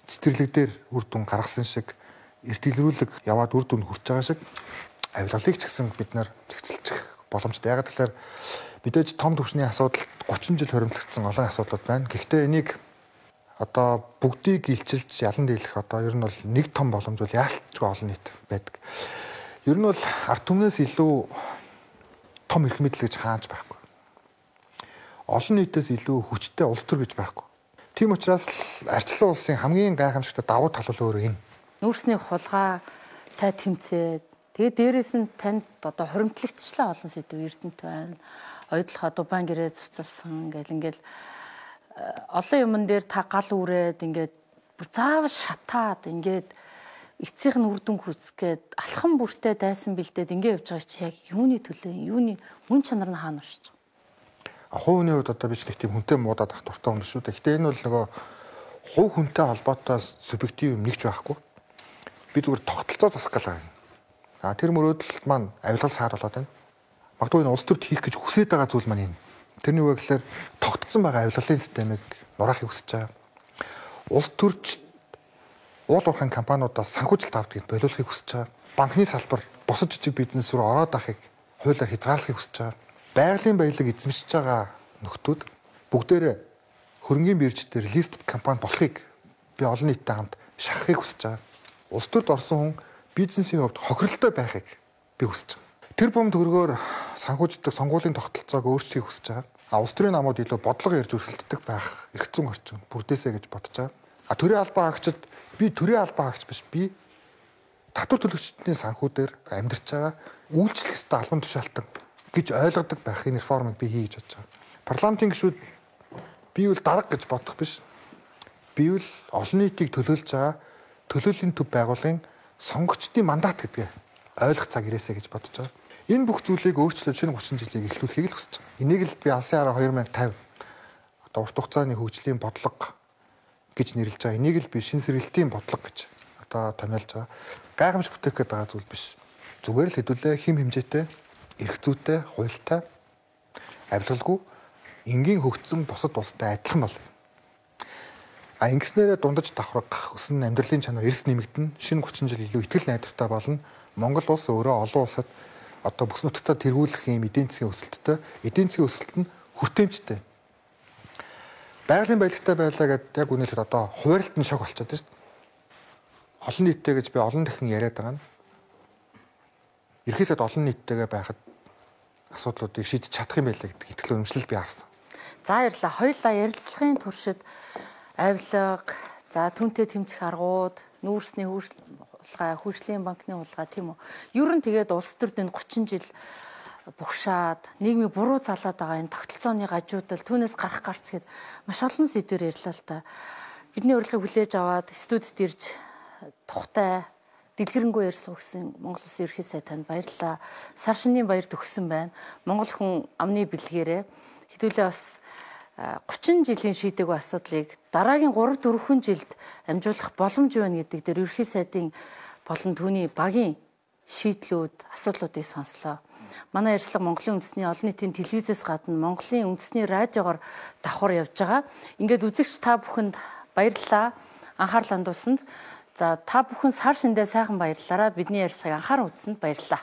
цэцэрлэгдэр үр дүн гаргасан шиг эртгэлрүүлэг яваад үр дүнд хүрч байгаа шиг авилгалыг ч гэсэн бид нар зэгцэлчих боломжтой. Яг тэгэхээр мэдээж том түвшний асуудал гучин жил хоримтлагдсан олон асуудлууд байна. Гэхдээ энийг одоо бүгдийг илчилж ялан дийлэх одоо ер нь бол нэг том боломж бол яалтчгүй олон нийт байдаг. Ер нь бол ард түмнээс илүү том эрх мэдэл гэж хааж байхгүй. Олон нийтээс илүү хүчтэй улс төр гэж байхгүй. Тийм учраас арчлан улсын хамгийн гайхамшигтай давуу тал бол өөрөө энэ. Нүүрсний хулгайтай тэмцээд тэгээд дээрэс нь танд одоо хуримтлагчлаа олон сэдв эрдэнэт байна. Ойдлох дубан гэрээ цуцалсан гэл ингээл олон юмн дээр та гал үрээд ингээд бүр заавал шатаад ингээд эцсийнх нь үр дүн хүсгээд алхам бүртээ дайсан бэлдээд ингээд явж байгаа чи яг юуны төлөө юуны мөн чанар нь хаана оршиж байгаа. Хувийн хувьд одоо би ч нэг тийм хүнтэй муудаад ах дуртай юм шүү дээ. Гэтэ энэ бол нөгөө хувь хүнтэй холбоотой субъектив юм нэгч байхгүй. Би зүгээр тогтолцоо засах гал байгаа. А тэр мөрөөдөл маань авилгал саад болоод байна. Магадгүй энэ улс төрд хийх гэж хүсэж байгаа зүйл маань энэ. Тэрний үг гэхээр тогтцсон байгаа авилгалын системийг нураахыг хүсэж байгаа. Улс төрч уул уурхайн компаниудаас санхүүжилт авдгийг болиулахыг хүсэж байгаа. Банкны салбар бусад жижиг бизнес рүү ороод ахыг хуулиар хязгаарлахыг хүсэж байгаа. Байгалийн баялаг эзэмшиж байгаа нөхдүүд бүгдээрээ хөрөнгийн бирждээр листед компани болохыг би олон нийттэй хамт шахахыг хүсэж байгаа. Улс төрд орсон хүн бизнесийн хувьд хохиролтой байхыг би хүсэж байгаа. Тэр бом төгрөгөөр санхүүждэг сонгуулийн тогтолцоог өөрчлөхийг хүсэж байгаа. А улс төрийн намууд илүү бодлого ярьж өрсөлддөг байх эрх зүйн орчин бүрдээсэй гэж бодож байгаа. А төрийн албан хаагчид би төрийн албан хаагч биш би татвар төлөгчдийн санхүүдээр амьдарч байгаа үйлчлэх ёстой албан тушаалтан гэж ойлгодог байхын реформыг би хий гэж бодож байгаа. Парламентын гишүүд би бол дарга гэж бодох биш. Би бол олон нийтийг төлөөлж байгаа төлөөллийн төв байгууллагын сонгогчдын мандат гэдгээ ойлгох цаг ирээсэй гэж бодож байгаа. Энэ бүх зүйлийг өөрчлөөд шинэ гучин жилийг эхлүүлэхийг л хүсэж байгаа. Энийг л би алсын хараа хоёр мянга тавь одоо урт хугацааны хөгжлийн бодлого гэж нэрлэж байгаа. Энийг л би шинэ сэргэлтийн бодлого гэж одоо томьёолж байгаа. Гайхамшиг бүтээх гээд байгаа зүйл биш. Зүгээр л хэдүүлээ хим хэмжээтэй, эрх зүйтэй, хуультай, авилгалгүй энгийн хөгжсөн бусад улстай адилхан бол. А ингэснээрээ дундаж давхрах өсөн амьдралын чанар эрс нэмэгдэн шинэ гучин жил илүү ихтгэл найдвартай болно. Монгол улс өөрөө олон улсад одоо бүс нутагтаа тэргүүлэх юм эдийн засгийн өсөлттэй эдийн засгийн өсөлт нь хүртээмжтэй. Байгалийн баялагтай байлаа гэдээ яг үнэлэхэд одоо хуваарлт нь шок болчиход байна шүү дээ. Олон нийттэй гэж би олон дахин яриад байгаа нь. Ерхийдээ олон нийттэйгээ байхад асуудлуудыг шийдэж чадах юм байлаа гэдэг итгэл үнэмшил би авсан. За баярлалаа. Хоёулаа ярилцлагын туршид авилга, за түнтэй тэмцэх аргууд, нүүрсний хулгай, хөгжлийн банкны хулгай тийм үү. Ер нь тэгээд улс төрдөнд гучин жил бугшаад нийгмийг буруу залаад байгаа энэ тогтолцооны гажуудал түүнээс гарах гарц гээд маш олон сэдвээр ярьлаа л та. Бидний урилгыг хүлээж аваад студид ирж тухтай дэлгэрэнгүй ярьсан өгсөн Монгол Улсын ерхий сайд танд баярлалаа. Сар шинийн баяр төгссөн байна. Монгол хүн амны бэлгээрээ хэдүүлээ бас гучин жилийн шийдэггүй асуудлыг дараагийн гурав дөрвөн жилд амжуулах боломж байна гэдэг дээр ерхий сайдын болон түүний багийн шийдлүүд, асуудлуудыг сонслоо. Манай ярилцлага Монголын үндэсний олон нийтийн телевизээс гадна Монголын үндэсний радиогоор давхар явж байгаа. Ингээд үзэгч та бүхэнд баярлалаа. Анхаарал хандуулсанд. За та бүхэн сар шиндээ сайхан баярлалаа. Бидний ярилцлагыг анхааран үзсэнд баярлалаа.